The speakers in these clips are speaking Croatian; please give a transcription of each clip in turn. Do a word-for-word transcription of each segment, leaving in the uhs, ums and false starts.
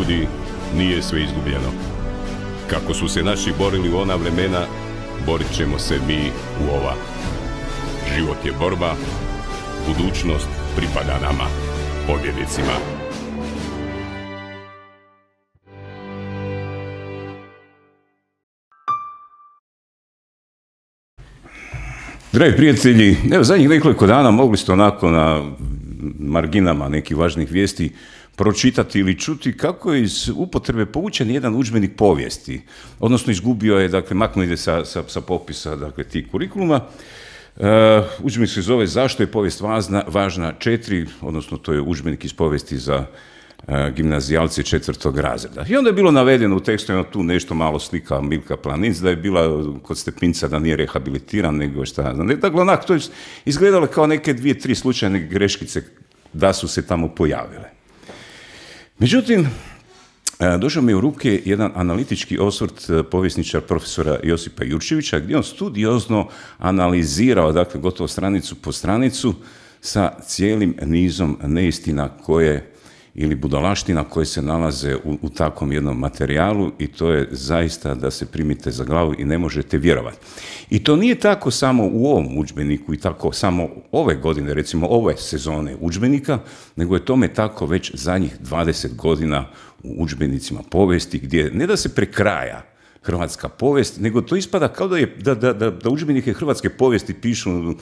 ljudi, nije sve izgubljeno. Kako su se naši borili u ona vremena, borit ćemo se mi u ova. Život je borba, budućnost pripada nama, pobjednicima. Dragi prijatelji, evo zadnjih nekoliko dana mogli ste onako na marginama nekih važnih vijesti pročitati ili čuti kako je iz upotrebe povučen jedan udžbenik povijesti, odnosno izgubio je, dakle, maknuo ide sa, sa, sa popisa, dakle, tih kurikuluma. Uh, udžbenik se zove Zašto je povijest važna, važna četiri, odnosno to je udžbenik iz povijesti za uh, gimnazijalce četvrtog razreda. I onda je bilo navedeno u tekstu, ima tu nešto malo slika Milka Planinc, da je bila kod Stepinca, da nije rehabilitiran, nego šta znam. Dakle, onak, to je izgledalo kao neke dvije, tri slučajne greškice da su se tamo pojavile. Međutim, došao mi u ruke jedan analitički osvrt povjesničar profesora Josipa Jurčevića, gdje on studiozno analizirao, dakle, gotovo stranicu po stranicu, sa cijelim nizom neistina koje, ili budalaština koje se nalaze u, u takvom jednom materijalu, i to je zaista da se primite za glavu i ne možete vjerovati. I to nije tako samo u ovom udžbeniku i tako samo ove godine, recimo ove sezone udžbenika, nego je tome tako već zadnjih dvadeset godina u udžbenicima povijesti, gdje ne da se prekraja hrvatska povijest, nego to ispada kao da, je, da, da, da, da udžbenike hrvatske povijesti pišu uh,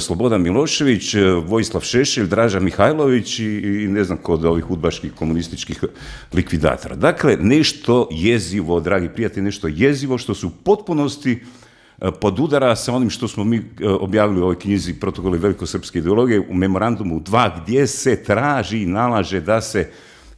Slobodan Milošević, uh, Vojislav Šešelj, Draža Mihajlović i, i ne znam kod ovih udbaških komunističkih likvidatora. Dakle, nešto jezivo, dragi prijatelji, nešto jezivo što su u potpunosti uh, podudara sa onim što smo mi uh, objavili u ovoj knjizi Protokoli velikosrpske ideologije u memorandumu dva, gdje se traži i nalaže da se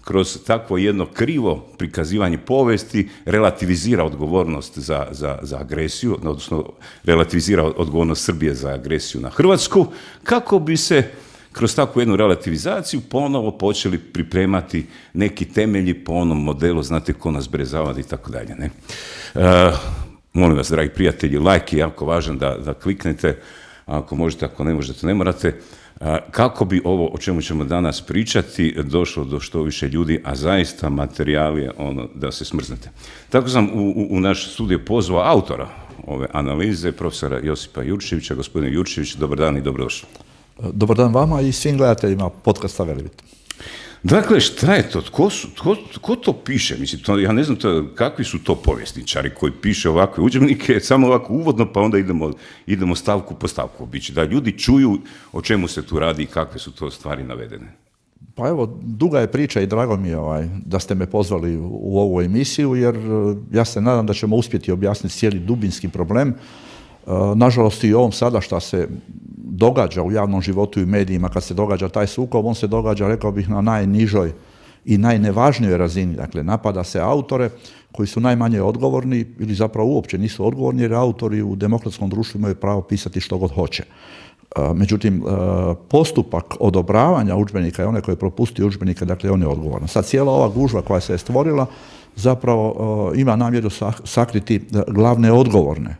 kroz takvo jedno krivo prikazivanje povijesti relativizira odgovornost za, za, za agresiju, odnosno relativizira odgovornost Srbije za agresiju na Hrvatsku, kako bi se kroz takvu jednu relativizaciju ponovo počeli pripremati neki temelji po onom modelu, znate, ko nas brezavadi i tako dalje. Ne? E, molim vas, dragi prijatelji, like je jako važan da, da kliknete, ako možete, ako ne možete, ne morate, kako bi ovo o čemu ćemo danas pričati došlo do što više ljudi, a zaista materijal je ono da se smrznete. Tako sam u, u, u naš studio pozvao autora ove analize, profesora Josipa Jurčevića. Gospodine Jurčević, dobar dan i dobrodošli. Dobar dan vama i svim gledateljima podcasta Velebit. Dakle, šta je to? Tko, su, tko, tko to piše? Mislim, to, ja ne znam to, kakvi su to povjesničari koji piše ovakve udžbenike, samo ovako uvodno, pa onda idemo, idemo stavku po stavku obići, da ljudi čuju o čemu se tu radi i kakve su to stvari navedene. Pa evo, duga je priča i drago mi je ovaj, da ste me pozvali u, u ovu emisiju, jer ja se nadam da ćemo uspjeti objasniti cijeli dubinski problem. Nažalost, i ovom sada što se događa u javnom životu i medijima, kad se događa taj sukob, on se događa, rekao bih, na najnižoj i najnevažnijoj razini. Dakle, napada se autore koji su najmanje odgovorni ili zapravo uopće nisu odgovorni, jer autori u demokratskom društvu imaju pravo pisati što god hoće. Međutim, postupak odobravanja udžbenika i one koji propusti udžbenike, dakle, on je odgovoran. Sad, cijela ova gužva koja se je stvorila zapravo ima namjeru sakriti glavne odgovorne,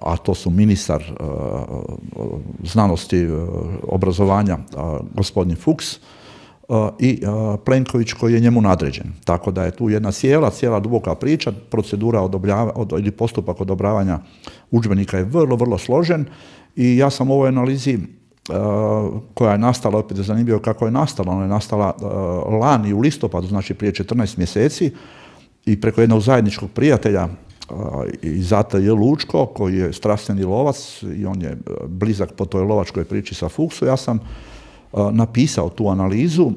a to su ministar uh, znanosti, uh, obrazovanja, uh, gospodin Fuchs, uh, i uh, Plenković koji je njemu nadređen. Tako da je tu jedna cijela, cijela duboka priča, procedura odobljava, od, ili postupak odobravanja udžbenika je vrlo, vrlo složen, i ja sam u ovoj analizi uh, koja je nastala, opet je zanimljivo kako je nastala, ona je nastala uh, lani u listopadu, znači prije četrnaest mjeseci, i preko jednog zajedničkog prijatelja iz A T J Lučko, koji je strastveni lovac i on je blizak po toj lovačkoj priči sa Fuchsom. Ja sam uh, napisao tu analizu uh,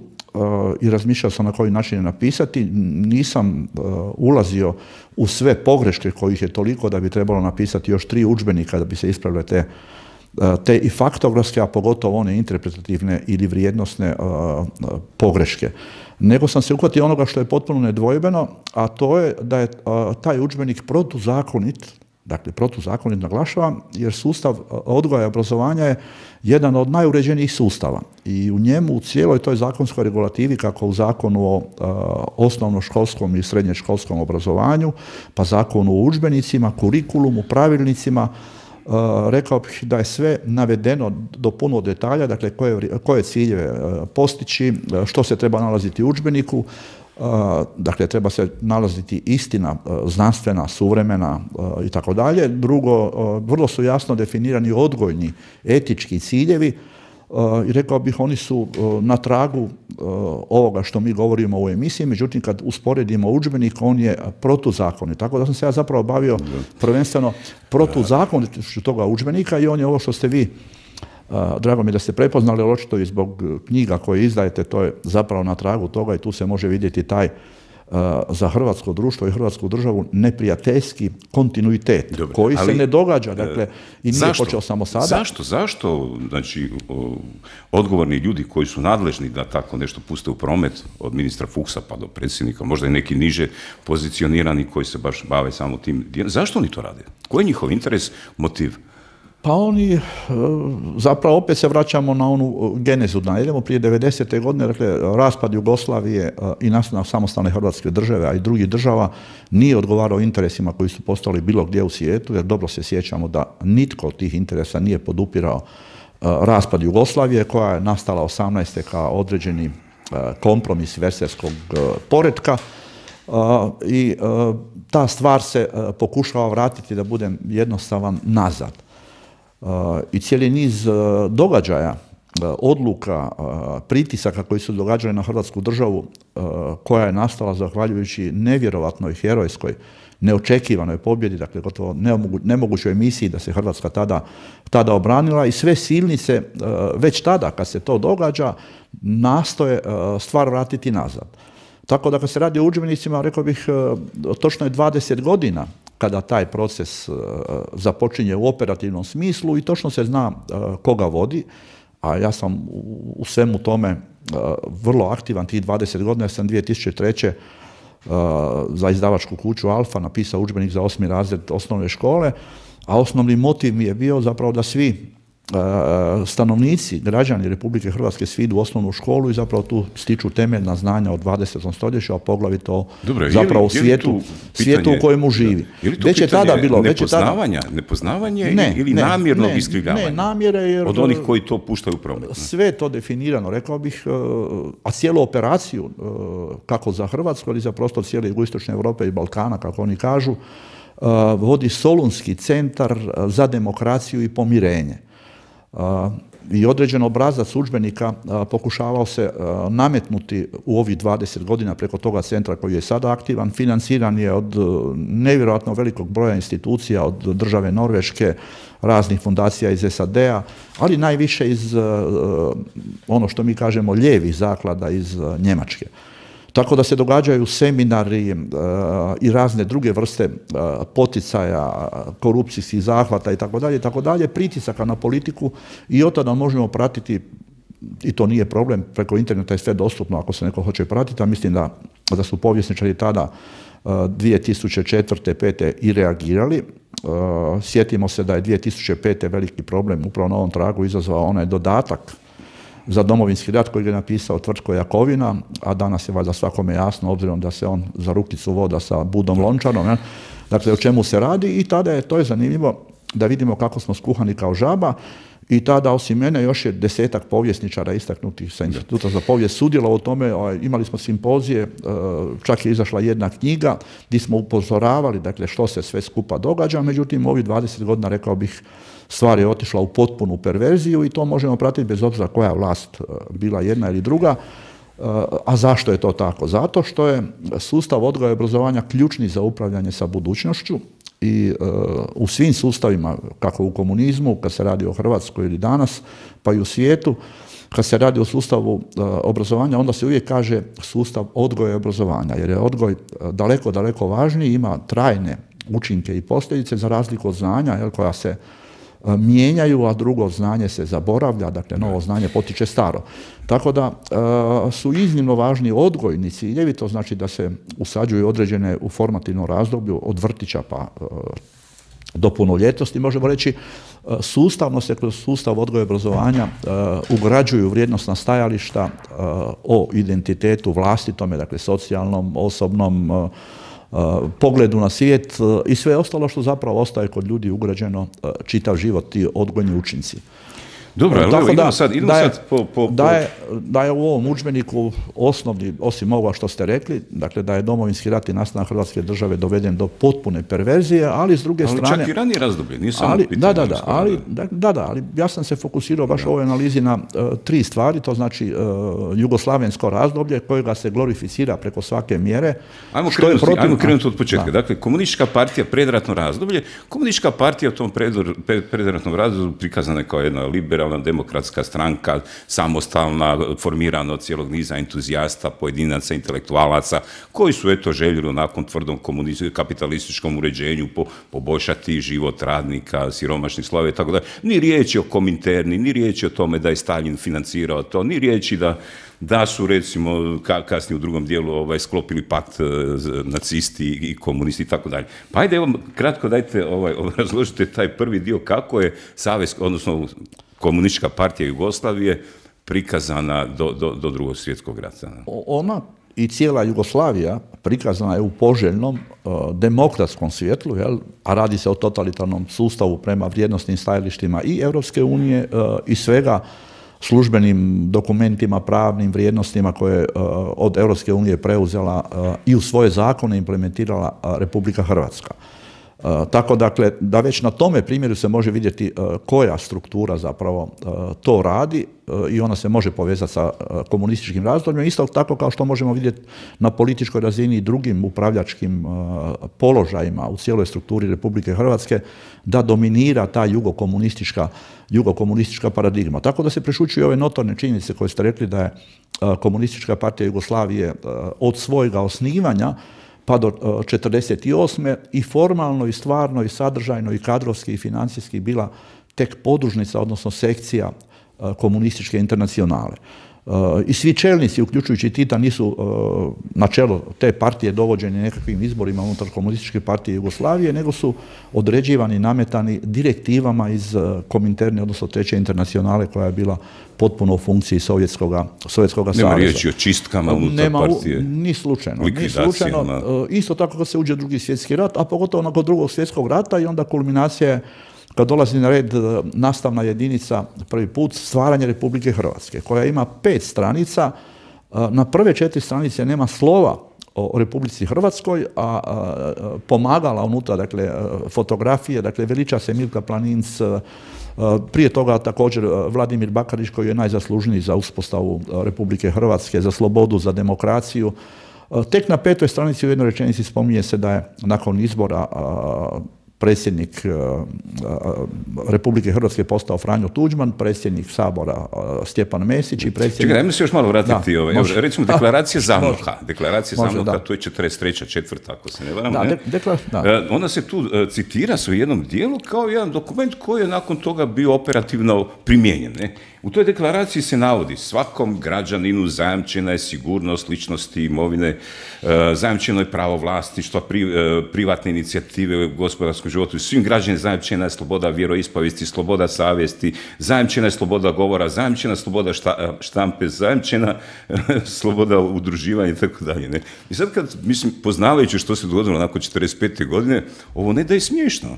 i razmišljao sam na koji način je napisati. Nisam uh, ulazio u sve pogreške kojih je toliko da bi trebalo napisati još tri udžbenika da bi se ispravile te, uh, te i faktografske, a pogotovo one interpretativne ili vrijednosne uh, pogreške. Nego sam se uhvatio onoga što je potpuno nedvojbeno, a to je da je a, taj udžbenik protuzakonit, dakle protuzakonit naglašavam, jer sustav odgoja i obrazovanja je jedan od najuređenijih sustava. I u njemu, u cijeloj toj zakonskoj regulativi, kako u zakonu o a, osnovnoškolskom i srednješkolskom obrazovanju, pa zakonu o udžbenicima, kurikulumu, pravilnicima, Uh, rekao bih da je sve navedeno do puno detalja, dakle koje, koje ciljeve uh, postići, uh, što se treba nalaziti u udžbeniku, Dakle, treba se nalaziti istina znanstvena, suvremena i tako dalje. Drugo, vrlo su jasno definirani odgojni, etički ciljevi i rekao bih oni su na tragu ovoga što mi govorimo u emisiji, međutim kad usporedimo udžbenik on je protuzakonit. Tako da sam se ja zapravo bavio prvenstveno protuzakonitošću toga udžbenika i on je ovo što ste vi, drago mi je da ste prepoznali, ali očito i zbog knjiga koje izdajete, to je zapravo na tragu toga i tu se može vidjeti taj za hrvatsko društvo i hrvatsku državu neprijateljski kontinuitet. Dobre, koji ali, se ne događa, dakle, i nije zašto? Počeo samo sada. Zašto? Zašto? Znači, o, odgovorni ljudi koji su nadležni da tako nešto puste u promet, od ministra Fuchsa pa do predsjednika, možda i neki niže pozicionirani koji se baš bave samo tim, zašto oni to rade? Koji je njihov interes, motiv? Pa oni, zapravo opet se vraćamo na onu genezu, da idemo prije devedesete godine, dakle, raspad Jugoslavije i nastanak samostalne Hrvatske države, a i drugih država, nije odgovarao interesima koji su postali bilo gdje u svijetu, jer dobro se sjećamo da nitko od tih interesa nije podupirao raspad Jugoslavije, koja je nastala osamnaeste kao određeni kompromis verserskog poretka. I ta stvar se pokušava vratiti, da budem jednostavan, nazad. I cijeli niz događaja, odluka, pritisaka koji su događali na Hrvatsku državu, koja je nastala zahvaljujući nevjerovatnoj, herojskoj, neočekivanoj pobjedi, dakle gotovo nemogućoj misiji da se Hrvatska tada, tada obranila, i sve silnice već tada kad se to događa nastoje stvar vratiti nazad. Tako da kad se radi o udžbenicima, rekao bih, točno je dvadeset godina kada taj proces započinje u operativnom smislu i točno se zna koga vodi, a ja sam u svemu tome vrlo aktivan tih dvadeset godina. Ja sam dvije tisuće treće. za izdavačku kuću Alfa napisao udžbenik za osmi razred osnovne škole, a osnovni motiv mi je bio zapravo da svi stanovnici, građani Republike Hrvatske svi idu u osnovnu školu i zapravo tu stiču temeljna znanja o dvadesetom stoljeću, a poglavito Dobre, zapravo u svijetu, pitanje, svijetu u kojemu živi. Je li to već je tada bilo nepoznavanja, tada... nepoznavanje ne, ili ne, namjernog ne, iskrivljavanja? Ne, namjere, jer od onih koji to puštaju u promet. Sve to definirano, rekao bih, a cijelu operaciju, kako za Hrvatsku, ali za prostor cijele jugoistočne Europe i Balkana, kako oni kažu, vodi Solunski centar za demokraciju i pomirenje. I određen obrazac udžbenika pokušavao se nametnuti u ovih dvadeset godina preko toga centra koji je sada aktivan. Financiran je od nevjerojatno velikog broja institucija, od države Norveške, raznih fundacija iz S A D-a, ali najviše iz ono što mi kažemo lijevih zaklada iz Njemačke. Tako da se događaju seminari uh, i razne druge vrste uh, poticaja, korupcijskih zahvata i tako dalje, tako dalje, pritisaka na politiku, i od tada možemo pratiti, i to nije problem, preko interneta je sve dostupno ako se neko hoće pratiti, a mislim da, da su povjesničari tada uh, dvije tisuće četvrte. pete i reagirali. Uh, sjetimo se da je dvije tisuće pete veliki problem upravo na ovom tragu izazvao onaj dodatak za Domovinski rat koji je napisao Tvrtko Jakovina, a danas je valjda svakome jasno, obzirom da se on za rukicu voda sa Budom Lončarom, ne? Dakle, o čemu se radi, i tada je, to je zanimljivo da vidimo kako smo skuhani kao žaba, i tada osim mene još je desetak povjesničara istaknutih sa Instituta za povijest sudjelovalo u tome. Imali smo simpozije, čak je izašla jedna knjiga gdje smo upozoravali, dakle, što se sve skupa događa, međutim, ovih dvadeset godina, rekao bih, stvar je otišla u potpunu perverziju, i to možemo pratiti bez obzira koja vlast bila, jedna ili druga. A zašto je to tako? Zato što je sustav odgoja i obrazovanja ključni za upravljanje sa budućnošću, i uh, u svim sustavima, kako u komunizmu, kad se radi o Hrvatskoj ili danas, pa i u svijetu, kad se radi o sustavu uh, obrazovanja, onda se uvijek kaže sustav odgoja i obrazovanja, jer je odgoj uh, daleko, daleko važniji, ima trajne učinke i posljedice za razliku od znanja, jel, koja se uh, mijenjaju, a drugo znanje se zaboravlja, dakle novo znanje potiče staro. Tako da uh, su iznimno važni odgojni ciljevi, to znači da se usađuju određene u formativnom razdoblju od vrtića pa uh, do punoljetnosti, možemo reći, uh, sustavno se kroz sustav odgoja i obrazovanja uh, ugrađuju vrijednosna stajališta uh, o identitetu vlastitome, dakle socijalnom, osobnom, uh, uh, pogledu na svijet uh, i sve ostalo što zapravo ostaje kod ljudi ugrađeno uh, čitav život, ti odgojni učinci. Dobro, ali evo, idemo sad, idemo da je, sad po... po, po... Da, je, da je u ovom udžbeniku osnovni, osim ovoga što ste rekli, dakle da je Domovinski rat i nastanak Hrvatske države doveden do potpune perverzije, ali s druge ali strane... čak i ranije razdoblje, nije samo ali, pitanje. Da, da, da, ali, da, da, da, ali ja sam se fokusirao baš u ovoj analizi na uh, tri stvari, to znači uh, jugoslavensko razdoblje kojega se glorificira preko svake mjere. Ajmo što krenuti, je protiv... ajmo krenuti od početka. Da. Dakle, komunistička partija, predratno razdoblje, komunistička partija u tom predratnom razdoblju prikazana je kao jedna liberalna demokratska stranka, samostalna, formirana od cijelog niza entuzijasta, pojedinaca, intelektualaca, koji su eto željeli nakon tvrdom kapitalističkom uređenju po, poboljšati život radnika, siromašnih slojeva i tako dalje. Ni riječi o Kominterni, ni riječi o tome da je Stalin financirao to, ni riječi da da su recimo ka, kasnije u drugom dijelu ovaj, sklopili pakt uh, nacisti i komunisti i tako dalje. Pa ajde, evo, kratko dajte, ovaj, razložite taj prvi dio kako je Savez, odnosno komunistička partija Jugoslavije prikazana do, do, do drugog svjetskog rata. Ona i cijela Jugoslavija prikazana je u poželjnom uh, demokratskom svjetlu, jel? A radi se o totalitarnom sustavu prema vrijednosnim stajalištima i Europske unije uh, i svega službenim dokumentima, pravnim vrijednostima koje uh, od Europske unije preuzela uh, i u svoje zakone implementirala uh, Republika Hrvatska. Uh, tako dakle, da već na tome primjeru se može vidjeti uh, koja struktura zapravo uh, to radi uh, i ona se može povezati sa uh, komunističkim razdobljem, isto tako kao što možemo vidjeti na političkoj razini i drugim upravljačkim uh, položajima u cijeloj strukturi Republike Hrvatske, da dominira ta jugokomunistička, jugokomunistička paradigma. Tako da se prešućuju ove notorne činjenice koje ste rekli da je uh, komunistička partija Jugoslavije uh, od svojega osnivanja pa do četrdeset osme i formalno i stvarno i sadržajno i kadrovski i financijski bila tek podružnica, odnosno sekcija komunističke internacionale. I svi čelnici, uključujući Tita, nisu na čelo te partije dovođeni nekakvim izborima unutar komunističke partije Jugoslavije, nego su određivani, nametani direktivama iz Kominterne, odnosno treće internacionale, koja je bila potpuno u funkciji Sovjetskoga, Sovjetskoga saveza. Nema riječi o čistkama unutar Nema, partije. Ni slučajno. Ni slučajno. Isto tako kad se uđe u drugi svjetski rat, a pogotovo nakon drugog svjetskog rata i onda kulminacija je kad dolazi na red nastavna jedinica prvi put stvaranje Republike Hrvatske, koja ima pet stranica. Na prve četiri stranice nema slova o Republici Hrvatskoj, a pomagala unutra, dakle, fotografije, dakle, veliča se Milka Planinc, prije toga također Vladimir Bakarić, koji je najzaslužniji za uspostavu Republike Hrvatske, za slobodu, za demokraciju. Tek na petoj stranici u jednoj rečenici spominje se da je nakon izbora predsjednik Republike Hrvatske postao Franjo Tuđman, predsjednik Sabora Stjepan Mesić i predsjednik... Čekaj, ajmo se još malo vratiti. Da, ovaj. Može. Recimo, deklaracija Zamoka. Deklaracija može, Zamoka, da. to je četrdeset treća četvrta, ako se ne varam. Da, ne? de, dekla, da. Ona se tu citira u jednom dijelu kao jedan dokument koji je nakon toga bio operativno primijenjen. Ne? U toj deklaraciji se navodi svakom građaninu zajamčena je sigurnost ličnosti, imovine, zajamčeno je pravo vlasništva, pri, privatne inicijative u gospodarskom životu, svim građanima zajamčena je sloboda vjeroispovijesti, sloboda savjesti, zajamčena je sloboda govora, zajamčena sloboda šta, štampe, zajamčena sloboda udruživanja i tako dalje. Ne? I sad kad, mislim, poznavajući što se dogodilo nakon četrdeset pete godine, ovo ne da je smiješno,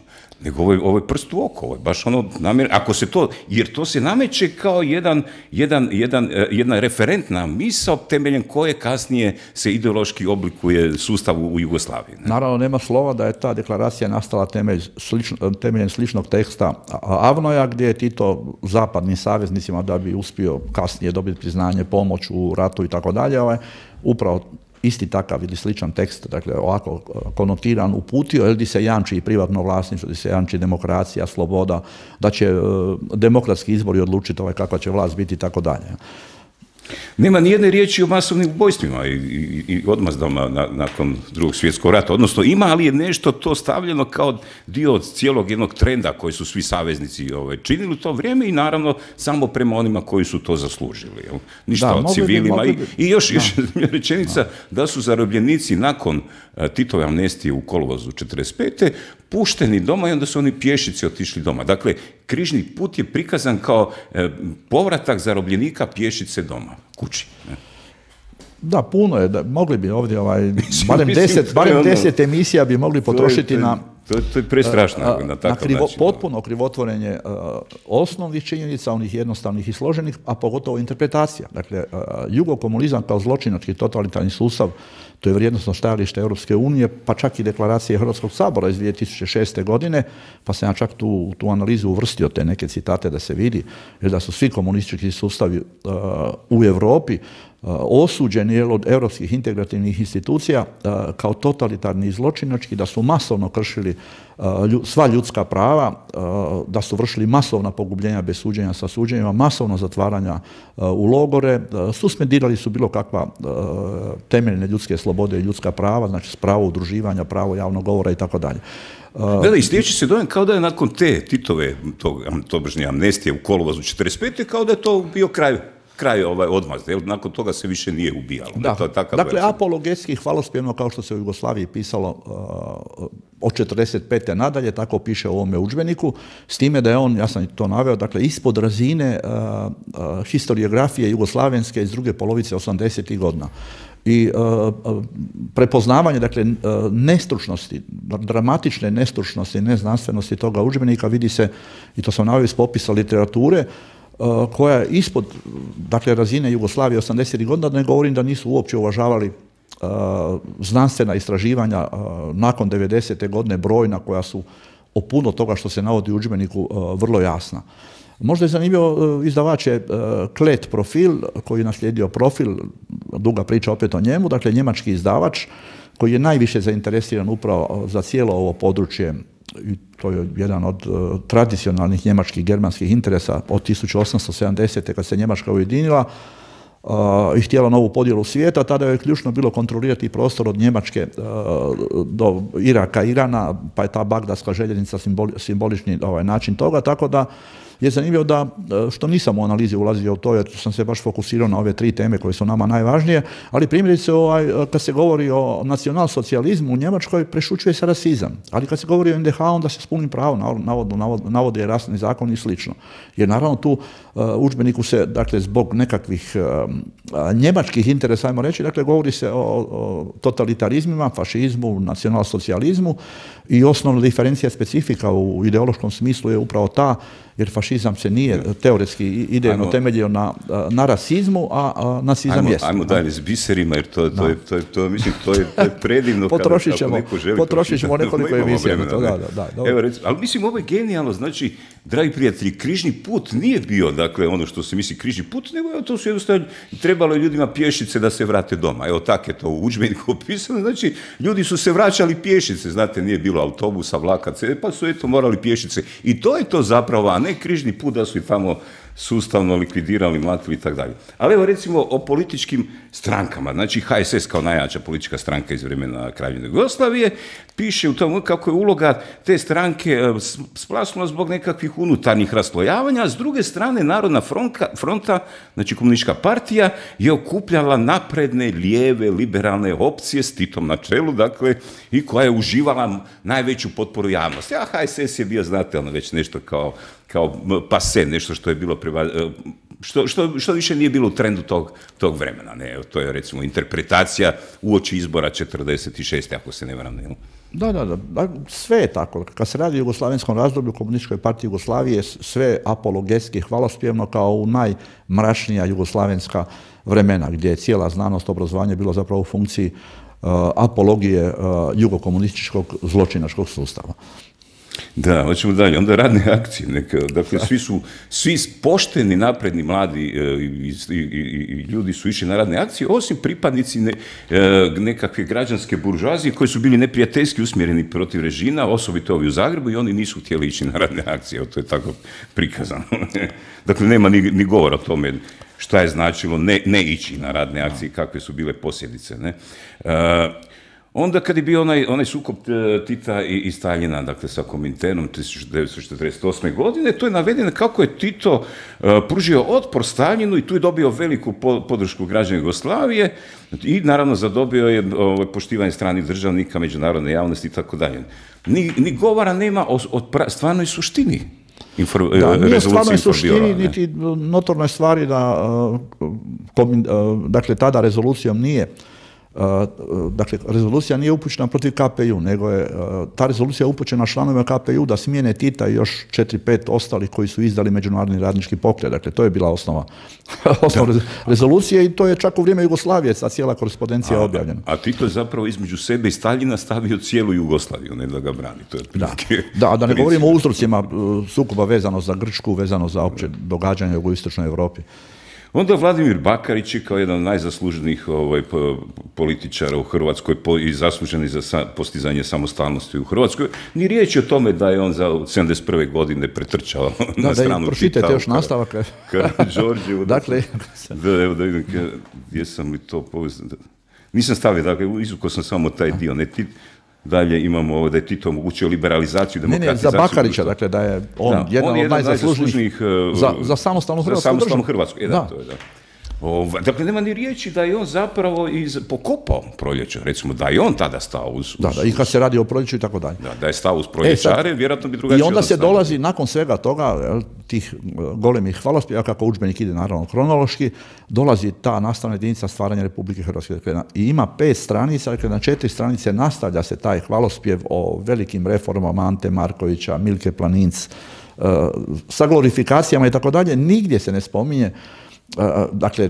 nego ovo je, ovo je prst u oko, ovo je baš ono namjer, ako se to, jer to se nameće kao jedan, jedan, jedan, jedna referentna misao temeljem koje kasnije se ideološki oblikuje sustav u Jugoslaviji. Ne? Naravno, nema slova da je ta deklaracija nastala temelj, slično, temeljem sličnog teksta Avnoja, gdje je Tito zapadnim saveznicima, da bi uspio kasnije dobiti priznanje, pomoć u ratu i tako dalje, upravo isti takav ili sličan tekst, dakle ovako konotiran, uputio, jer di se jamči i privatno vlasništvo, di se jamči demokracija, sloboda, da će uh, demokratski izbori odlučiti ovaj kakva će vlast biti i tako dalje. Nema ni jedne riječi o masovnim ubojstvima i, i, i odmazdama na, nakon drugog svjetskog rata. Odnosno ima, ali je nešto to stavljeno kao dio od cijelog jednog trenda koji su svi saveznici ovaj, činili u to vrijeme i naravno samo prema onima koji su to zaslužili. Jel? Ništa da, o civilima. bi, bi. I, I još, još da. rečenica da. da su zarobljenici nakon uh, Titove amnestije u kolovozu četrdeset pete pušteni doma i onda su oni pješici otišli doma. Dakle, križni put je prikazan kao e, povratak zarobljenika pješice doma, kući. Ne? Da, puno je. Da, mogli bi ovdje, ovaj, barem, deset, barem deset emisija bi mogli potrošiti to je, to je, na To, to je prestrašno na takav na krivo, način. Potpuno krivotvorenje uh, osnovnih činjenica, onih jednostavnih i složenih, a pogotovo interpretacija. Dakle, uh, jugokomunizam kao zločinački totalitarni sustav, to je vrijednosno stajalište Europske unije, pa čak i deklaracije Hrvatskog sabora iz dvije tisuće šeste. godine, pa sam ja čak tu, tu analizu uvrstio te neke citate da se vidi, jer da su svi komunistički sustavi uh, u Europi osuđeni od europskih integrativnih institucija kao totalitarni i zločinački, da su masovno kršili sva ljudska prava, da su vršili masovna pogubljenja bez suđenja sa suđenjima, masovno zatvaranja u logore, suspendirali su bilo kakva temeljne ljudske slobode i ljudska prava, znači pravo udruživanja, pravo javnog govora i tako dalje. Da, da, i stječe se dojam kao da je nakon te Titove, tog, tobožnje amnestije u kolovozu četrdeset pete. kao da je to bio kraj kraj ovaj odmazde, jer nakon toga se više nije ubijalo. Da. To je takav dakle, vrsta. apologetski hvalospjevno, kao što se u Jugoslaviji pisalo uh, od četrdeset pete nadalje, tako piše u ovome udžbeniku, s time da je on, ja sam to naveo, dakle, ispod razine uh, uh, historiografije jugoslavenske iz druge polovice osamdesetih godina. I uh, prepoznavanje, dakle, uh, nestručnosti, dramatične nestručnosti, neznanstvenosti toga udžbenika vidi se, i to sam naveo iz popisa literature, Uh, koja je ispod, dakle, razine Jugoslavije osamdesetih godina, da ne govorim da nisu uopće uvažavali uh, znanstvena istraživanja uh, nakon devedesete. godine, brojna, koja su o puno toga što se navodi u udžbeniku uh, vrlo jasna. Možda je zanimljivo, uh, izdavač je uh, Klet Profil, koji je naslijedio Profil, duga priča opet o njemu, dakle, njemački izdavač, koji je najviše zainteresiran upravo za cijelo ovo područje, i to je jedan od uh, tradicionalnih njemačkih germanskih interesa od tisuću osamsto sedamdesete. kad se Njemačka ujedinila uh, i htjela novu podjelu svijeta, tada je ključno bilo kontrolirati prostor od Njemačke uh, do Iraka, Irana, pa je ta bagdadska željeznica simboli, simbolični ovaj, način toga, tako da je zanimljivo da, što nisam u analizi ulazio u to, jer sam se baš fokusirao na ove tri teme koje su nama najvažnije, ali primjerice, ovaj, kad se govori o nacionalsocijalizmu u Njemačkoj, prešućuje se rasizam. Ali kad se govori o en de ha, onda se s punim pravom navodno navode rasni zakon i slično. Jer naravno tu uh, udžbeniku se, dakle, zbog nekakvih uh, njemačkih interesa, ajmo reći, dakle, govori se o, o totalitarizmima, fašizmu, nacionalsocijalizmu, i osnovna diferencija specifika u ideološkom smislu je upravo ta, jer fašizam se nije teoretski idejno ajmo, temeljio na, na rasizmu, a, a nacizam jest. Ajmo dalje s biserima, jer to, to, je, to, je, to, mislim, to, je, to je predivno. Potrošit ćemo, potrošit ćemo nekoliko emisija. Da, da, da, Evo, recimo, ali mislim, ovo je genijalno, znači, dragi prijatelji, križni put nije bio, dakle, ono što se misli križni put, nego to su jednostavno, trebalo je ljudima pješice da se vrate doma. Evo, tako je to u udžbeniku opisano, znači, ljudi su se vraćali pješice, znate, nije bilo autobusa, vlaka, pa su eto morali pješice. I to je to zapravo, a ne križni put da su i tamo sustavno likvidirali, mlatili i tako dalje. Ali evo, recimo, o političkim strankama. Znači, ha es es kao najjača politička stranka iz vremena Kraljevine Jugoslavije piše u tom kako je uloga te stranke splasnula zbog nekakvih unutarnjih raslojavanja, a s druge strane Narodna fronta, fronta, znači komunistička partija, je okupljala napredne, lijeve, liberalne opcije s Titom na čelu, dakle, i koja je uživala najveću potporu javnosti. A ha es es je bio, znate, ono već nešto kao kao pase, nešto što je bilo preva, što, što, što više nije bilo u trendu tog, tog vremena. Ne? To je, recimo, interpretacija uoči izbora četrdeset šeste. ako se ne varam. Ne? Da, da, da, sve je tako. Kad se radi o jugoslavenskom razdoblju, Komunističkoj partiji Jugoslavije, sve apologetski, hvalospjevno, kao u najmračnija jugoslavenska vremena, gdje je cijela znanost, obrazovanje bilo zapravo u funkciji uh, apologije uh, jugokomunističkog zločinačkog sustava. Da, hoćemo dalje. Onda radne akcije. Neka, dakle, svi su, svi pošteni, napredni, mladi i, i, i, i ljudi su išli na radne akcije, osim pripadnici ne, nekakve građanske buržuazije koji su bili neprijateljski usmjereni protiv režima, osobito ovi u Zagrebu, i oni nisu htjeli ići na radne akcije. To je tako prikazano. Dakle, nema ni, ni govora o tome šta je značilo ne, ne ići na radne akcije, kakve su bile posljedice. Ne? Uh, Onda kad je bio onaj, onaj sukob Tita i, i Staljina, dakle sa Kominternom tisuću devetsto četrdeset osme. godine, to je navedeno kako je Tito uh, pružio otpor Staljinu i tu je dobio veliku po, podršku građana Jugoslavije i naravno zadobio je uh, poštivanje stranih državnika, međunarodne javnosti i tako dalje. Ni, ni govora nema o, o pra, stvarnoj suštini. Infor, da, nije stvarnoj suštini, niti notornoj stvari da uh, komin, uh, dakle tada rezolucijom nije Dakle, rezolucija nije upućena protiv K P U, nego je ta rezolucija upućena članovima K P U da smijene Tita i još četiri pet ostalih koji su izdali međunarodni radnički pokret. Dakle, to je bila osnova, osnova rezolucije i to je čak u vrijeme Jugoslavije ta cijela korespondencija objavljena. A Tito je zapravo između sebe i Staljina stavio cijelu Jugoslaviju, ne da ga brani. To je da. da, da ne govorimo o uzrocima sukoba vezano za Grčku, vezano za opće događanje u istočnoj Europi. Onda Vladimir Bakarić je kao jedan od najzasluženijih ovaj, političara u Hrvatskoj po, i zasluženi za sa, postizanje samostalnosti u Hrvatskoj. Ni riječ o tome da je on za sedamdeset prve godine pretrčao da, na stranu Tita. Pročitajte još nastavak. Karadžordževu. dakle, da, evo da vidim gdje sam li to povezan. Nisam stavio, dakle, izvukao sam samo taj dio. Ne, tit, Dalje imamo ovo da je Tito omogućio liberalizaciju, demokratizaciju. Ne, ne, za Bakarića, dakle da je on da, jedan on je od najzaslužnijih za, za samostalnu Hrvatsku. Za samostalnu Hrvatsku, je, da, da. To je, da. O, dakle, nema ni riječi da je on zapravo iz, pokopao proljeće, recimo da je on tada stao uz... uz da, da, i kad se radi o proljeću i tako dalje. Da, da je stao uz proljećare, e, sad, vjerojatno bi drugačije... I onda se dolazi, nakon svega toga, tih golemih hvalospjeva, kako udžbenik ide naravno kronološki, dolazi ta nastavna jedinica stvaranja Republike Hrvatske. Dakle, i ima pet stranica, dakle na četiri stranice nastavlja se taj hvalospjev o velikim reformama Ante Markovića, Milke Planinc, uh, sa glorifikacijama i tako dalje, nigdje se ne spominje dakle,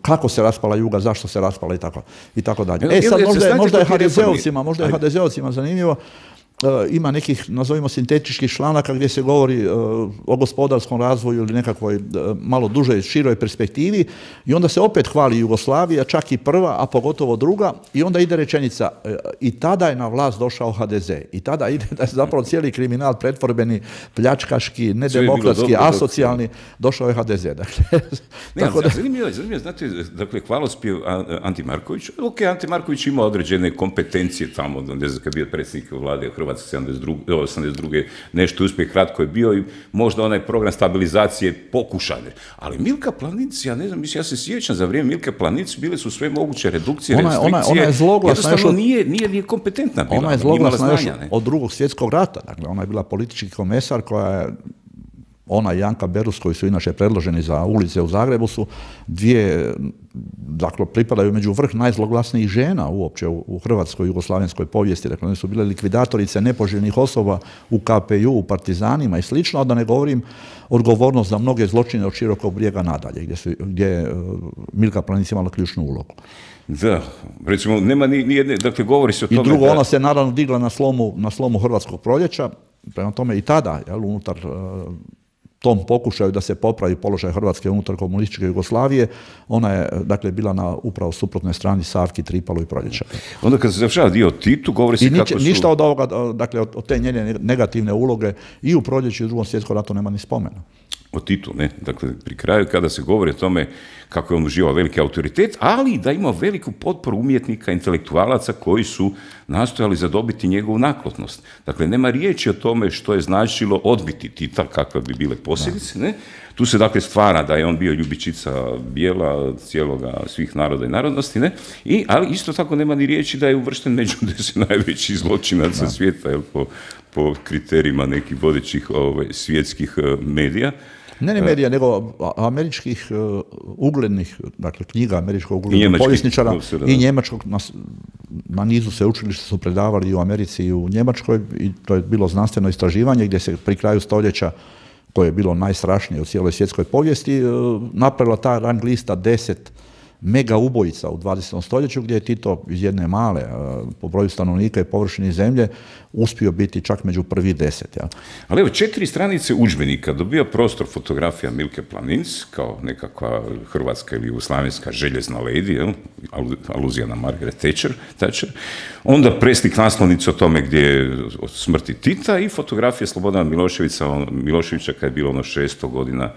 kako se raspala Juga, zašto se raspala i tako, i tako dalje. E sad, možda je, možda je ha de zeovcima, možda je ha de zeovcima zanimljivo, Uh, ima nekih, nazovimo, sintetičkih članaka gdje se govori uh, o gospodarskom razvoju ili nekakvoj uh, malo dužoj, široj perspektivi i onda se opet hvali Jugoslavija, čak i prva, a pogotovo druga i onda ide rečenica uh, i tada je na vlast došao ha de ze i tada ide da je zapravo cijeli kriminal pretvorbeni, pljačkaški, nedemokratski, asocijalni, došao je ha de ze. Dakle, ne, tako da... zanimljivo, zanimljivo, znate, dakle, hvalospjev Anti Marković, ok, Anti Marković ima određene kompetencije tamo, ne znam, kad je bio predsjednik vlade Hrvatske osamdeset druge nešto uspjeh kratko je bio i možda onaj program stabilizacije pokušane. Ali Milka Planinc, ja ne znam, mislim, ja se sjećam za vrijeme Milke Planinc bile su sve moguće redukcije, ona, restrikcije. Ona, ona je zloglasna još od, nije, nije, nije kompetentna bila. Ona je zloglasna još od drugog svjetskog rata. Dakle, ona je bila politički komesar koja je ona i Janka Berus, koji su inače predloženi za ulice u Zagrebu, su dvije, dakle, pripadaju među vrh najzloglasnijih žena uopće u, u hrvatskoj jugoslavenskoj povijesti. Dakle, one su bile likvidatorice nepoželjnih osoba u ka pe ju, u partizanima i slično, a da ne govorim odgovornost za mnoge zločine od Širokog Brijega nadalje, gdje, su, gdje je Milka Planinc imala ključnu ulogu. Da, recimo, nema ni, ni jedne, dakle, govori se o tome... I drugo, da... ona se naravno digla na slomu, na slomu Hrvatskog proljeća, prema tome i tada, jel, unutar... tom pokušaju da se popravi položaj Hrvatske unutar komunističke Jugoslavije, ona je, dakle, bila na upravo suprotnoj strani Savki, Tripalu i Proljeća. Onda kad se završava dio Titu, govori se I nič, kako su... ništa od ovoga, dakle, od, od te njene negativne uloge i u Proljeću i u Drugom svjetskom ratu nema ni spomena. O Titu, ne? Dakle, pri kraju kada se govori o tome kako je on uživao veliki autoritet, ali da ima veliku potporu umjetnika, intelektualaca koji su nastojali zadobiti njegovu naklotnost. Dakle, nema riječi o tome što je značilo odbiti Tita, kakve bi bile posljedice, ne? Tu se, dakle, stvara da je on bio ljubičica bijela cijeloga svih naroda i narodnosti, ne? I, ali isto tako nema ni riječi da je uvršten među deset najvećih zločinaca da. svijeta, jel, po, po kriterijima nekih vodećih ovaj, svjetskih uh, medija. Ne ne medija, nego američkih uh, uglednih, dakle, knjiga američkog uglednog povjesničara i njemačkog, na, na nizu sveučilišta su predavali i u Americi i u Njemačkoj i to je bilo znanstveno istraživanje gdje se pri kraju stoljeća, koje je bilo najstrašnije u cijeloj svjetskoj povijesti, uh, napravila ta rang lista deset mega ubojica u dvadesetom stoljeću, gdje je Tito iz jedne male, po broju stanovnika i površini zemlje, uspio biti čak među prvi deset. Ja. Ali evo, četiri stranice udžbenika dobija prostor fotografija Milke Planinc, kao nekakva hrvatska ili jugoslavenska željezna lady, jel? Aluzija na Margaret Thatcher, Thatcher. Onda preslik naslovnice o tome gdje je od smrti Tita i fotografija Slobodana Miloševića, Miloševića kad je bilo ono šesto godina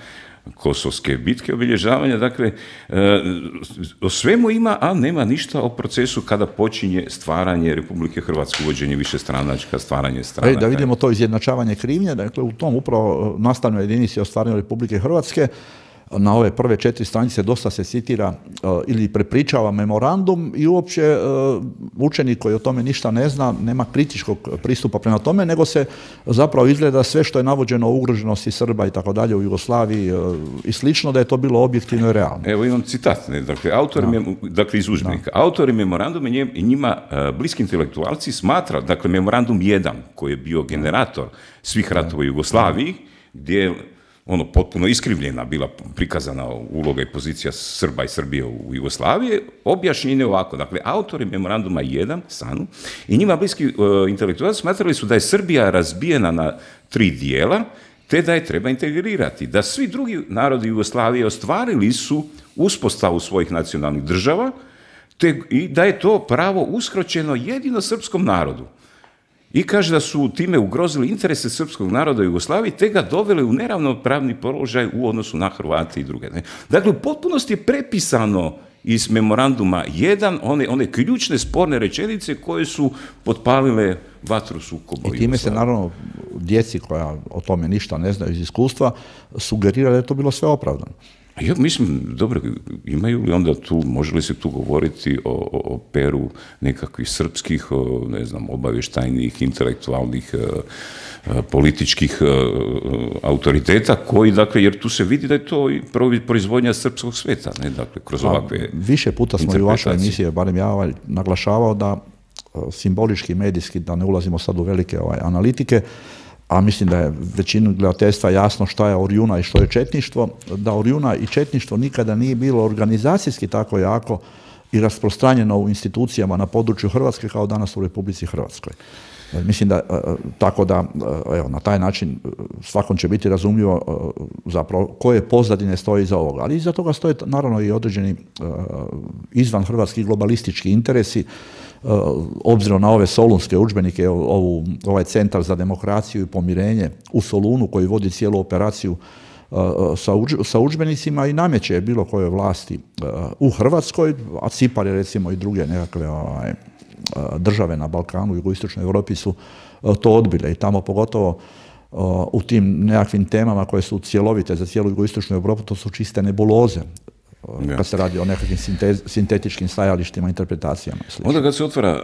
Kosovske bitke, obilježavanja, dakle, e, o svemu ima, a nema ništa o procesu kada počinje stvaranje Republike Hrvatske, uvođenje višestranačka, stvaranje stranaka. E, da vidimo to izjednačavanje krivnje, dakle, u tom upravo nastavnoj jedinici o stvaranju Republike Hrvatske, na ove prve četiri stranice dosta se citira ili prepričava memorandum i uopće učenik koji o tome ništa ne zna, nema kritičkog pristupa prema tome, nego se zapravo izgleda sve što je navođeno o ugroženosti Srba i tako dalje u Jugoslaviji i slično, da je to bilo objektivno i realno. Evo imam citat, ne? Dakle, autor, no. dakle iz udžbenika. Autori memoranduma i njima bliski intelektualci smatra, dakle memorandum jedan koji je bio generator svih ratova u Jugoslaviji, gdje je ono potpuno iskrivljena bila prikazana uloga i pozicija Srba i Srbije u Jugoslaviji, objašnjen je ovako. Dakle, autori memoranduma jedan, Sanu, i njima bliski uh, intelektualci smatrali su da je Srbija razbijena na tri dijela, te da je treba integrirati. Da svi drugi narodi Jugoslavije ostvarili su uspostavu svojih nacionalnih država, te, i da je to pravo uskročeno jedino srpskom narodu. I kaže da su time ugrozili interese srpskog naroda u Jugoslaviji, te ga doveli u neravnopravni položaj u odnosu na Hrvate i druge. Ne? Dakle, u potpunosti je prepisano iz memoranduma jedan one, one ključne sporne rečenice koje su potpalile vatru sukoba. I time se naravno djeci koja o tome ništa ne znaju iz iskustva sugerira da je to bilo sve opravdano. Ja mislim, dobro, imaju li onda tu, može li se tu govoriti o, o, o peru nekakvih srpskih, o, ne znam, obavještajnih, intelektualnih, e, političkih e, autoriteta koji, dakle, jer tu se vidi da je to i proizvodnja srpskog sveta, ne, dakle, kroz ovakve više puta smo i u vašoj emisiji, barem ja ovaj, naglašavao da simbolički, medijski, da ne ulazimo sad u velike ovaj, analitike, a mislim da je većinu gledateljstva jasno šta je Orjuna i što je četništvo, da Orjuna i četništvo nikada nije bilo organizacijski tako jako i rasprostranjeno u institucijama na području Hrvatske kao danas u Republici Hrvatskoj. Mislim da, tako da, evo, na taj način svakom će biti razumljivo zapravo koje pozadine stoji iza ovoga. Ali iza toga stoje naravno i određeni izvan hrvatski globalistički interesi, obzirom na ove solunske udžbenike, ovu, ovaj centar za demokraciju i pomirenje u Solunu koji vodi cijelu operaciju sa, uđ, sa udžbenicima i nameće bilo koje vlasti u Hrvatskoj, a Cipar je recimo i druge nekakve ovaj, države na Balkanu, jugoistočnoj Europi su to odbile i tamo pogotovo u tim nekakvim temama koje su cjelovite za cijelu jugoistočnu Europu, to su čiste nebuloze. Ja. Kad se radi o nekakvim sintez, sintetičkim stajalištima, interpretacijama. Onda kad se otvara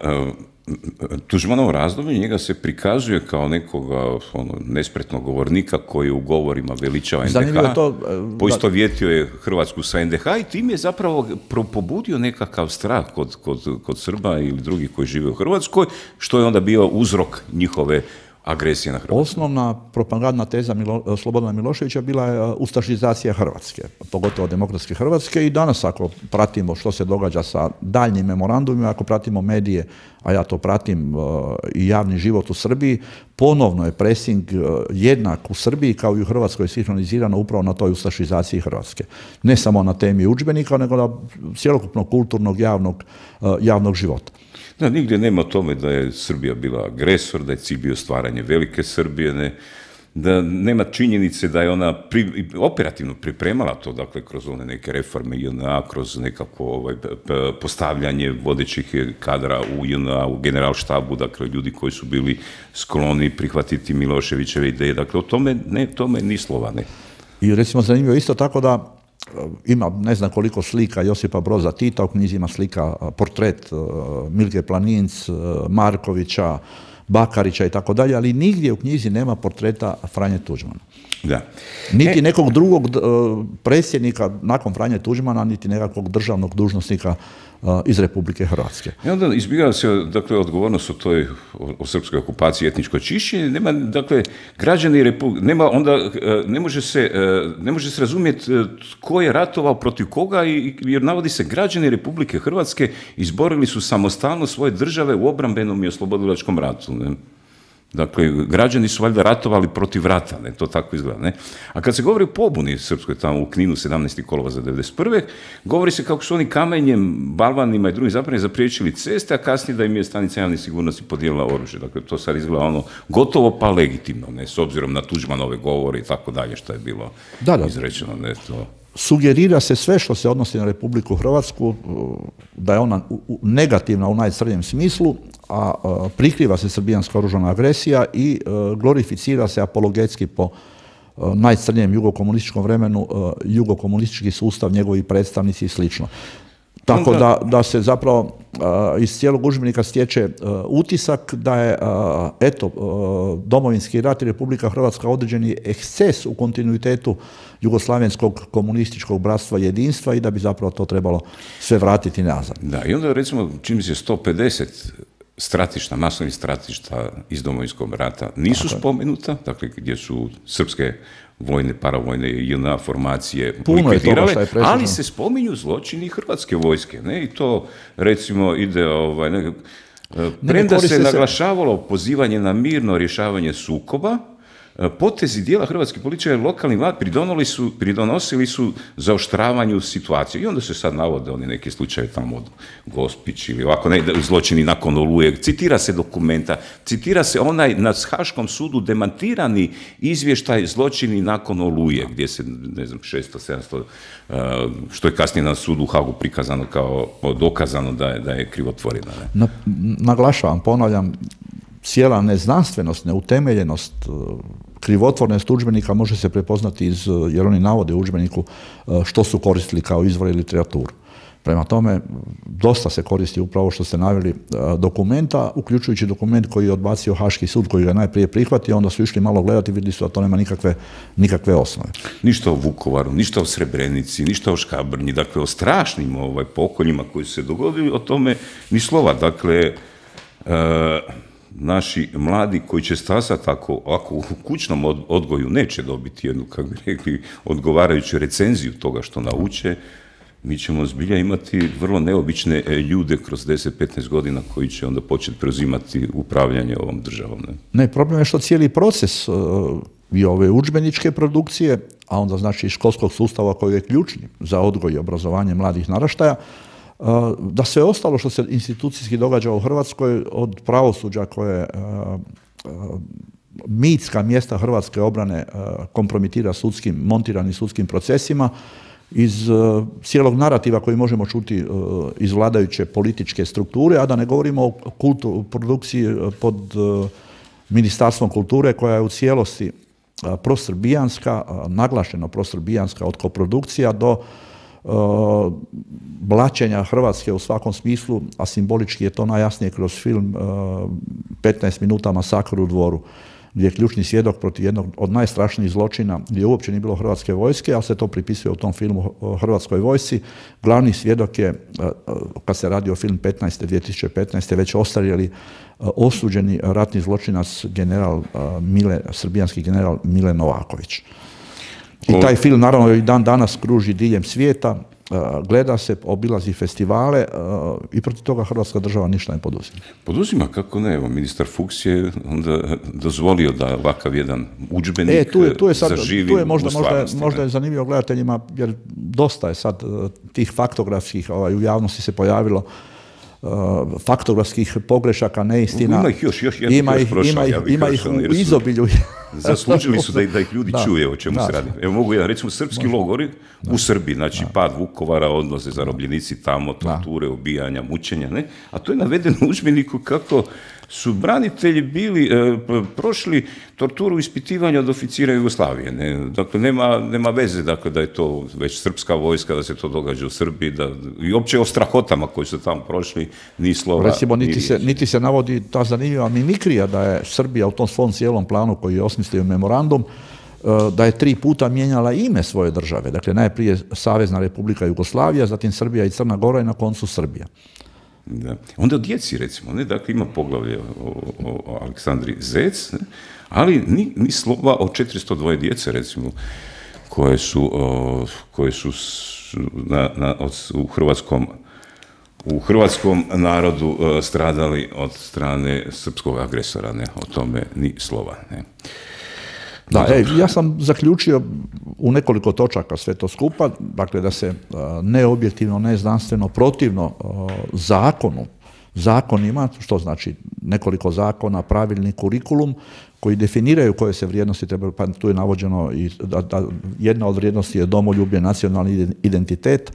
uh, Tuđmanovo razdoblje, njega se prikazuje kao nekoga ono, nespretnog govornika koji u govorima veličava en de ha, to, uh, poistovjetio je Hrvatsku sa en de ha i tim je zapravo pobudio nekakav strah kod, kod, kod Srba ili drugih koji žive u Hrvatskoj, što je onda bio uzrok njihove agresije na Hrvatsku. Osnovna propagandna teza Milo, Slobodana Miloševića bila je ustašizacija Hrvatske, pogotovo demokratske Hrvatske i danas ako pratimo što se događa sa daljnjim memorandumima, ako pratimo medije, a ja to pratim i javni život u Srbiji, ponovno je presing jednak u Srbiji kao i u Hrvatskoj sinhronizirano upravo na toj ustašizaciji Hrvatske. Ne samo na temi udžbenika, nego na cjelokupnog kulturnog javnog, javnog života. Da, nigdje nema o tome da je Srbija bila agresor, da je cilj bio stvaranje velike Srbije, ne, da nema činjenice da je ona pri, operativno pripremala to, dakle, kroz one neke reforme J N A, kroz nekako ovaj, postavljanje vodećih kadra u J N A, u generalštabu, dakle, ljudi koji su bili skloni prihvatiti Miloševićeve ideje, dakle, o tome, ne, tome ni slova, ne. I recimo zanimljivo isto tako da ima ne znam koliko slika Josipa Broza Tita, u knjizi ima slika portret Milke Planinc, Markovića, Bakarića i tako dalje, ali nigdje u knjizi nema portreta Franje Tuđmana. Da. Niti e... nekog drugog predsjednika nakon Franje Tuđmana, niti nekakvog državnog dužnosnika iz Republike Hrvatske. I onda izbjegava se, dakle, odgovornost o toj, o, o srpskoj okupaciji, etničko čišćenje, nema, dakle, građani Republike, nema, onda ne može se, ne može se razumjeti tko je ratovao protiv koga, i, jer navodi se građani Republike Hrvatske izborili su samostalno svoje države u obrambenom i oslobodilačkom ratu, ne? Dakle, građani su valjda ratovali protiv rata, ne, to tako izgleda, ne. A kad se govori o pobuni srpskoj tamo u Kninu sedamnaestog kolovoza devedeset prve govori se kako su oni kamenjem, balvanima i drugim zapravo zapriječili ceste, a kasnije da im je stanica javne sigurnosti podijelila oružje. Dakle, to sad izgleda ono gotovo pa legitimno, ne, s obzirom na Tuđmanove govore i tako dalje, što je bilo da, da. izrečeno, ne, to... Sugerira se sve što se odnosi na Republiku Hrvatsku, da je ona negativna u najcrnjem smislu, a prikriva se srbijanska oružana agresija i glorificira se apologetski po najcrnijem jugokomunističkom vremenu, jugokomunistički sustav, njegovi predstavnici i slično. Tako da, da se zapravo uh, iz cijelog udžbenika stječe uh, utisak da je uh, eto, uh, Domovinski rat i Republika Hrvatska određeni eksces u kontinuitetu jugoslavenskog komunističkog bratstva i jedinstva i da bi zapravo to trebalo sve vratiti nazad. Da, i onda recimo čini mi se sto pedeset stratišta, masovnih stratišta iz Domovinskog rata nisu Tako spomenuta, dakle gdje su srpske vojne, paravojne i J N A formacije likvidirale, ali se spominju zločini hrvatske vojske, ne, i to recimo ide, ovaj, ne, premda se naglašavalo pozivanje na mirno rješavanje sukoba, potezi dijela hrvatskih političara i lokalnih vlad su, pridonosili su zaoštravanju situacije. I onda se sad navode oni neki slučaje tamo od Gospić ili ovako, ne, zločini nakon Oluje. Citira se dokumenta, citira se onaj na Haškom sudu demantirani izvještaj zločini nakon Oluje, gdje se, ne znam, šesto sedamsto, što je kasnije na sudu u Hagu prikazano kao dokazano da je, da je krivotvorina. Ne? Na, naglašavam, ponavljam, cijela neznanstvenost, neutemeljenost, krivotvornost udžbenika može se prepoznati iz, jer oni navode u udžbeniku što su koristili kao izvor i literaturu. Prema tome, dosta se koristi upravo što ste naveli dokumenta, uključujući dokument koji je odbacio Haški sud, koji ga najprije prihvatio, onda su išli malo gledati i vidjeli su da to nema nikakve, nikakve osnove. Ništa o Vukovaru, ništa o Srebrenici, ništa o Škabrnji, dakle o strašnim ovaj, pokoljima koji su se dogodili, o tome ni slova. Dakle, e, naši mladi koji će stasati ako, ako u kućnom odgoju neće dobiti jednu, kako bi rekli, odgovarajuću recenziju toga što nauče, mi ćemo zbilja imati vrlo neobične ljude kroz deset do petnaest godina koji će onda početi preuzimati upravljanje ovom državom. Ne, ne problem je što cijeli proces uh, i ove udžbeničke produkcije, a onda znači školskog sustava koji je ključni za odgoj i obrazovanje mladih naraštaja, da sve ostalo što se institucijski događa u Hrvatskoj, od pravosuđa koje mitska mjesta hrvatske obrane kompromitira sudskim, montiranim sudskim procesima, iz cijelog narativa koji možemo čuti iz vladajuće političke strukture, a da ne govorimo o kultu, produkciji pod Ministarstvom kulture koja je u cijelosti prosrbijanska, naglašeno prosrbijanska od koprodukcija do Uh, blaćenja Hrvatske u svakom smislu, a simbolički je to najjasnije kroz film uh, petnaest minuta masakr u Dvoru, gdje je ključni svjedok protiv jednog od najstrašnijih zločina, gdje uopće nije bilo hrvatske vojske, ali se to pripisuje u tom filmu hrvatskoj vojsci. Glavni svjedok je, uh, kad se radi o film petnaeste, dvije tisuće petnaeste, već ostarjeli uh, osuđeni ratni zločinac general uh, Mile, srbijanski general Mile Novaković. I taj film naravno i dan danas kruži diljem svijeta, gleda se, obilazi festivale i protiv toga Hrvatska država ništa ne poduzima. Poduzima, kako ne, evo, ministar Fuchs je onda dozvolio da ovakav jedan udžbenik e, tu je, tu je sad, zaživi tu je možda, u stvarnosti. Možda, možda je zanimljivo gledateljima, jer dosta je sad tih faktografskih ovaj, u javnosti se pojavilo Uh, faktografskih pogrešaka, neistina. Ima ih još, još jedan ima još prošao, ima ih, ja bih ima ih u izobilju. Zaslužili su da ih, da ih ljudi da, čuje o čemu da, se radi. Evo mogu jedan, recimo srpski Može. logori da. u Srbiji, znači da. pad Vukovara, odnose zarobljenici tamo, torture, da. ubijanja, mučenja, ne? A to je navedeno u udžbeniku kako su branitelji bili, e, prošli torturu ispitivanja od oficira Jugoslavije. Ne? Dakle, nema, nema veze dakle, da je to već srpska vojska, da se to događa u Srbiji, da, i opće o strahotama koji su tamo prošli, ni slova. Recimo, niti, ni se, niti se navodi ta zanimljiva mimikrija da je Srbija u tom svom cijelom planu koji je osmislio memorandum, da je tri puta mijenjala ime svoje države. Dakle, najprije Savezna Republika Jugoslavija, zatim Srbija i Crna Gora i na koncu Srbija. Da. Onda o djeci, recimo, ne? Dakle, ima poglavlje o, o, o Aleksandri Zec, ne? Ali ni, ni slova o četiristo dva djece, recimo, koje su, o, koje su na, na, od, u hrvatskom u hrvatskom narodu o, stradali od strane srpskog agresora, ne? O tome ni slova, ne? Da, e, ja sam zaključio u nekoliko točaka sve to skupa, dakle da se neobjektivno, neznanstveno, protivno zakonu, zakonima, što znači nekoliko zakona, pravilnik, kurikulum, koji definiraju koje se vrijednosti trebaju, pa tu je navođeno i da, da jedna od vrijednosti je domoljublje, nacionalni identitet,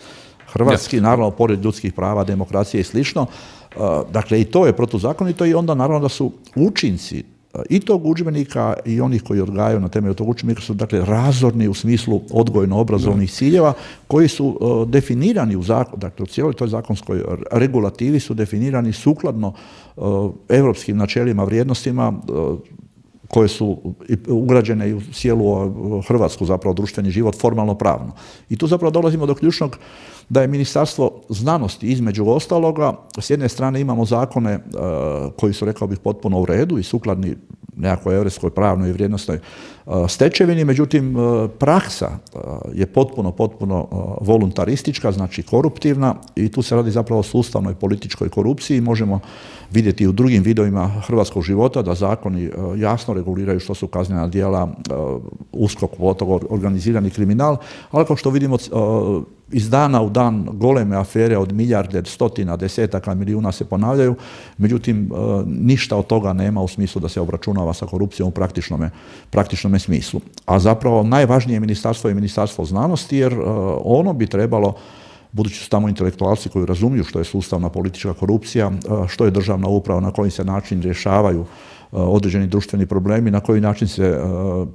hrvatski, ja. naravno, pored ljudskih prava, demokracije i slično. Dakle, i to je protuzakonito i onda naravno da su učinci i tog udžbenika i onih koji odgajaju na temelju tog udžbenika su dakle razorni u smislu odgojno-obrazovnih ciljeva koji su uh, definirani u zakonu, dakle u cijeloj toj zakonskoj regulativi su definirani sukladno uh, europskim načelima, vrijednostima uh, koje su ugrađene i u cijelu hrvatsku zapravo društveni život formalno pravno. I tu zapravo dolazimo do ključnog da je Ministarstvo znanosti između ostaloga, s jedne strane imamo zakone uh, koji su, rekao bih, potpuno u redu i sukladni nekakvoj europskoj pravnoj i vrijednosnoj uh, stečevini, međutim uh, praksa uh, je potpuno, potpuno uh, voluntaristička, znači koruptivna i tu se radi zapravo o sustavnoj političkoj korupciji. Možemo vidjeti u drugim vidovima hrvatskog života da zakoni uh, jasno reguliraju što su kaznena djela, uh, uskok, organizirani kriminal, ali kao što vidimo uh, iz dana u dan goleme afere od milijarde, stotina, desetaka milijuna se ponavljaju, međutim ništa od toga nema u smislu da se obračunava sa korupcijom u praktičnome, praktičnome smislu. A zapravo najvažnije ministarstvo je Ministarstvo znanosti jer ono bi trebalo, budući su tamo intelektualci koji razumiju što je sustavna politička korupcija, što je državna uprava, na koji se način rješavaju određeni društveni problemi, na koji način se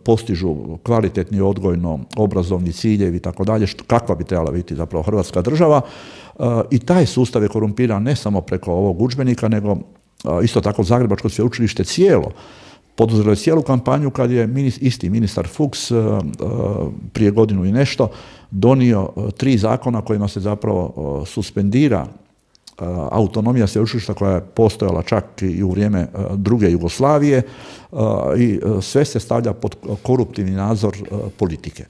postižu kvalitetni odgojno obrazovni ciljevi i tako dalje, kakva bi trebala biti zapravo Hrvatska država. I taj sustav je korumpiran ne samo preko ovog udžbenika, nego isto tako Zagrebačko sveučilište cijelo poduzelo je cijelu kampanju kad je isti ministar Fuchs prije godinu i nešto donio tri zakona kojima se zapravo suspendira autonomija sveučilišta koja je postojala čak i u vrijeme druge Jugoslavije i sve se stavlja pod koruptivni nadzor politike.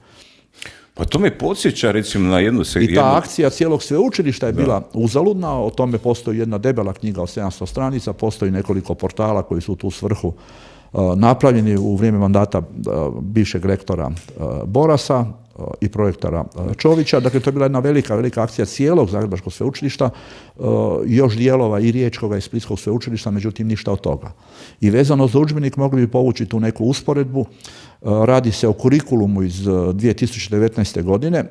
Pa to me podsjeća recimo na jednu... I ta akcija cijelog sveučilišta je bila uzaludna, o tome postoji jedna debela knjiga od sedamsto stranica, postoji nekoliko portala koji su u tu svrhu napravljeni u vrijeme mandata bivšeg rektora Borasa i projektora Čovića. Dakle, to je bila jedna velika, velika akcija cijelog Zagrebačkog sveučilišta, još dijelova i Riječkoga i Splitskog sveučilišta, međutim ništa od toga. I vezano za udžbenik mogli bi povući tu neku usporedbu. Radi se o kurikulumu iz dvije tisuće devetnaeste. godine,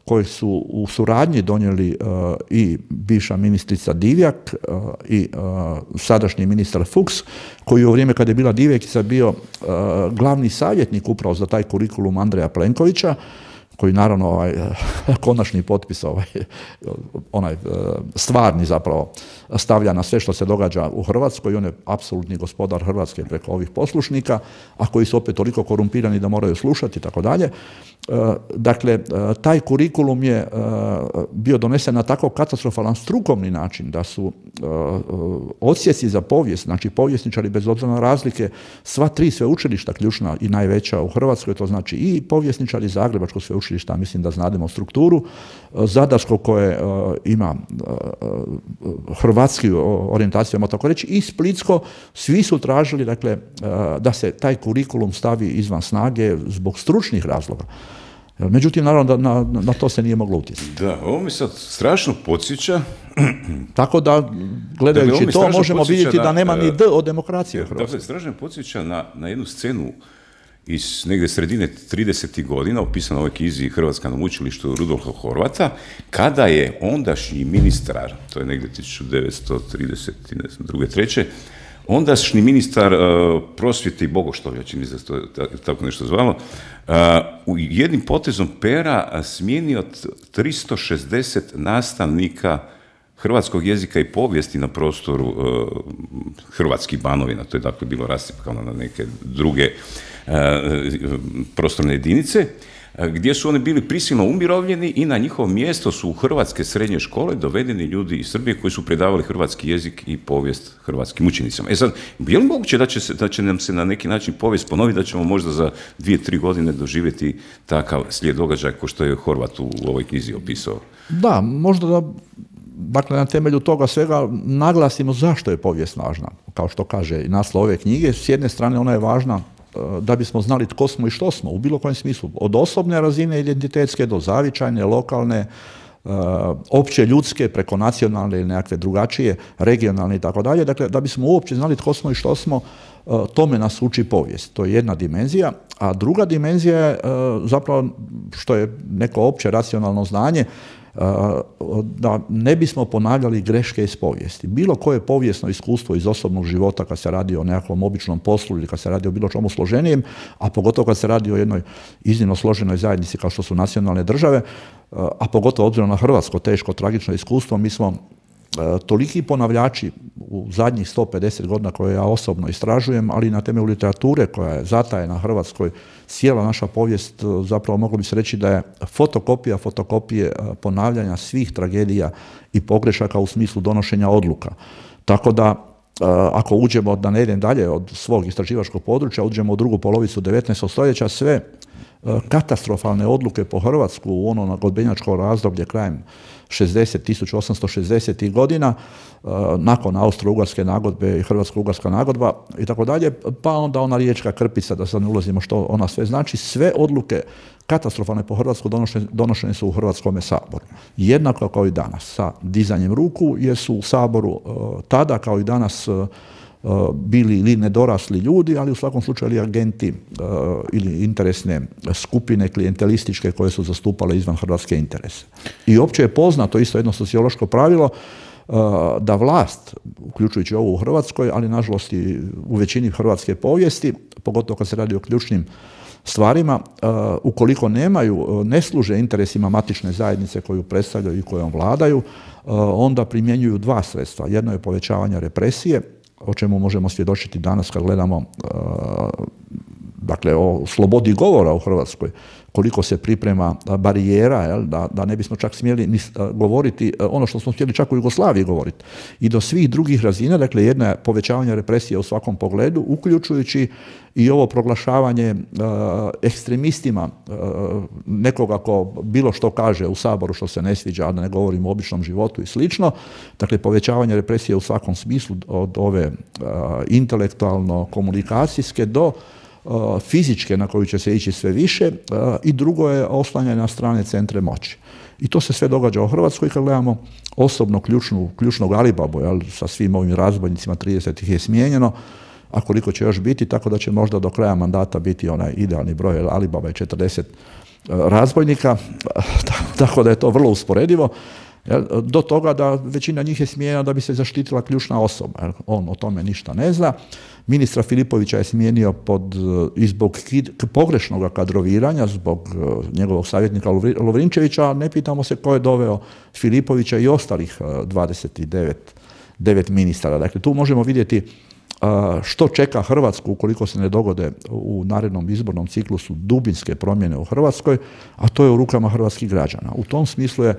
koji su u suradnji donijeli uh, i bivša ministrica Divjak uh, i uh, sadašnji ministar Fuchs, koji je u vrijeme kada je bila Divjakica bio uh, glavni savjetnik upravo za taj kurikulum Andreja Plenkovića, koji naravno ovaj, konačni potpis, ovaj, onaj stvarni zapravo stavlja na sve što se događa u Hrvatskoj i on je apsolutni gospodar Hrvatske preko ovih poslušnika, a koji su opet toliko korumpirani da moraju slušati i tako dalje. Dakle, taj kurikulum je bio donesen na tako katastrofalan strukovni način da su odsjeci za povijest, znači povjesničari bez obzira na razlike, sva tri sveučilišta ključna i najveća u Hrvatskoj, to znači i povjesničari Zagrebačkog sveučilišta, mislim da znademo strukturu, Zadarsko koje ima hrvatski orijentaciju, možemo tako reći, i Splitsko, svi su tražili dakle, da se taj kurikulum stavi izvan snage zbog stručnih razloga. Međutim, naravno, da na, na to se nije moglo utjecati. Da, ovo mi sad strašno podsjeća. Tako da, gledajući to, možemo vidjeti na, da nema ni D od demokracije u Hrvatskoj. Dakle, strašno podsjeća na, na jednu scenu iz negdje sredine tridesetih godina, opisano u ovoj knjizi Hrvatska na učilištu Rudolfa Horvata, kada je ondašnji ministar, to je negdje tisuću devetsto trideset druge treće ondašnji ministar uh, prosvjete i bogoštovlja, čini mi se to tako nešto zvalo, uh, u jednim potezom pera uh, smijenio tristo šezdeset nastavnika hrvatskog jezika i povijesti na prostoru uh, hrvatskih Banovina, to je dakle bilo rascjepkano na neke druge uh, prostorne jedinice, gdje su oni bili prisilno umirovljeni i na njihovo mjesto su u hrvatske srednje škole dovedeni ljudi iz Srbije koji su predavali hrvatski jezik i povijest hrvatskim učenicama. E sad, je li moguće da će, se, da će nam se na neki način povijest ponoviti, da ćemo možda za dvije, tri godine doživjeti takav slijed događaja kao što je Horvat u ovoj knjizi opisao? Da, možda da, dakle, na temelju toga svega naglasimo zašto je povijest važna. Kao što kaže i naslov ove knjige, s jedne strane ona je važna da bismo znali tko smo i što smo, u bilo kojem smislu. Od osobne razine identitetske do zavičajne, lokalne, opće ljudske, preko nacionalne ili nekakve drugačije, regionalne i tako dalje. Dakle, da bismo uopće znali tko smo i što smo, tome nas uči povijest. To je jedna dimenzija, a druga dimenzija je zapravo, što je neko opće racionalno znanje, da ne bismo ponavljali greške iz povijesti. Bilo koje povijesno iskustvo iz osobnog života kad se radi o nekakvom običnom poslu ili kad se radi o bilo čemu složenijem, a pogotovo kad se radi o jednoj iznimno složenoj zajednici kao što su nacionalne države, a pogotovo obzirom na hrvatsko teško, tragično iskustvo, mi smo toliki ponavljači u zadnjih sto pedeset godina koje ja osobno istražujem, ali i na temelju literature koja je zatajena na Hrvatskoj, cijela naša povijest, zapravo moglo bi se reći da je fotokopija fotokopije ponavljanja svih tragedija i pogrešaka u smislu donošenja odluka. Tako da, ako uđemo, da ne idem dalje od svog istraživačkog područja, uđemo u drugu polovicu devetnaestog stoljeća, sve katastrofalne odluke po Hrvatsku u ono nagodbenjačko razdoblje krajem šezdesetih, tisuću osamsto šezdesetih godina, nakon Austro-Ugarske nagodbe i Hrvatsko-Ugarska nagodba i tako dalje, pa onda ona riječka krpica, da sad ne ulazimo što ona sve znači, sve odluke katastrofalne po Hrvatsku donošene, donošene su u Hrvatskome saboru. Jednako kao i danas, sa dizanjem ruku, jer su u Saboru tada kao i danas bili ili nedorasli ljudi, ali u svakom slučaju ili agenti uh, ili interesne skupine klijentelističke koje su zastupale izvan hrvatske interese. I opće je poznato isto jedno sociološko pravilo uh, da vlast, uključujući ovo u Hrvatskoj, ali nažalost i u većini hrvatske povijesti, pogotovo kad se radi o ključnim stvarima, uh, ukoliko nemaju, uh, ne služe interesima matične zajednice koju predstavljaju i kojom vladaju, uh, onda primjenjuju dva sredstva. Jedno je povećavanje represije, o čemu možemo svjedočiti danas kad gledamo uh, dakle, o slobodi govora u Hrvatskoj, koliko se priprema barijera, jel, da, da ne bismo čak smjeli ni, uh, govoriti uh, ono što smo htjeli čak u Jugoslaviji govoriti. I do svih drugih razina, dakle, jedna je povećavanje represije u svakom pogledu, uključujući i ovo proglašavanje uh, ekstremistima uh, nekoga ko bilo što kaže u Saboru što se ne sviđa, a da ne govorimo o običnom životu i slično. Dakle, povećavanje represije u svakom smislu, od ove uh, intelektualno-komunikacijske do uh, fizičke na koju će se ići sve više, uh, i drugo je oslanjanje na strane centre moći. I to se sve događa u Hrvatskoj kad gledamo osobno ključnu, ključnog Alibabu, jel, sa svim ovim razbojnicima, trideset ih je smijenjeno, a koliko će još biti, tako da će možda do kraja mandata biti onaj idealni broj, jer Alibaba je četrdeset razbojnika, tako da je to vrlo usporedivo, do toga da većina njih je smijenjena da bi se zaštitila ključna osoba. On o tome ništa ne zna. Ministra Filipovića je smijenio pod, i zbog pogrešnog kadroviranja, zbog njegovog savjetnika Lovrinčevića, a ne pitamo se ko je doveo Filipovića i ostalih dvadeset devet ministara. Dakle, tu možemo vidjeti što čeka Hrvatsku ukoliko se ne dogode u narednom izbornom ciklusu dubinske promjene u Hrvatskoj, a to je u rukama hrvatskih građana. U tom smislu je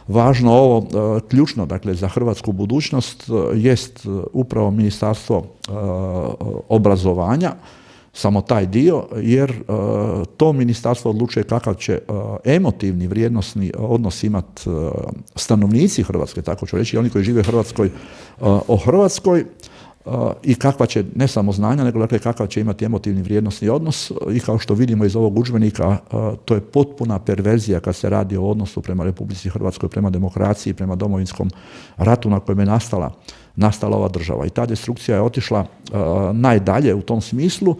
važno ovo ključno, dakle, za hrvatsku budućnost jest upravo Ministarstvo obrazovanja, samo taj dio, jer to ministarstvo odlučuje kakav će emotivni, vrijednosni odnos imati stanovnici Hrvatske, tako ću reći, oni koji žive u Hrvatskoj o Hrvatskoj, i kakva će, ne samo znanja, nego dakle kakav će imati emotivni vrijednosni odnos, i kao što vidimo iz ovog udžbenika, to je potpuna perverzija kad se radi o odnosu prema Republici Hrvatskoj, prema demokraciji, prema Domovinskom ratu na kojem je nastala, nastala ova država. I ta destrukcija je otišla uh, najdalje u tom smislu,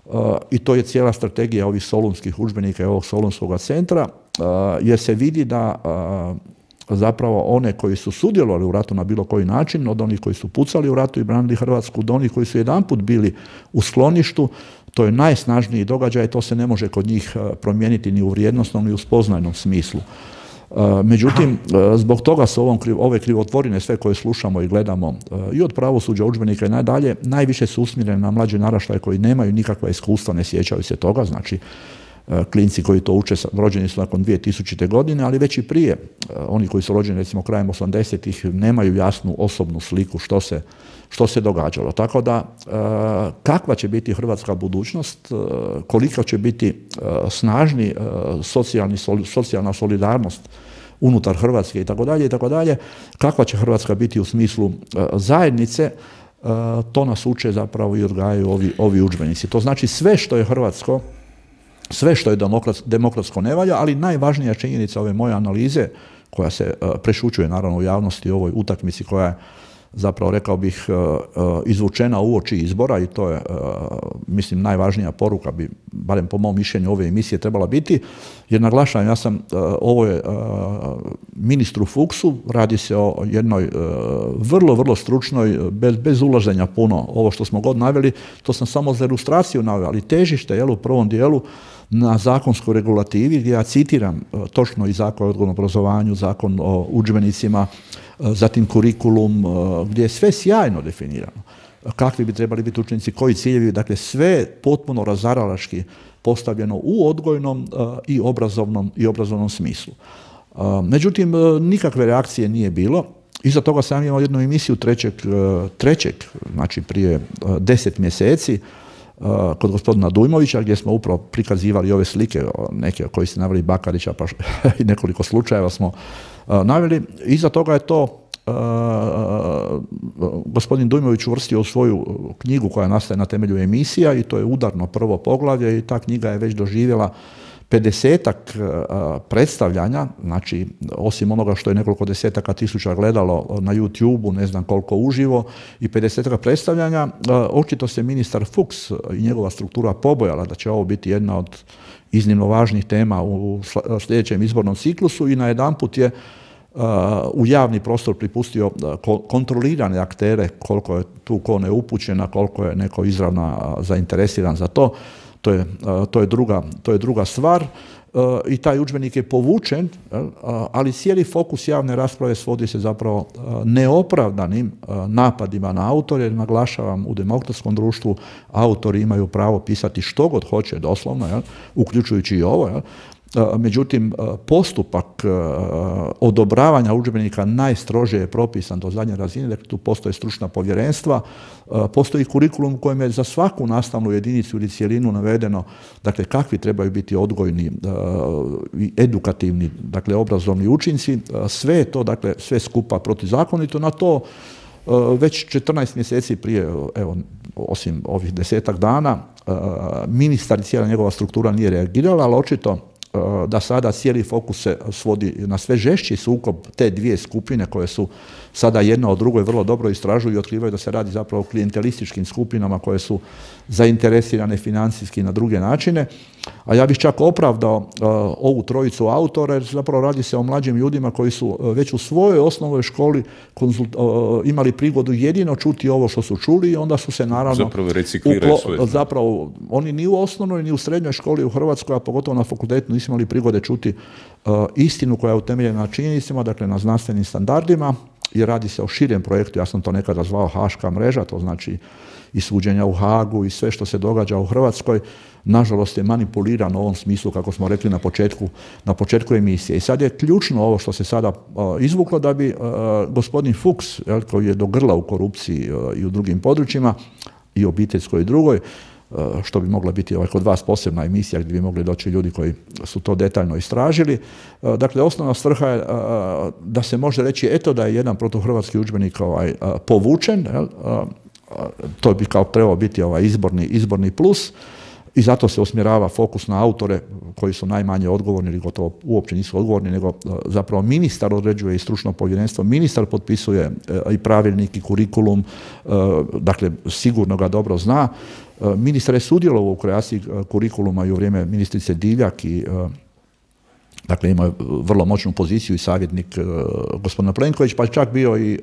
uh, i to je cijela strategija ovih solunskih udžbenika i ovog solunskog centra, uh, jer se vidi da uh, zapravo one koji su sudjelovali u ratu na bilo koji način, od onih koji su pucali u ratu i branili Hrvatsku, do onih koji su jedanput bili u skloništu, to je najsnažniji događaj, to se ne može kod njih promijeniti ni u vrijednosnom ni u spoznajnom smislu. Međutim, zbog toga su ovom, ove krivotvorine, sve koje slušamo i gledamo, i od pravosuđa, udžbenika i nadalje, najviše su usmjerene na mlađe naraštaje koji nemaju nikakva iskustva, ne sjećaju se toga, znači klinci koji to uče, rođeni su nakon dvije tisućite. godine, ali već i prije, oni koji su rođeni recimo krajem osamdesetih nemaju jasnu osobnu sliku što se, što se događalo. Tako da, kakva će biti hrvatska budućnost, koliko će biti snažni socijalni, socijalna solidarnost unutar Hrvatske i tako dalje i tako dalje, kakva će Hrvatska biti u smislu zajednice, to nas uče zapravo i odgajaju ovi, ovi udžbenici. To znači sve što je hrvatsko, sve što je demokratsko ne valja, ali najvažnija činjenica ove moje analize, koja se uh, prešućuje naravno u javnosti u ovoj utakmici koja je zapravo rekao bih izvučena uoči izbora i to je, mislim, najvažnija poruka bi, barem po mom mišljenju, ove emisije trebala biti, jer naglašavam, ja sam ovo je ministru Fuchsu, radi se o jednoj vrlo, vrlo stručnoj, bez, bez ulaženja puno, ovo što smo god naveli, to sam samo za ilustraciju naveo, ali težište, jel, u prvom dijelu na zakonskoj regulativi, gdje ja citiram točno i Zakon o odgojnom obrazovanju, Zakon o udžbenicima, zatim kurikulum, gdje je sve sjajno definirano. Kakvi bi trebali biti učenici, koji ciljevi, dakle sve potpuno razaralački postavljeno u odgojnom i obrazovnom, i obrazovnom smislu. Međutim, nikakve reakcije nije bilo. Iza toga sam imao jednu emisiju trećeg, trećeg, znači prije deset mjeseci, kod gospodina Dujmovića, gdje smo upravo prikazivali ove slike, neke koji ste naveli Bakarića, pa i nekoliko slučajeva smo naveli. Iza toga je to uh, gospodin Dujmović uvrstio u svoju knjigu koja nastaje na temelju emisija i to je udarno prvo poglavlje i ta knjiga je već doživjela pedesetak predstavljanja, znači osim onoga što je nekoliko desetaka tisuća gledalo na YouTubeu, ne znam koliko uživo, i pedesetak predstavljanja, očito se ministar Fuchs i njegova struktura pobojala da će ovo biti jedna od iznimno važnih tema u sljedećem izbornom ciklusu i najedanput je u javni prostor pripustio kontrolirane aktere, koliko je tu ko neupućena, koliko je neko izravno zainteresiran za to. To je, to je, druga, to je druga stvar i taj udžbenik je povučen, ali cijeli fokus javne rasprave svodi se zapravo neopravdanim napadima na autore, jer naglašavam, u demokratskom društvu autori imaju pravo pisati što god hoće, doslovno, jel, uključujući i ovo, jel. Međutim, postupak odobravanja udžbenika najstrože je propisan do zadnje razine, dakle tu postoje stručna povjerenstva, postoji kurikulum u kojem je za svaku nastavnu jedinicu ili cjelinu navedeno, dakle, kakvi trebaju biti odgojni i edukativni, dakle, obrazovni učinci, sve je to, dakle, sve skupa protuzakonito. Na to već četrnaest mjeseci prije, evo, osim ovih desetak dana, ministar i cijela njegova struktura nije reagirala, ali očito da sada cijeli fokus se svodi na sve žešći sukob te dvije skupine koje su sada jedna od drugoj vrlo dobro istražuju i otkrivaju da se radi zapravo o klijentelističkim skupinama koje su zainteresirane financijski na druge načine. A ja bih čak opravdao uh, ovu trojicu autora, jer zapravo radi se o mlađim ljudima koji su uh, već u svojoj osnovnoj školi konzult, uh, imali prigodu jedino čuti ovo što su čuli i onda su se naravno zapravo recikliraju svoje. Zapravo oni ni u osnovnoj ni u srednjoj školi u Hrvatskoj, a pogotovo na fakultetu nisu imali prigode čuti uh, istinu koja je utemeljena na činjenicama, dakle na znanstvenim standardima, jer radi se o širem projektu, ja sam to nekada zvao Haška mreža, to znači i suđenja u Hagu i sve što se događa u Hrvatskoj, nažalost je manipulirano u ovom smislu, kako smo rekli na početku, na početku emisije. I sad je ključno ovo što se sada uh, izvuklo, da bi uh, gospodin Fuchs, jel, koji je do grla u korupciji uh, i u drugim područjima, i obiteljskoj i drugoj, uh, što bi mogla biti ovaj, kod vas posebna emisija gdje bi mogli doći ljudi koji su to detaljno istražili. Uh, dakle, osnovna svrha je uh, da se može reći, eto da je jedan protuhrvatski udžbenik ovaj, uh, povučen, jel, uh, to bi kao trebao biti ovaj izborni, izborni plus i zato se usmjerava fokus na autore koji su najmanje odgovorni ili gotovo uopće nisu odgovorni, nego zapravo ministar određuje i stručno povjerenstvo, ministar potpisuje i pravilnik i kurikulum, dakle sigurno ga dobro zna. Ministar je sudjelovao u kreaciji kurikuluma i u vrijeme ministrice Divjak i dakle ima vrlo moćnu poziciju i savjetnik gospodina Plenković, pa čak bio i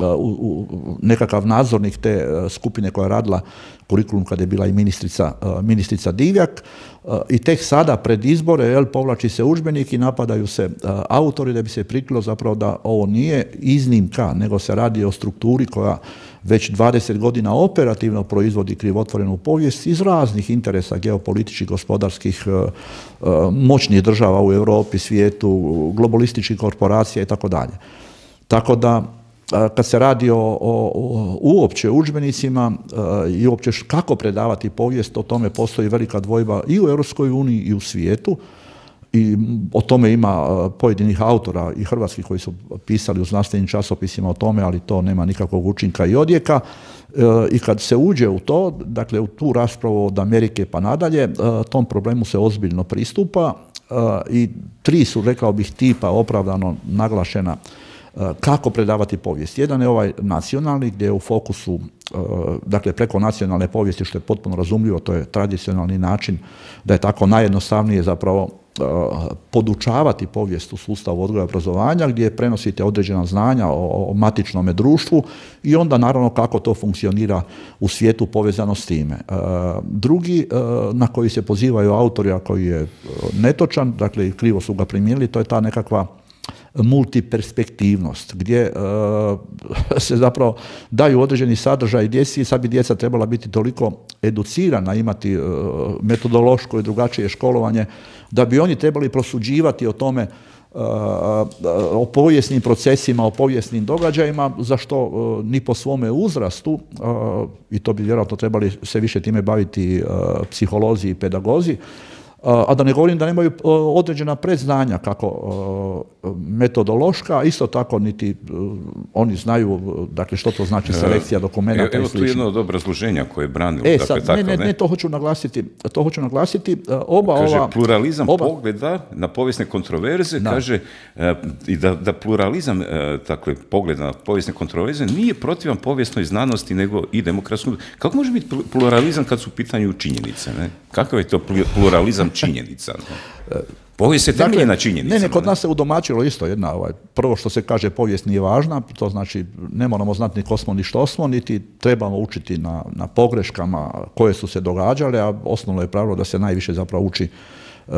U, u, nekakav nadzornik te uh, skupine koja je radila kurikulum kada je bila i ministrica, uh, ministrica Divjak uh, i tek sada pred izbore, jel, povlači se udžbenik i napadaju se uh, autori da bi se prikrilo zapravo da ovo nije iznimka, nego se radi o strukturi koja već dvadeset godina operativno proizvodi krivotvorenu povijest iz raznih interesa geopolitičkih, gospodarskih, uh, uh, moćnih država u Europi, svijetu, globalističkih korporacija i tako dalje. Tako da kad se radi o, o, o uopće udžbenicima uh, i uopće kako predavati povijest, o tome postoji velika dvojba i u Europskoj uniji i u svijetu i o tome ima uh, pojedinih autora i hrvatskih koji su pisali u znanstvenim časopisima o tome, ali to nema nikakvog učinka i odjeka. Uh, I kad se uđe u to, dakle u tu raspravu od Amerike pa nadalje, uh, tom problemu se ozbiljno pristupa uh, i tri su, rekao bih, tipa opravdano naglašena kako predavati povijest. Jedan je ovaj nacionalni, gdje je u fokusu, dakle preko nacionalne povijesti, što je potpuno razumljivo, to je tradicionalni način, da je tako najjednostavnije zapravo podučavati povijest u sustavu odgoja i obrazovanja, gdje prenosite određena znanja o, o matičnome društvu i onda naravno kako to funkcionira u svijetu povezano s time. E, drugi e, na koji se pozivaju autori, a koji je netočan, dakle krivo su ga primijenili, to je ta nekakva multiperspektivnost, gdje uh, se zapravo daju određeni sadržaj djeci i sad bi djeca trebala biti toliko educirana, imati uh, metodološko i drugačije školovanje, da bi oni trebali prosuđivati o tome, uh, o povijesnim procesima, o povijesnim događajima, za što uh, ni po svome uzrastu, uh, i to bi vjerojatno trebali se više time baviti uh, psiholozi i pedagozi, a da ne govorim da nemaju određena predznanja kako metodološka, isto tako niti oni znaju, dakle, što to znači selekcija dokumenata. Evo tu jedno od obrazloženja koje je branilo. E, sad, dakle, ne, ne, ne, ne, to hoću naglasiti. To hoću naglasiti. Oba kaže, ova... pluralizam oba, pogleda na povijesne kontroverze, da. kaže, i da, da pluralizam, dakle, pogleda na povijesne kontroverze nije protivan povijesnoj znanosti, nego i demokratskom. Kako može biti pluralizam kad su u pitanju činjenice, ne? Kakav je to pluralizam činjenica? Ne? Povijest se temelji na činjenicama. Ne, ne, kod nas se udomačilo isto jedna, ovaj, prvo što se kaže povijest nije važna, to znači ne moramo znati ni ko smo ni što smo, niti trebamo učiti na, na pogreškama koje su se događale, a osnovno je pravilo da se najviše zapravo uči uh,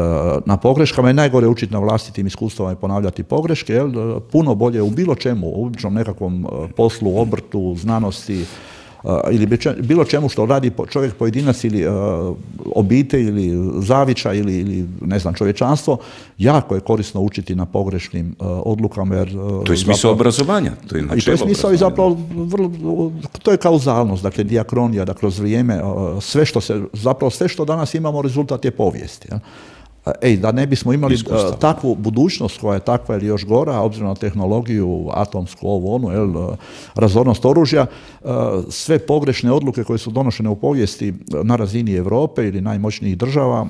na pogreškama i najgore učiti na vlastitim iskustvama i ponavljati pogreške, jel? Puno bolje u bilo čemu, u običnom nekakvom poslu, obrtu, znanosti, Uh, ili bilo čemu što radi čovjek pojedinac ili uh, obitelj ili zavičaj ili, ili ne znam čovječanstvo, jako je korisno učiti na pogrešnim uh, odlukama. Jer, uh, to je smisao zapravo, obrazovanja. To je, i to je smisao i zapravo vrlo, to je kauzalnost, dakle diakronija, da kroz vrijeme uh, sve što se, zapravo sve što danas imamo rezultat je povijesti. Ja? Ej, da ne bismo imali uh, takvu budućnost koja je takva ili još gora, obzirom na tehnologiju, atomsku, ovu, onu, jel, uh, razornost oružja, uh, sve pogrešne odluke koje su donošene u povijesti na razini Europe ili najmoćnijih država, uh,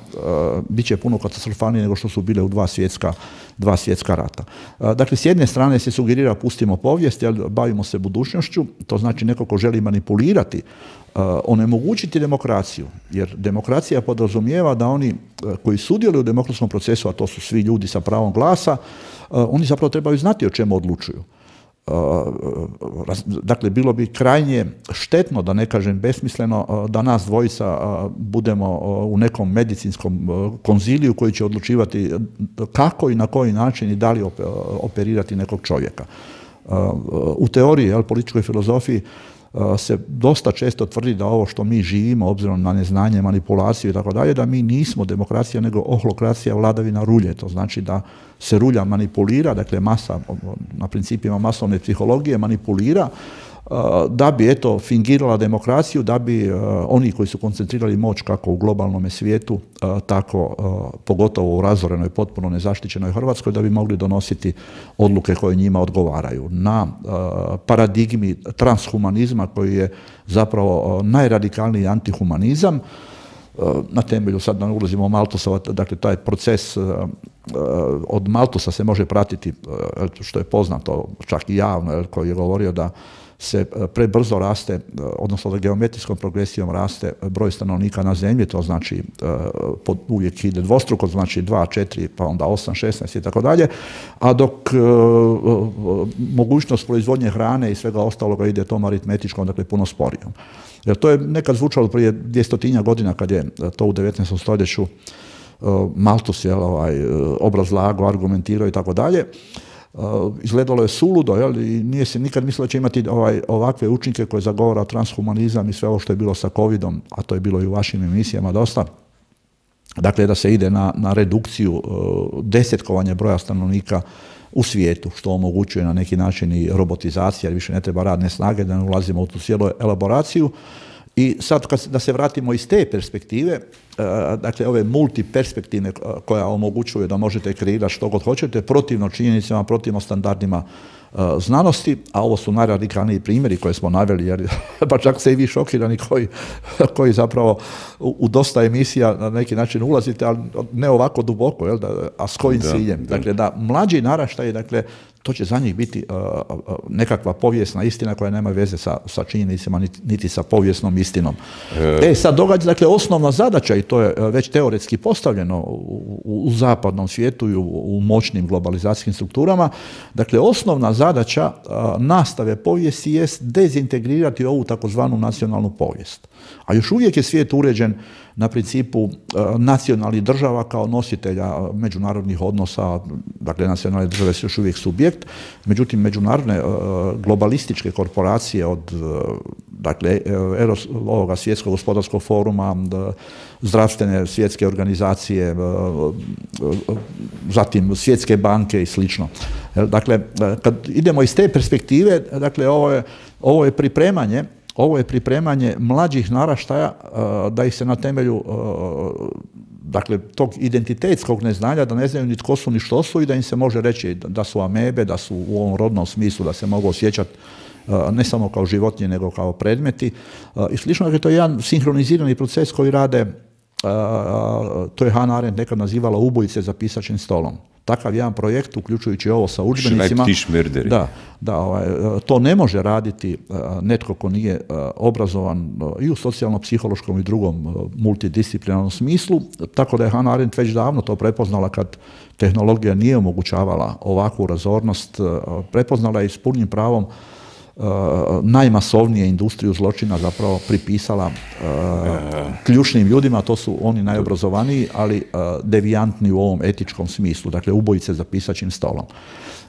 bit će puno katastrofalnije nego što su bile u dva svjetska, dva svjetska rata. Uh, dakle, s jedne strane se sugerira pustimo povijest, jel, bavimo se budućnošću, to znači neko ko želi manipulirati, Uh, onemogućiti demokraciju, jer demokracija podrazumijeva da oni uh, koji sudjeluju u demokratskom procesu, a to su svi ljudi sa pravom glasa, uh, oni zapravo trebaju znati o čemu odlučuju. Uh, raz, dakle, bilo bi krajnje štetno, da ne kažem besmisleno, uh, da nas dvojica uh, budemo uh, u nekom medicinskom uh, konziliju koji će odlučivati kako i na koji način i da li op- operirati nekog čovjeka. Uh, u teoriji, jel, političkoj filozofiji, se dosta često tvrdi da ovo što mi živimo, obzirom na neznanje, manipulaciju i tako dalje, da mi nismo demokracija, nego ohlokracija, vladavina rulje. To znači da se rulja manipulira, dakle masa, na principima masovne psihologije manipulira, da bi, eto, fingirala demokraciju, da bi oni koji su koncentrirali moć kako u globalnom svijetu, tako pogotovo u razorenoj, potpuno nezaštićenoj Hrvatskoj, da bi mogli donositi odluke koje njima odgovaraju. Na paradigmi transhumanizma, koji je zapravo najradikalniji antihumanizam, na temelju, sad da ne ulazimo Malthusova, dakle taj proces od Malthusa se može pratiti, što je poznato čak i javno, koji je govorio da se prebrzo raste, odnosno da geometrijskom progresijom raste broj stanovnika na zemlji, to znači pod, uvijek ide dvostruko, znači dva, četiri, pa onda osam, šesnaest i tako dalje, a dok uh, mogućnost proizvodnje hrane i svega ostaloga ide tom aritmetičkom, dakle puno sporijom. Jer to je nekad zvučalo prije dvjestotinja godina kad je to u devetnaestom stoljeću uh, Malthus je ovaj, obrazlagao, argumentirao i tako dalje. Uh, izgledalo je suludo, jel? I nije se nikad mislilo da će imati ovaj, ovakve učinke koje zagovara transhumanizam i sve ovo što je bilo sa covidom, a to je bilo i u vašim emisijama dosta. Dakle, da se ide na, na redukciju uh, desetkovanja broja stanovnika u svijetu, što omogućuje na neki način i robotizacija, jer više ne treba radne snage, da ne ulazimo u tu cijelu elaboraciju. I sad kad, da se vratimo iz te perspektive, dakle ove multiperspektivne koja omogućuje da možete kreirati što god hoćete, protivno činjenicama, protivno standardima znanosti, a ovo su najradikalniji primjeri koje smo naveli, jer pa čak se i vi šokirani koji, koji zapravo u, u dosta emisija na neki način ulazite, ali ne ovako duboko, jel, da, a s kojim da, ciljem. Da. Dakle, da mlađi naraštaj, dakle, to će za njih biti uh, uh, nekakva povijesna istina koja nema veze sa, sa činjenicama niti, niti sa povijesnom istinom. E, e sad događa, dakle, osnovna zadaća, i to je već teoretski postavljeno u, u, u zapadnom svijetu i u, u moćnim globalizacijskim strukturama, dakle, osnovna zadaća uh, nastave povijesti jest dezintegrirati ovu takozvanu nacionalnu povijest. A još uvijek je svijet uređen na principu uh, nacionalnih država kao nositelja uh, međunarodnih odnosa, dakle nacionalne države su još uvijek subjekt, međutim međunarodne uh, globalističke korporacije od uh, dakle Eros, ovoga svjetskog gospodarskog foruma, uh, zdravstvene svjetske organizacije, uh, uh, zatim svjetske banke i slično. Dakle, uh, kad idemo iz te perspektive, dakle ovo je, ovo je pripremanje Ovo je pripremanje mlađih naraštaja uh, da ih se na temelju uh, dakle, tog identitetskog neznanja, da ne znaju ni tko su ni što su i da im se može reći da su amebe, da su u ovom rodnom smislu, da se mogu osjećati uh, ne samo kao životinje, nego kao predmeti. Uh, I slično, dakle, to je jedan sinhronizirani proces koji rade, uh, to je Hannah Arendt nekad nazivala ubojice za pisaćim stolom. Takav jedan projekt, uključujući ovo sa udžbenicima, da, da, ovaj, to ne može raditi uh, netko ko nije uh, obrazovan uh, i u socijalno-psihološkom i drugom uh, multidisciplinarnom smislu, tako da je Hannah Arendt već davno to prepoznala kad tehnologija nije omogućavala ovakvu razornost, uh, prepoznala je s punim pravom Uh, najmasovnije industriju zločina zapravo pripisala uh, ključnim ljudima, to su oni najobrazovaniji, ali uh, devijantni u ovom etičkom smislu, dakle ubojice za pisaćim stolom.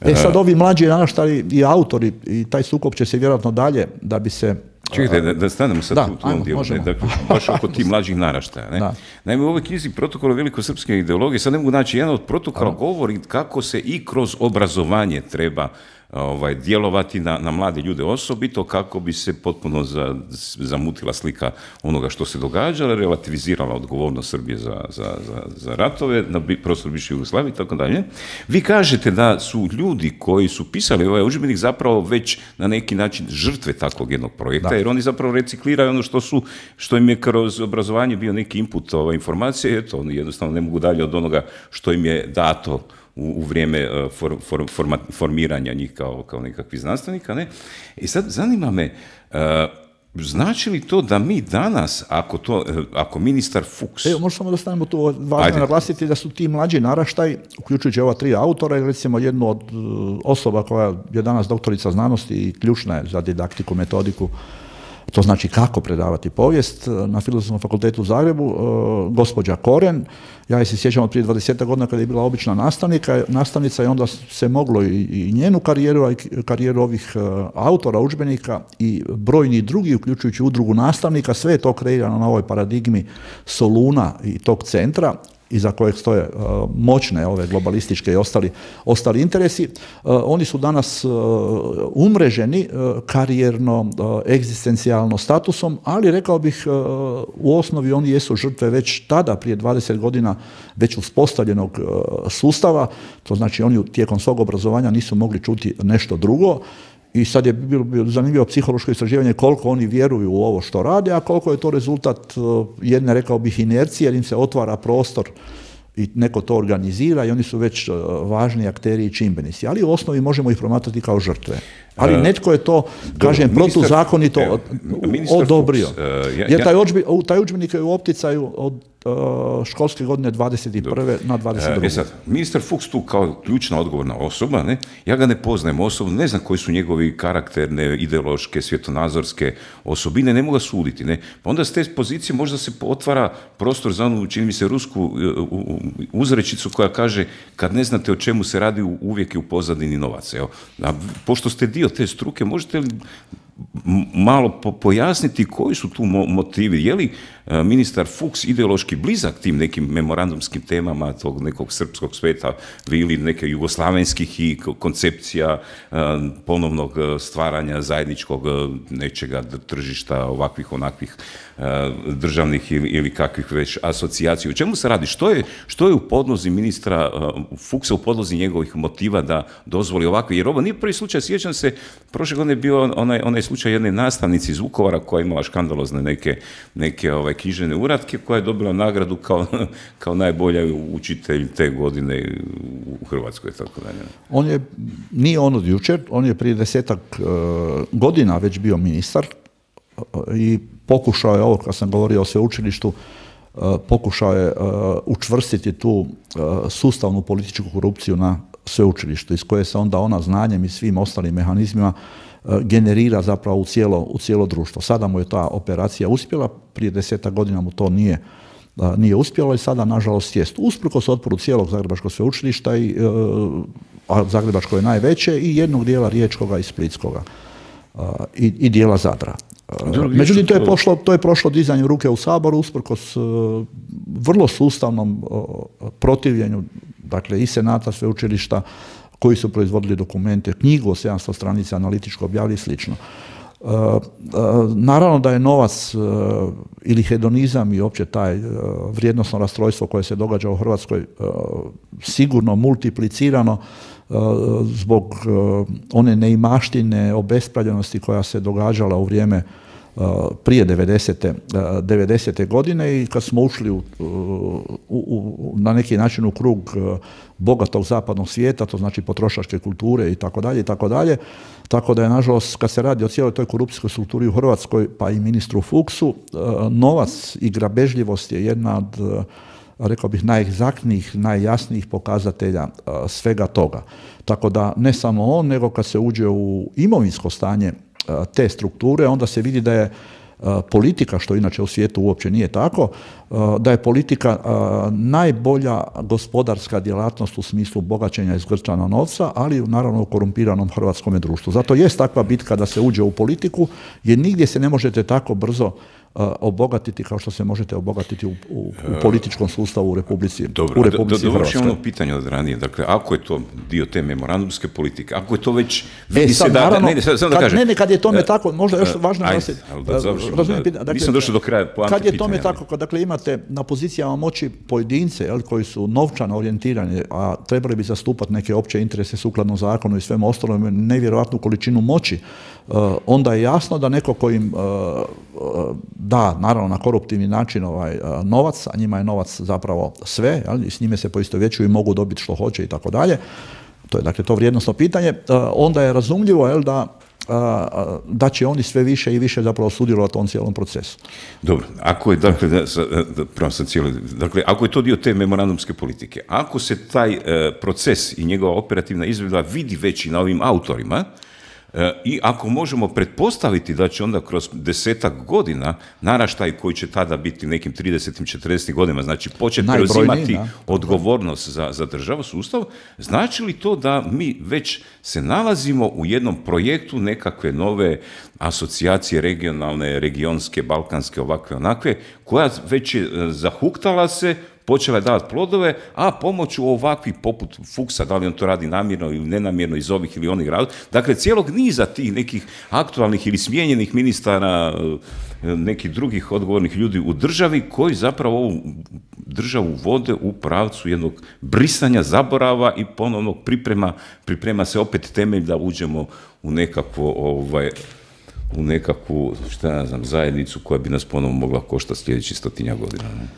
E sad ovi mlađi naraštaji i autori, i taj sukob će se vjerojatno dalje, da bi se... Čekajte, da, da stanemo sad da, u tom dijelu, ne, dakle, baš oko tih mlađih naraštaja. Ne? Naime, u ovoj knjizi Protokola velikosrpske ideologije, sad ne mogu naći, jedan od protokola govori kako se i kroz obrazovanje treba ovaj, djelovati na, na mlade ljude osobito, kako bi se potpuno za, zamutila slika onoga što se događalo, relativizirala odgovornost Srbije za, za, za, za ratove na prostoru bivše Jugoslavije i tako dalje. Vi kažete da su ljudi koji su pisali ovaj udžbenik zapravo već na neki način žrtve takvog jednog projekta, da. Jer oni zapravo recikliraju ono što su, što im je kroz obrazovanje bio neki input ove informacije, eto, oni jednostavno ne mogu dalje od onoga što im je dato u, u vrijeme for, for, forma, formiranja njih kao, kao nekakvih znanstvenika. Ne? I sad zanima me, uh, znači li to da mi danas, ako, to, ako ministar Fuchs... Evo, možemo samo da stanemo tu, važno je naglasiti da su ti mlađi naraštaj, uključujući ova tri autora, i recimo jednu od osoba koja je danas doktorica znanosti i ključna je za didaktiku, metodiku, to znači kako predavati povijest, na Filozofskom fakultetu u Zagrebu, gospođa Koren. Ja se sjećam od prije dvadeset godina kada je bila obična nastavnika, nastavnica i onda se moglo i, i njenu karijeru, a i karijeru ovih autora udžbenika i brojni drugi, uključujući udrugu nastavnika, sve je to kreirano na ovoj paradigmi Soluna i tog centra, iza kojeg stoje uh, moćne ove globalističke i ostali, ostali interesi. Uh, oni su danas uh, umreženi uh, karijerno, uh, egzistencijalno statusom, ali rekao bih uh, u osnovi oni jesu žrtve već tada, prije dvadeset godina, već uspostavljenog uh, sustava. To znači oni tijekom svog obrazovanja nisu mogli čuti nešto drugo. I sad je bilo, bilo zanimljivo psihološko istraživanje koliko oni vjeruju u ovo što rade, a koliko je to rezultat jedne, rekao bih, inercije, jer im se otvara prostor i neko to organizira i oni su već važni akteri i čimbenici. Ali u osnovi možemo ih promatrati kao žrtve. Ali netko je to, kažem, Dobro, protuzakonito evo, odobrio. Fuchs, uh, ja, jer taj, odžbi, taj udžbenik je u opticaju od uh, školske godine dvadeset prve na dvadeset druge. E sad, ministar Fuchs tu kao ključna odgovorna osoba, ne? Ja ga ne poznajem osobno, ne znam koji su njegovi karakterne, ideološke, svjetonazorske osobine, ne mogu ga suditi. Ne? Pa onda s te pozicije možda se otvara prostor za onu, čini mi se, rusku uzrečicu koja kaže kad ne znate o čemu se radi, uvijek je u pozadini novac. Evo. A pošto ste dio te struke, možete li malo po, pojasniti koji su tu motivi. Je li ministar Fuchs ideološki blizak tim nekim memorandumskim temama tog nekog srpskog sveta ili neke jugoslavenskih i koncepcija ponovnog stvaranja zajedničkog nečega tržišta, ovakvih, onakvih državnih ili, ili kakvih već asocijacija. U čemu se radi? Što je, što je u podlozi ministra Fuchsa, u podlozi njegovih motiva da dozvoli ovakve? Jer ovo nije prvi slučaj, sjećam se, prošle godine je bio onaj, onaj slučaj jedne nastavnice iz Vukovara koja je imala škandalozne neke, neke ovaj, književne uratke, koja je dobila nagradu kao, kao najbolja učitelj te godine u Hrvatskoj. Tako dalje. On je, nije on od jučer, on je prije desetak uh, godina već bio ministar uh, i pokušao je ovo, kad sam govorio o sveučilištu, uh, pokušao je uh, učvrstiti tu uh, sustavnu političku korupciju na sveučilištu, iz koje se onda ona znanjem i svim ostalim mehanizmima generira zapravo u cijelo, u cijelo društvo. Sada mu je ta operacija uspjela, prije desetak godina mu to nije, nije uspjelo i sada nažalost jest. Usprkos otporu cijelog Zagrebačkog sveučilišta, i, a Zagrebačko je najveće, i jednog dijela Riječkoga i Splitskoga i, i dijela Zadra. Međutim, to je, pošlo, to je prošlo dizanjem ruke u Saboru usprkos vrlo sustavnom protivljenju, dakle i Senata sveučilišta, koji su proizvodili dokumente, knjigu o sedamsto stranica analitičko objavili i slično. E, e, naravno da je novac e, ili hedonizam i opće taj e, vrijednosno rastrojstvo koje se događa u Hrvatskoj e, sigurno multiplicirano e, zbog e, one neimaštine, obespravljenosti koja se događala u vrijeme prije devedesete godine, i kad smo ušli u, u, u, na neki način u krug bogatog zapadnog svijeta, to znači potrošačke kulture i tako dalje i tako dalje. Tako da je, nažalost, kad se radi o cijeloj toj korupcijskoj strukturi u Hrvatskoj, pa i ministru Fuchsu, novac i grabežljivost je jedna od, rekao bih, najegzaktnijih, najjasnijih pokazatelja svega toga. Tako da ne samo on, nego kad se uđe u imovinsko stanje te strukture, onda se vidi da je politika, što inače u svijetu uopće nije tako, da je politika najbolja gospodarska djelatnost u smislu bogaćenja i zgrčana novca, ali naravno u korumpiranom hrvatskom društvu. Zato jest takva bitka da se uđe u politiku, jer nigdje se ne možete tako brzo obogatiti kao što se možete obogatiti u, u, u političkom sustavu u Republici, Dobro, u Republici do, do, Hrvatskoj. Dobro, ono pitanje od ranije. Dakle, ako je to dio te memorandumske politike, ako je to već... E, sad, da, naravno, ne, ne, sad, sad da kad, kažem, ne, ne, kad je tome tako, možda još uh, važno da se... Da završimo, razumijem, da, dakle, nisam došao do kraja poante kad je tome pitanja, tako, dakle, imate na pozicijama moći pojedince, jel, koji su novčano orijentirani, a trebali bi zastupati neke opće interese sukladno zakonu i svemu ostalom, nevjerojatnu količinu moći, uh, onda je jasno da neko koji im uh, uh, da, naravno, na koruptivni način ovaj, uh, novac, a njima je novac zapravo sve, jel, i s njime se poistovjećuju i mogu dobiti što hoće i tako dalje. To je, dakle, to vrijednosno pitanje. Uh, onda je razumljivo, jel, da da će oni sve više i više zapravo sudjelovati u tom cijelom procesu. Dobro, ako je, dakle, da, da, sam cijeli, dakle, ako je to dio te memorandumske politike, ako se taj e, proces i njegova operativna izvedba vidi već i na ovim autorima, E, i ako možemo pretpostaviti da će onda kroz desetak godina naraštaj koji će tada biti nekim tridesetim, četrdesetim godinama, znači početi preuzimati odgovornost za, za državu, sustav, znači li to da mi već se nalazimo u jednom projektu nekakve nove asocijacije regionalne, regionske, balkanske, ovakve, onakve, koja već je zahuktala se, počela je davati plodove, a pomoću ovakvih poput Fuchsa, da li on to radi namjerno ili nenamjerno iz ovih ili onih razloga, dakle cijelog niza tih nekih aktualnih ili smijenjenih ministara, nekih drugih odgovornih ljudi u državi koji zapravo ovu državu vode u pravcu jednog brisanja, zaborava i ponovnog priprema, priprema se opet temelj da uđemo u nekakvo ovaj, u nekakvu, šta ja znam, zajednicu koja bi nas ponovno mogla koštati sljedeći stotinja godina. Ne?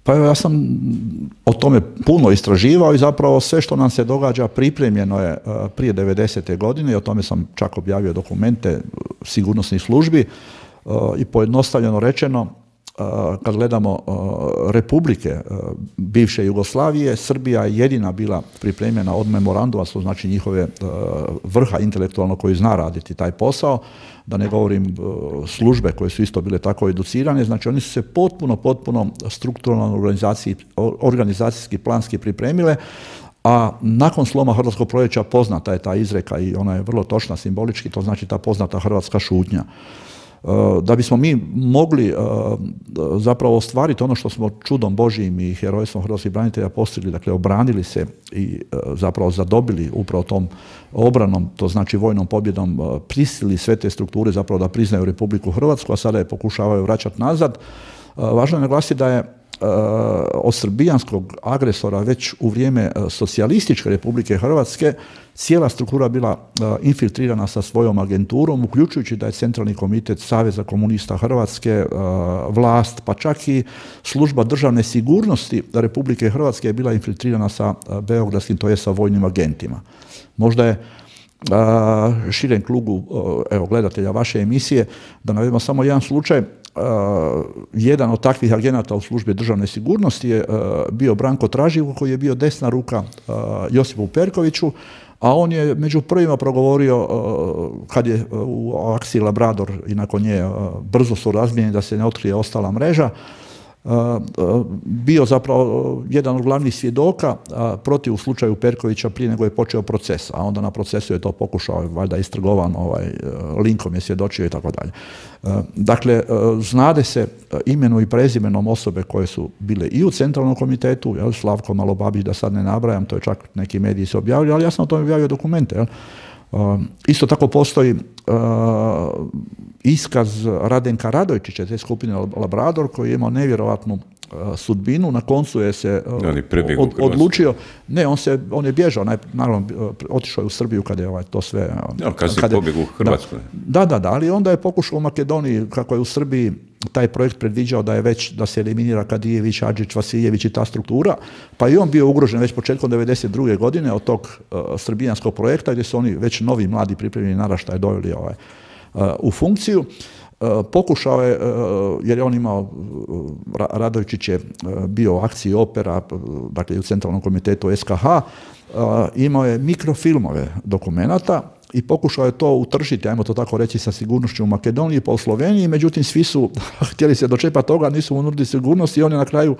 Pa ja sam o tome puno istraživao i zapravo sve što nam se događa pripremljeno je prije devedesete godine i o tome sam čak objavio dokumente sigurnosnih službi i pojednostavljeno rečeno, kad gledamo republike bivše Jugoslavije, Srbija je jedina bila pripremljena od memoranduma, što znači njihove vrha intelektualno koji zna raditi taj posao, da ne govorim službe koje su isto bile tako educirane, znači oni su se potpuno, potpuno strukturalno organizacijski, planski pripremile, a nakon sloma Hrvatskog proljeća poznata je ta izreka i ona je vrlo točna simbolički, to znači ta poznata hrvatska šutnja. Da bismo mi mogli zapravo ostvariti ono što smo čudom Božijim i herojstvom hrvatskih branitelja postigli, dakle obranili se i zapravo zadobili upravo tom obranom, to znači vojnom pobjedom, prisilili sve te strukture zapravo da priznaju Republiku Hrvatsku, a sada je pokušavaju vraćati nazad. Važno je naglasiti da je od srbijanskog agresora već u vrijeme socijalističke Republike Hrvatske cijela struktura bila infiltrirana sa svojom agenturom, uključujući da je Centralni komitet Saveza komunista Hrvatske, vlast, pa čak i služba državne sigurnosti Republike Hrvatske je bila infiltrirana sa beogradskim, to je sa vojnim agentima. Možda je širem krugu evo, gledatelja vaše emisije da navedemo samo jedan slučaj. Uh, jedan od takvih agenata u službi državne sigurnosti je uh, bio Branko Traživo, koji je bio desna ruka uh, Josipu Perkoviću, a on je među prvima progovorio uh, kad je uh, u akciji Labrador i nakon nje uh, brzo su razmijenjeni da se ne otkrije ostala mreža, Uh, uh, bio zapravo uh, jedan od glavnih svjedoka uh, protiv u slučaju Perkovića prije nego je počeo proces, a onda na procesu je to pokušao, valjda istrgovan, ovaj, uh, linkom je svjedočio i tako dalje. Uh, dakle, uh, znade se uh, imenu i prezimenom osobe koje su bile i u Centralnom komitetu, jel, Slavko Malobabić, da sad ne nabrajam, to je čak neki mediji se objavili, ali ja sam o tome objavio dokumente. Jel. Uh, isto tako postoji uh, iskaz Radenka Radojčića, te skupine Labrador, koji je imao nevjerovatnu uh, sudbinu. Na koncu je se uh, od, odlučio, ne, on, se, on je bježao, naj, naravno uh, otišao je u Srbiju kada je ovaj, to sve... Uh, ja, kad se pobjegao u Hrvatsku. Da, da, da, ali onda je pokušao u Makedoniji, kako je u Srbiji taj projekt predviđao da je već, da se eliminira Kadijević, Adžić, Vasiljević i ta struktura, pa i on bio ugrožen već početkom devedeset druge godine od tog uh, srbijanskog projekta, gdje su oni već novi, mladi, pripremljeni naraštaj doveli ovaj, uh, u funkciju. Uh, pokušao je, uh, jer je on imao, uh, Radojčić je uh, bio u akciji Opera, uh, dakle u Centralnom komitetu S K H, uh, imao je mikrofilmove dokumenata, i pokušao je to utržiti, ajmo to tako reći, sa sigurnošću u Makedoniji pa u Sloveniji, međutim svi su htjeli se dočepati toga, nisu mu nudili sigurnost i on je na kraju,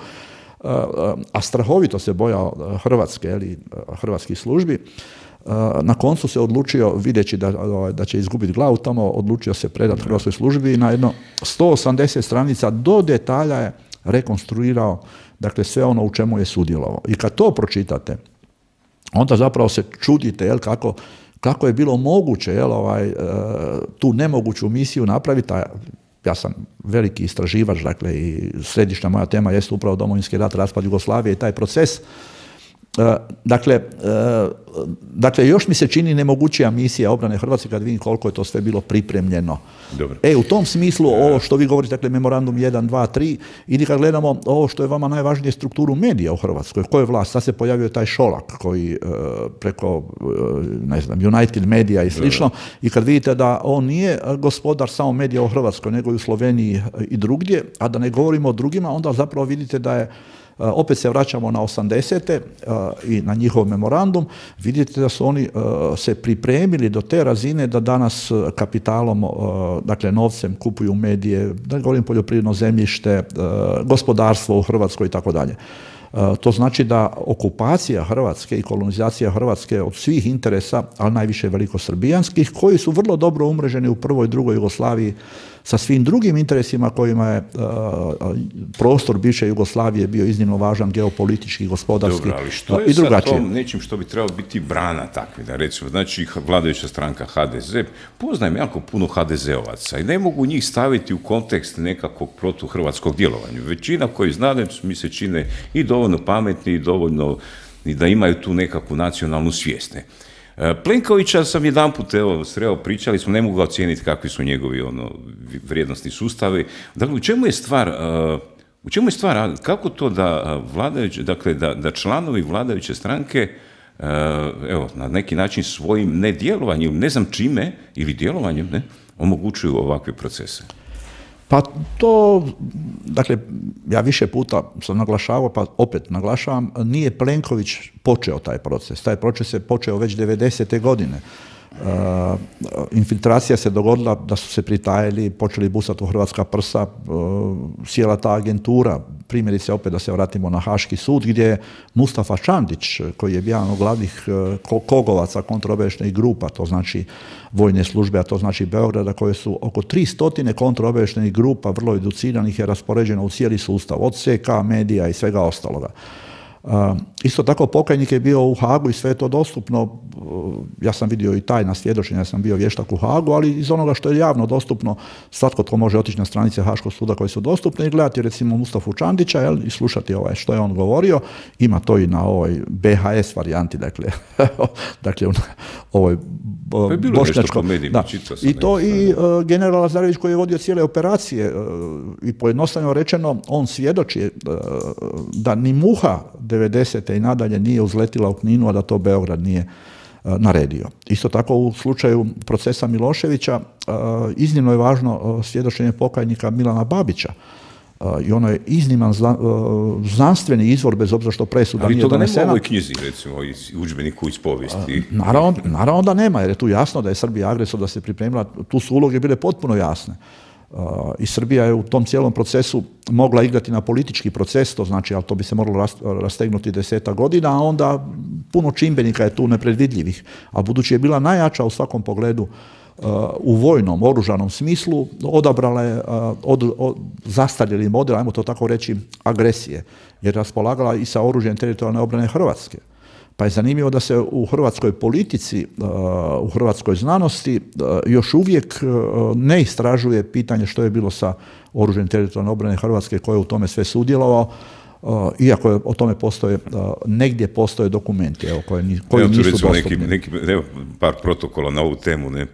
a strahovito se bojao Hrvatske, ili hrvatskih službi, na koncu se odlučio, videći da, da će izgubiti glavu tamo, odlučio se predati hrvatskoj službi i na jedno sto osamdeset stranica do detalja je rekonstruirao, dakle, sve ono u čemu je sudjelovao. I kad to pročitate, onda zapravo se čudite, jel, kako kako je bilo moguće, jel, ovaj, tu nemoguću misiju napraviti. A ja sam veliki istraživač, dakle, i središnja moja tema jest upravo Domovinski rat, raspad Jugoslavije i taj proces. Dakle, dakle, još mi se čini nemogućija misija obrane Hrvatske kad vidim koliko je to sve bilo pripremljeno. Dobro. E, u tom smislu, ovo što vi govorite, dakle, memorandum jedan, dva, tri, ili kad gledamo ovo što je vama najvažnije, strukturu medija u Hrvatskoj, ko je vlast, sad se pojavio taj Šolak koji preko, ne znam, United Media i slično, i kad vidite da on nije gospodar samo medija u Hrvatskoj, nego i u Sloveniji i drugdje, a da ne govorimo o drugima, onda zapravo vidite da je, opet se vraćamo na osamdesete i na njihov memorandum, vidite da su oni se pripremili do te razine da danas kapitalom, dakle novcem, kupuju medije, da govorim poljoprivredno zemljište, gospodarstvo u Hrvatskoj i tako dalje. To znači da okupacija Hrvatske i kolonizacija Hrvatske od svih interesa, ali najviše velikosrbijanskih, koji su vrlo dobro umreženi u prvoj i drugoj Jugoslaviji sa svim drugim interesima kojima je uh, prostor bivše Jugoslavije bio iznimno važan geopolitički, gospodarski. Dobro, ali što je i drugačije. Sa tom nečim što bi trebalo biti brana takve, da recimo, znači vladajuća stranka H D Z, poznajem jako puno H D Z-ovaca i ne mogu njih staviti u kontekst nekakvog protuhrvatskog djelovanja. Većina koji znade mi se čine i dovoljno pametni i dovoljno i da imaju tu nekakvu nacionalnu svijest. Plenkovića sam jedanput evo sreo, pričali smo, ne mogu ga ocijeniti kakvi su njegovi ono vrijednosni sustavi. Dakle, u čemu je stvar, uh, u čemu je stvar, kako to da vladajuće, dakle da, da članovi vladajuće stranke uh, evo na neki način svojim nedjelovanjem, ne znam čime ili djelovanjem, ne, omogućuju ovakve procese? Pa to, dakle, ja više puta sam naglašavao, pa opet naglašavam, nije Plenković počeo taj proces. Taj proces je počeo već devedesete godine. Uh, infiltracija se dogodila da su se pritajili, počeli busati u hrvatska prsa, uh, sjela ta agentura, primjerice opet da se vratimo na Haški sud, gdje je Mustafa Čandić, koji je jedan od glavnih uh, kogovaca kontraobavještajnih grupa, to znači vojne službe, a to znači Beograda, koje su oko tri stotine kontraobavještajnih grupa, vrlo educiranih, je raspoređeno u cijeli sustav, od C K, medija i svega ostaloga. Uh, isto tako pokajnik je bio u Hagu i sve je to dostupno. Uh, ja sam vidio i tajna svjedočenja, ja sam bio vještak u Hagu, ali iz onoga što je javno dostupno, svatko tko može otići na stranice Haškog suda koje su dostupne i gledati recimo Mustafu Čandića, jel, i slušati ovaj, što je on govorio. Ima to i na ovoj B H S varijanti, dakle, dakle u ovoj bošnjačkom. Da. I to i uh, general Lazarević koji je vodio cijele operacije uh, i pojednostavno rečeno on svjedoči uh, da ni muha devedesete i nadalje nije uzletila u Kninu, a da to Beograd nije uh, naredio. Isto tako u slučaju procesa Miloševića uh, iznimno je važno uh, svjedočenje pokajnika Milana Babića. Uh, I ono je izniman zna, uh, znanstveni izvor, bez obzira što presuda nije donesena. Ali toga nema u ovoj knjizi, recimo, u udžbeniku iz povijesti. Uh, naravno, naravno da nema, jer je tu jasno da je Srbija agresor, da se pripremila, tu su uloge bile potpuno jasne. Uh, I Srbija je u tom cijelom procesu mogla igrati na politički proces, to znači, ali to bi se moralo rastegnuti deseta godina, a onda puno čimbenika je tu nepredvidljivih. A budući je bila najjača u svakom pogledu uh, u vojnom, oružanom smislu, odabrala je uh, od, od, zastarjeli model, ajmo to tako reći, agresije, jer raspolagala i sa oružjem teritorijalne obrane Hrvatske. Pa je zanimljivo da se u hrvatskoj politici, u hrvatskoj znanosti još uvijek ne istražuje pitanje što je bilo sa oružjem teritorijalne obrane Hrvatske, koje je u tome sve sudjelovao, iako je, o tome postoje, negdje postoje dokumenti, evo, koji, koji evo, nisu dostupni. Neki, neki, evo, par protokola na ovu temu, ne?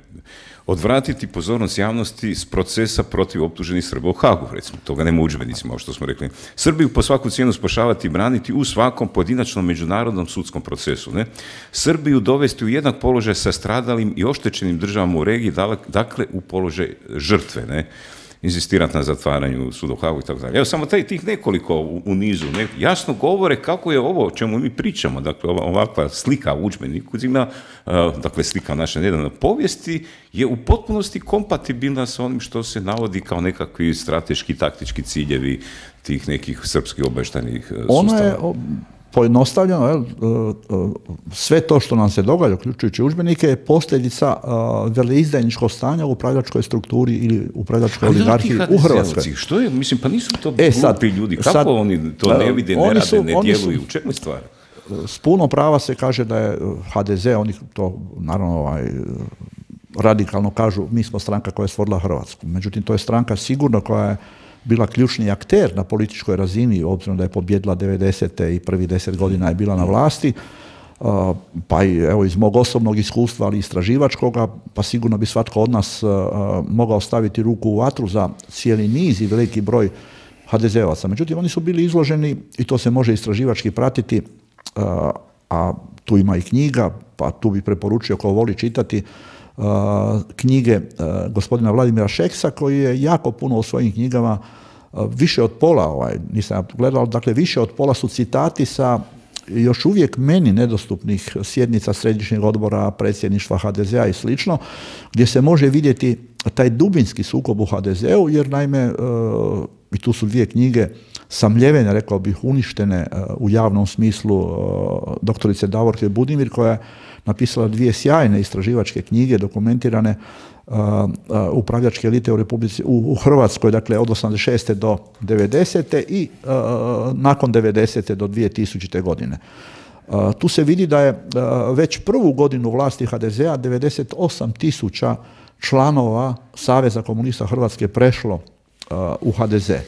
Odvratiti pozornost javnosti s procesa protiv optuženih Srba u Hagu, recimo, toga nema u udžbenicima, ovo što smo rekli. Srbiju po svaku cijenu spašavati i braniti u svakom pojedinačnom međunarodnom sudskom procesu. Ne? Srbiju dovesti u jednak položaj sa stradalim i oštećenim državama u regiji, dakle u položaj žrtve. Ne? Inzistirati na zatvaranju suda u Hagu i tako dalje. Evo samo taj, tih nekoliko u, u nizu ne, jasno govore kako je ovo o čemu mi pričamo, dakle ova, ovakva slika u udžbeniku, uh, dakle slika naše nedavne povijesti je u potpunosti kompatibilna sa onim što se navodi kao nekakvi strateški, taktički ciljevi tih nekih srpskih obavještajnih uh, sustava. Ona je pojednostavljeno, jel, sve to što nam se događa, uključujući udžbenike, je posljedica veleizdajničkog stanja u upravljačkoj strukturi ili upravljačkoj oligarhiji u Hrvatskoj. Što je? Mislim, pa nisu to e, sad, glupi ljudi. Kako sad, oni to ne vide, ne rade, su, ne djeluju? U čemu je stvar? S puno prava se kaže da je H D Z, oni to naravno ovaj, radikalno kažu, mi smo stranka koja je stvorila Hrvatsku. Međutim, to je stranka sigurno koja je bila ključni akter na političkoj razini, obzirom da je pobjedila devedesete i prvih deset godina je bila na vlasti, pa i evo iz mog osobnog iskustva, ali istraživačkoga, pa sigurno bi svatko od nas mogao staviti ruku u vatru za cijeli niz i veliki broj H D Z ovaca. Međutim, oni su bili izloženi, i to se može istraživački pratiti, a tu ima i knjiga, pa tu bi preporučio ko voli čitati, Uh, knjige uh, gospodina Vladimira Šeksa, koji je jako puno u svojim knjigama, uh, više od pola, ovaj, nisam gledao, dakle više od pola su citati sa još uvijek meni nedostupnih sjednica Središnjeg odbora, predsjedništva H D Z-a i slično, gdje se može vidjeti taj dubinski sukob u H D Z-u, jer naime, uh, i tu su dvije knjige samljevene, rekao bih, uništene uh, u javnom smislu uh, doktorice Davorke Budimir, koja je napisala dvije sjajne istraživačke knjige dokumentirane uh, uh, upravljačke elite u Republici, u, u Hrvatskoj, dakle od osamdeset šeste do devedesete i uh, nakon devedesete do dvije tisućite godine. Uh, tu se vidi da je uh, već prvu godinu vlasti H D Z-a devedeset osam tisuća članova Saveza komunista Hrvatske prešlo uh, u H D Z.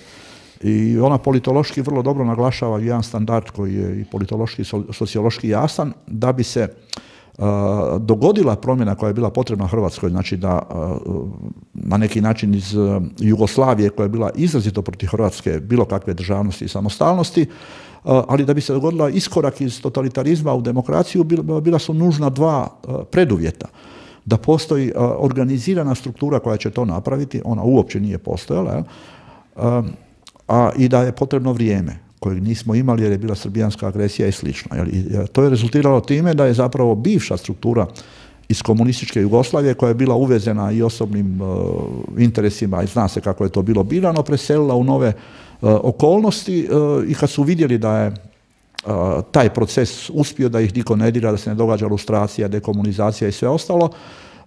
I ona politološki vrlo dobro naglašava jedan standard koji je i politološki i sociološki jasan, da bi se Uh, dogodila promjena koja je bila potrebna Hrvatskoj, znači da uh, na neki način iz uh, Jugoslavije, koja je bila izrazito protiv Hrvatske, bilo kakve državnosti i samostalnosti, uh, ali da bi se dogodila iskorak iz totalitarizma u demokraciju, bila, bila su nužna dva uh, preduvjeta. Da postoji uh, organizirana struktura koja će to napraviti, ona uopće nije postojala, uh, a i da je potrebno vrijeme, kojeg nismo imali jer je bila srbijanska agresija i slično. To je rezultiralo time da je zapravo bivša struktura iz komunističke Jugoslavije, koja je bila uvezena i osobnim interesima i zna se kako je to bilo birano, preselila u nove okolnosti i kad su vidjeli da je taj proces uspio, da ih niko ne dira, da se ne događa lustracija, dekomunizacija i sve ostalo,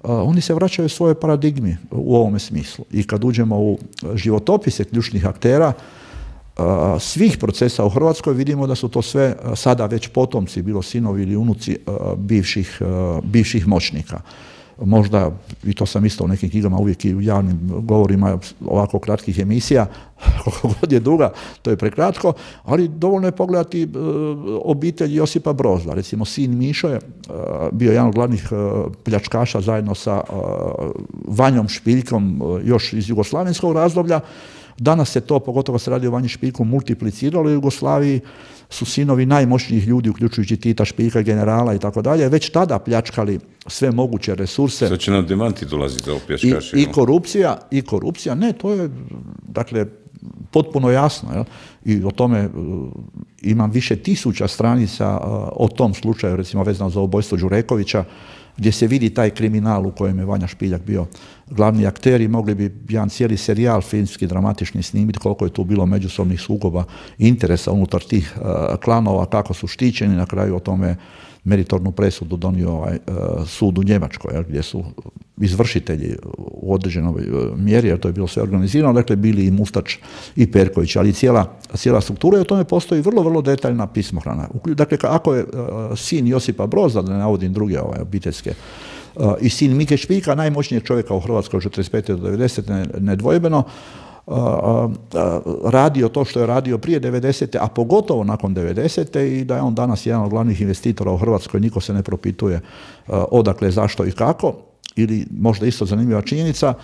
oni se vraćaju svojoj paradigmi u ovome smislu. I kad uđemo u životopise ključnih aktera svih procesa u Hrvatskoj, vidimo da su to sve sada već potomci, bilo sinovi ili unuci bivših, bivših moćnika. Možda, i to sam isto u nekim knjigama uvijek i u javnim govorima ovako kratkih emisija, koliko god je duga, to je prekratko, ali dovoljno je pogledati obitelj Josipa Brozda. Recimo, sin Mišo je bio jedan od glavnih pljačkaša zajedno sa Vanjom Špiljkom još iz jugoslavenskog razdoblja. Danas se to, pogotovo se radi o Vanji Špiljku, multipliciralo u Jugoslaviji, su sinovi najmoćnijih ljudi, uključujući Tita, Špiljka, generala i tako dalje, već tada pljačkali sve moguće resurse. Sad će nam demanti dolaziti za pljačkaše. I, i korupcija, i korupcija, ne, to je, dakle, potpuno jasno, jel? I o tome uh, imam više tisuća stranica uh, o tom slučaju, recimo vezano za ubojstvo Đurekovića, gdje se vidi taj kriminal u kojem je Vanja Špiljak bio glavni akter i mogli bi jedan cijeli serijal filmski, dramatični snimiti koliko je tu bilo međusobnih sukoba interesa unutar tih uh, klanova, kako su štićeni, na kraju o tome meritornu presudu donio ovaj, uh, sud u Njemačkoj, jel, gdje su izvršitelji u određenoj uh, mjeri, jer to je bilo sve organizirano, dakle bili i Mustač i Perković, ali cijela, cijela struktura, i o tome postoji vrlo, vrlo detaljna pismohrana. Dakle, ako je uh, sin Josipa Brozda, da ne navodim druge ovaj, obiteljske, uh, i sin Mike Špiljka, najmoćnijeg čovjeka u Hrvatskoj od četrdeset pete do devedesete nedvojbeno, Uh, uh, radio to što je radio prije devedesete, a pogotovo nakon devedesete, i da je on danas jedan od glavnih investitora u Hrvatskoj, niko se ne propituje uh, odakle, zašto i kako. Ili možda isto zanimljiva činjenica,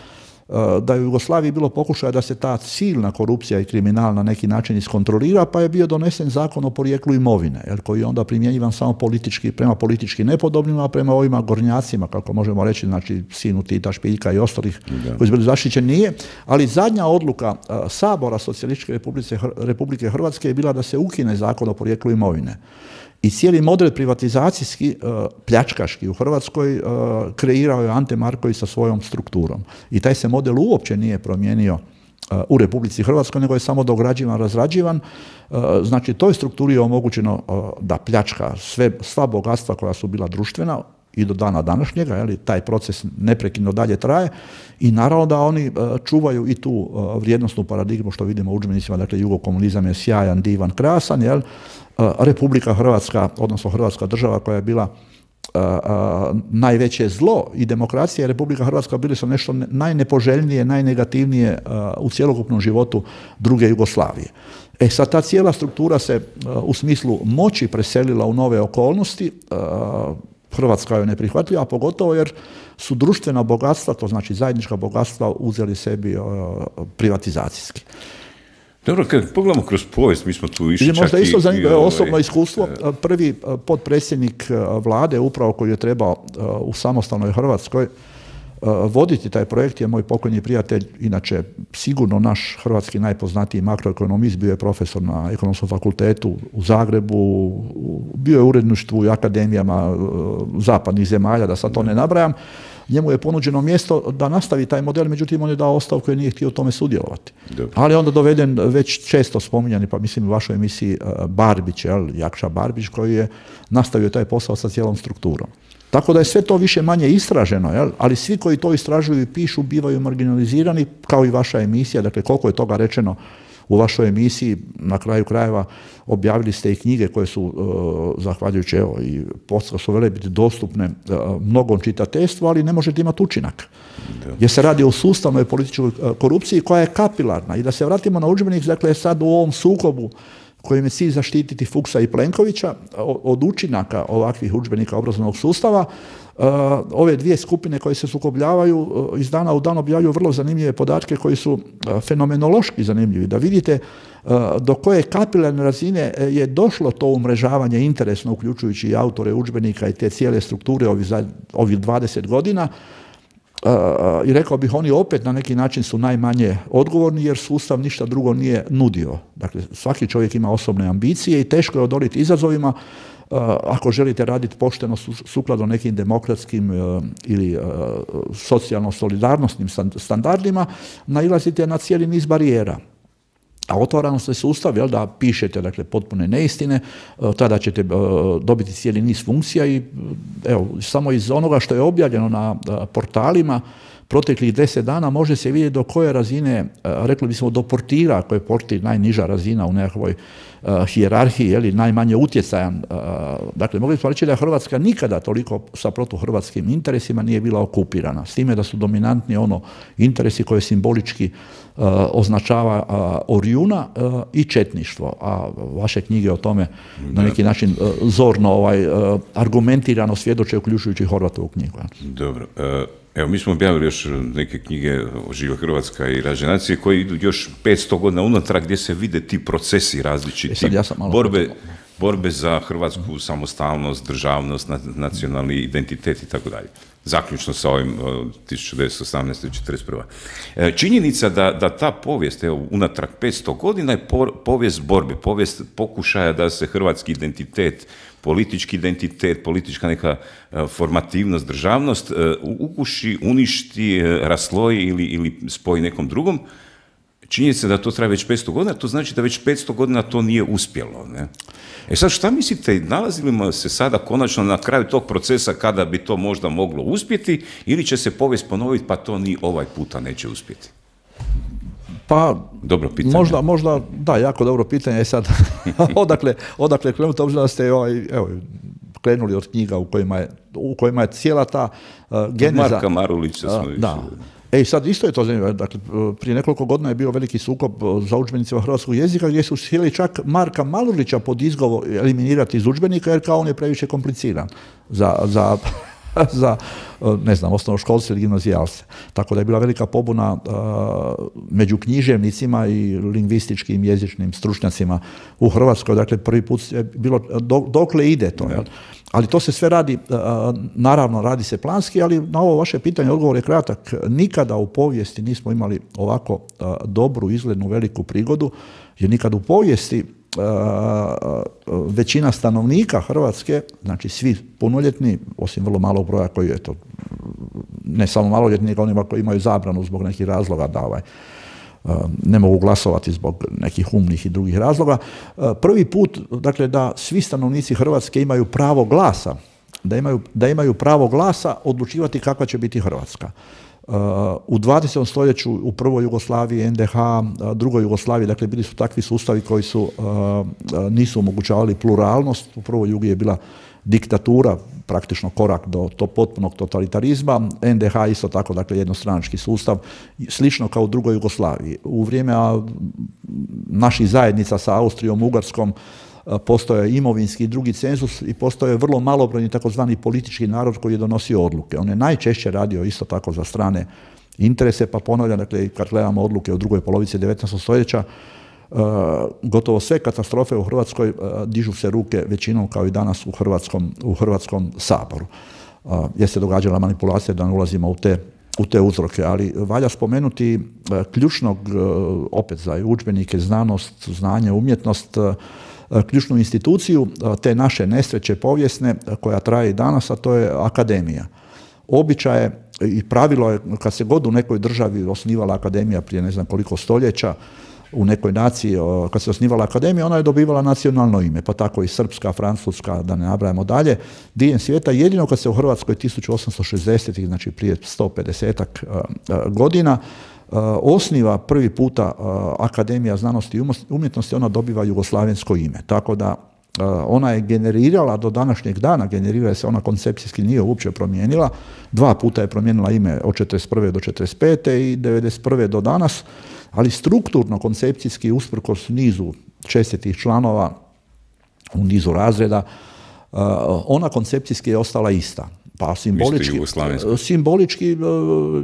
da je u Jugoslaviji bilo pokušaja da se ta silna korupcija i kriminal na neki način iskontrolira, pa je bio donesen zakon o porijeklu imovine, jer koji je onda primjenjivan samo politički, prema politički nepodobnima, a prema ovima gornjacima, kako možemo reći, znači sinu Tita, Špiljka i ostalih da. koji su bili zaštićeni, nije. Ali zadnja odluka uh, Sabora Socijalističke Republike, Republike Hrvatske je bila da se ukine zakon o porijeklu imovine. I cijeli model privatizacijski, pljačkaški u Hrvatskoj kreirao je Ante Marković sa svojom strukturom. I taj se model uopće nije promijenio u Republici Hrvatskoj, nego je samo dograđivan, razrađivan. Znači, toj strukturi je omogućeno da pljačka sve, sva bogatstva koja su bila društvena i do dana današnjega, jeli, taj proces neprekidno dalje traje, i naravno da oni čuvaju i tu vrijednosnu paradigmu što vidimo u udžbenicima, dakle jugokomunizam je sjajan, divan, krasan, jel? Republika Hrvatska, odnosno Hrvatska država koja je bila a, a, najveće zlo, i demokracija i Republika Hrvatska bili su nešto najnepoželjnije, najnegativnije a, u cjelokupnom životu druge Jugoslavije. E sad, ta cijela struktura se a, u smislu moći preselila u nove okolnosti. A, Hrvatska je neprihvatljiva, a pogotovo jer su društvena bogatstva, to znači zajednička bogatstva, uzeli sebi a, privatizacijski. Dobro, kad pogledamo kroz povijest, mi smo tu išli čak i... Možda isto zanimljivo ovaj, osobno iskustvo. Prvi potpredsjednik vlade, upravo koji je trebao u samostalnoj Hrvatskoj voditi taj projekt, je moj pokojni prijatelj, inače sigurno naš hrvatski najpoznatiji makroekonomist, bio je profesor na Ekonomskom fakultetu u Zagrebu, bio je u uredništvu i akademijama zapadnih zemalja, da sad to ne nabrajam. Njemu je ponuđeno mjesto da nastavi taj model, međutim on je dao ostavku jer nije htio u tome sudjelovati. Dobro. Ali onda doveden već često spominjani, pa mislim u vašoj emisiji, Barbić, jel, Jakša Barbić, koji je nastavio taj posao sa cijelom strukturom. Tako da je sve to više manje istraženo, jel? Ali svi koji to istražuju i pišu bivaju marginalizirani, kao i vaša emisija. Dakle, koliko je toga rečeno u vašoj emisiji, na kraju krajeva objavili ste i knjige koje su, uh, zahvaljujući, evo, i postao su vele biti dostupne uh, mnogom čitateljstvu, ali ne možete imati učinak. Da. Jer se radi o sustavnoj političkoj korupciji koja je kapilarna. I da se vratimo na udžbenik, dakle, sad u ovom sukobu kojim je cilj zaštititi Fuchsa i Plenkovića od učinaka ovakvih udžbenika obrazovnog sustava, ove dvije skupine koje se sukobljavaju iz dana u dan objavljuju vrlo zanimljive podatke koji su fenomenološki zanimljivi. Da vidite do koje kapilarne razine je došlo to umrežavanje interesno, uključujući i autore udžbenika i te cijele strukture ovih, ovih dvadeset godina. Uh, i rekao bih, oni opet na neki način su najmanje odgovorni jer sustav ništa drugo nije nudio. Dakle, svaki čovjek ima osobne ambicije i teško je odoliti izazovima. ako želite raditi pošteno sukladno nekim demokratskim ili socijalno-solidarnostnim standardima, nailazite na cijeli niz barijera. A otvarano se sustav, jel, da pišete, dakle, potpune neistine, tada ćete dobiti cijeli niz funkcija i evo, samo iz onoga što je objavljeno na portalima proteklih deset dana može se vidjeti do koje razine, rekli bismo do portira, ako je portir najniža razina u nekakvoj uh, hijerarhiji, jeli, najmanje utjecajan. Uh, dakle, mogli smo reći da Hrvatska nikada toliko sa protuhrvatskim interesima nije bila okupirana. S time da su dominantni ono interesi koje simbolički uh, označava uh, Orjuna uh, i četništvo. A vaše knjige o tome na neki način uh, zorno, ovaj, uh, argumentirano svjedoče, uključujući Horvatovu knjigu. Dobro. Uh... Evo, mi smo objavili još neke knjige o Živa Hrvatska i Rađe nacije koji idu još petsto godina unatrag gdje se vide ti procesi različiti, e ja borbe, borbe za hrvatsku samostalnost, državnost, nacionalni identitet i tako dalje. Zaključno sa ovim tisuću devetsto osamnaeste. četrdeset prva. Činjenica da, da ta povijest, evo, unatrag petsto godina je povijest borbe, povijest pokušaja da se hrvatski identitet, politički identitet, politička neka formativnost, državnost ukuši, uništi, rasloji ili, ili spoji nekom drugom. Činjenica da to traje već petsto godina, to znači da već petsto godina to nije uspjelo. Ne? E sad, šta mislite, nalazimo se sada konačno na kraju tog procesa kada bi to možda moglo uspjeti ili će se povijest ponoviti pa to ni ovaj puta neće uspjeti? Pa, dobro pitanje. Možda, možda, da, jako dobro pitanje je sad. odakle, odakle krenuti, obzirom da ste ovaj, evo, krenuli od knjiga u kojima je, u kojima je cijela ta uh, geneza. Marka Marulića smo uh, da. E, sad isto je to zanimljivo. Dakle, prije nekoliko godina je bio veliki sukob za udžbenicima hrvatskog jezika gdje su htjeli čak Marka Marulića pod izgovor eliminirati iz udžbenika jer kao on je previše kompliciran za, za, za ne znam, osnovnoškolce ili gimnazijalce. Tako da je bila velika pobuna uh, među književnicima i lingvističkim jezičnim stručnjacima u Hrvatskoj. Dakle, prvi put je bilo do, dokle ide to. Jel? Ali to se sve radi, naravno radi se planski, ali na ovo vaše pitanje odgovor je kratak. Nikada u povijesti nismo imali ovako dobru, izglednu, veliku prigodu, jer nikad u povijesti većina stanovnika Hrvatske, znači svi punoljetni, osim vrlo malog broja koji je to, ne samo maloljetni, nego onima koji imaju zabranu zbog nekih razloga da ovaj, ne mogu glasovati zbog nekih umnih i drugih razloga. Prvi put, dakle, da svi stanovnici Hrvatske imaju pravo glasa, da imaju, da imaju pravo glasa odlučivati kakva će biti Hrvatska. U dvadesetom stoljeću, u prvoj Jugoslaviji, en de ha, drugoj Jugoslaviji, dakle, bili su takvi sustavi koji su, nisu omogućavali pluralnost. U prvoj Jugi je bila diktatura, praktično korak do to potpunog totalitarizma. en de ha isto tako, dakle, jednostranački sustav, slično kao u drugoj Jugoslaviji. U vrijeme naših zajednica sa Austrijom, Ugarskom, postoje imovinski i drugi cenzus i postoje vrlo malobrojni takozvani politički narod koji je donosio odluke. On je najčešće radio isto tako za strane interese, pa ponavljam, dakle, kad gledamo odluke u drugoj polovici devetnaestog stoljeća, Uh, gotovo sve katastrofe u Hrvatskoj uh, dižu se ruke većinom kao i danas u Hrvatskom, u Hrvatskom saboru. Uh, jer se događala manipulacija, da ne ulazimo u te, u te uzroke, ali valja spomenuti uh, ključnog, uh, opet za udžbenike, znanost, znanje, umjetnost, uh, ključnu instituciju uh, te naše nesreće povijesne uh, koja traje i danas, a to je akademija. Običaj je i pravilo je, kad se god u nekoj državi osnivala akademija prije ne znam koliko stoljeća, u nekoj naciji, kad se osnivala akademija, ona je dobivala nacionalno ime, pa tako i srpska, francuska, da ne nabrajamo dalje, diljem svijeta. Jedino kad se u Hrvatskoj tisuću osamsto šezdesetih, znači prije sto pedesetak godina, osniva prvi puta Akademija znanosti i umjetnosti, ona dobiva jugoslavensko ime. Tako da ona je generirala do današnjeg dana, generira se, ona koncepcijski nije uopće promijenila, dva puta je promijenila ime od četrdeset prve do četrdeset pete i devedeset prve do danas, ali strukturno, koncepcijski, usprkos nizu čestitih članova u nizu razreda, ona koncepcijski je ostala ista. Pa simbolički, simbolički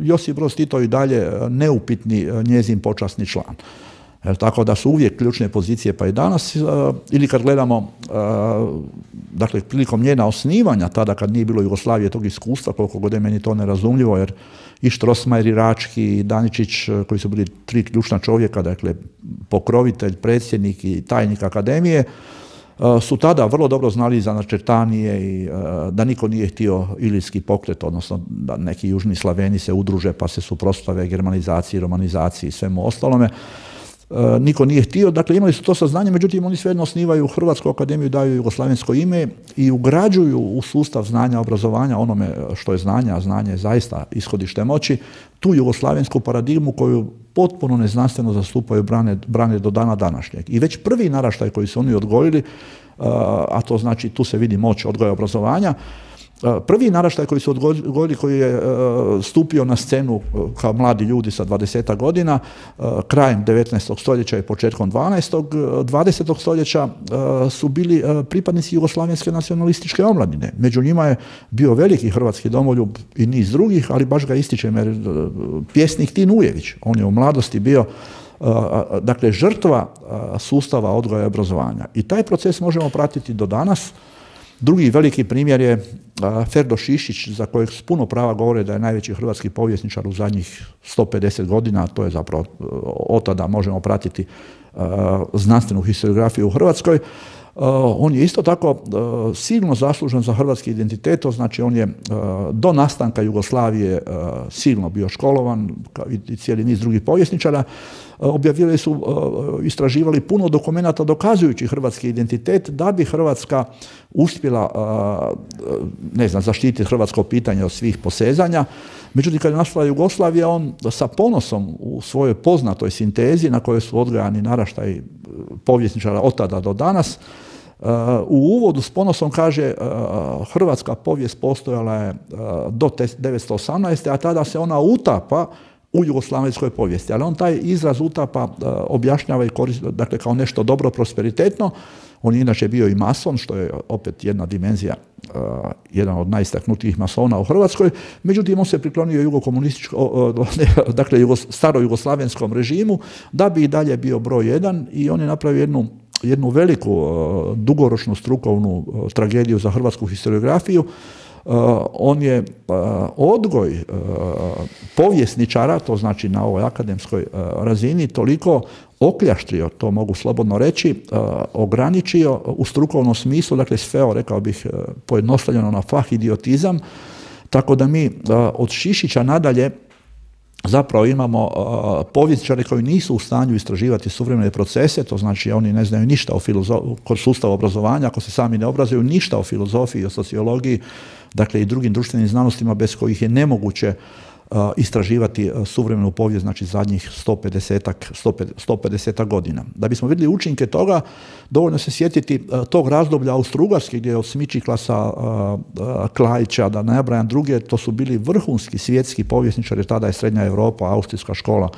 Josip Broz Tito i dalje neupitni njezin počasni član. Tako da su uvijek ključne pozicije, pa i danas, ili kad gledamo, dakle, prilikom njena osnivanja, tada kad nije bilo Jugoslavije tog iskustva, koliko god je meni to nerazumljivo, jer i Strossmayer, i Rački, i Daničić, koji su bili tri ključna čovjeka, dakle, pokrovitelj, predsjednik i tajnik akademije, su tada vrlo dobro znali za načertanije i da niko nije htio Ilirski pokret, odnosno da neki južni Slaveni se udruže pa se suprotstave germanizaciji, romanizaciji i svemu ostalome. Niko nije htio, dakle imali su to saznanje, međutim oni svejedno osnivaju Hrvatsku akademiju, daju jugoslavensko ime i ugrađuju u sustav znanja, obrazovanja, onome što je znanje, a znanje je zaista ishodište moći, tu jugoslavensku paradigmu koju potpuno neznanstveno zastupaju, brane, brane do dana današnjeg. I već prvi naraštaj koji su oni odgojili, a to znači tu se vidi moć odgoja i obrazovanja, prvi naraštaj koji su odgojili, koji je stupio na scenu kao mladi ljudi sa dvadesetak godina, krajem devetnaestog stoljeća i početkom dvanaestog, dvadesetog stoljeća su bili pripadnici jugoslavenske nacionalističke omladine. Među njima je bio veliki hrvatski domoljub i niz drugih, ali baš ga ističem jer pjesnik Tin Ujević, on je u mladosti bio dakle žrtva sustava odgoja i obrazovanja. I taj proces možemo pratiti do danas. Drugi veliki primjer je Ferdo Šišić, za kojeg s puno prava govore da je najveći hrvatski povjesničar u zadnjih sto pedeset godina, to je zapravo od tada možemo pratiti znanstvenu historiografiju u Hrvatskoj. On je isto tako silno zaslužan za hrvatski identitet, to znači on je do nastanka Jugoslavije silno bio školovan i cijeli niz drugih povjesničara. Objavili su, istraživali puno dokumenata dokazujući hrvatski identitet da bi Hrvatska uspjela, ne znam, zaštititi hrvatsko pitanje od svih posezanja. Međutim, kad je nastala Jugoslavija, on sa ponosom u svojoj poznatoj sintezi na kojoj su odgajani naraštaji povjesničara od tada do danas, u uvodu s ponosom kaže hrvatska povijest postojala je do devetsto osamnaeste. a tada se ona utapa u jugoslavenskoj povijesti. Ali on taj izraz utapa objašnjava i koristi, dakle, kao nešto dobro, prosperitetno. On je inače bio i mason, što je opet jedna dimenzija, uh, jedan od najistaknutijih masona u Hrvatskoj. Međutim, on se priklonio jugokomunističkom, dakle, jugo, staro jugoslavenskom režimu, da bi i dalje bio broj jedan, i on je napravio jednu, jednu veliku, uh, dugoročnu strukovnu uh, tragediju za hrvatsku historiografiju. Uh, on je uh, odgoj uh, povjesničara, to znači na ovoj akademskoj uh, razini, toliko okljaštrio, to mogu slobodno reći, uh, ograničio u strukovnom smislu, dakle sveo, rekao bih, uh, pojednostavljeno na fah idiotizam, tako da mi uh, od Šišića nadalje zapravo imamo uh, povjesničare koji nisu u stanju istraživati suvremene procese, to znači oni ne znaju ništa o filozo- kod sustava obrazovanja, ako se sami ne obrazuju, ništa o filozofiji, o sociologiji, dakle i drugim društvenim znanostima bez kojih je nemoguće uh, istraživati uh, suvremenu povijest, znači zadnjih sto pedeset godina. Da bismo vidjeli učinke toga, dovoljno se sjetiti uh, tog razdoblja Austro-Ugarske, gdje je od Smičiklasa, uh, uh, Klajića, da ne nabrajam druge, to su bili vrhunski svjetski povjesničari, tada je Srednja Europa, austrijska škola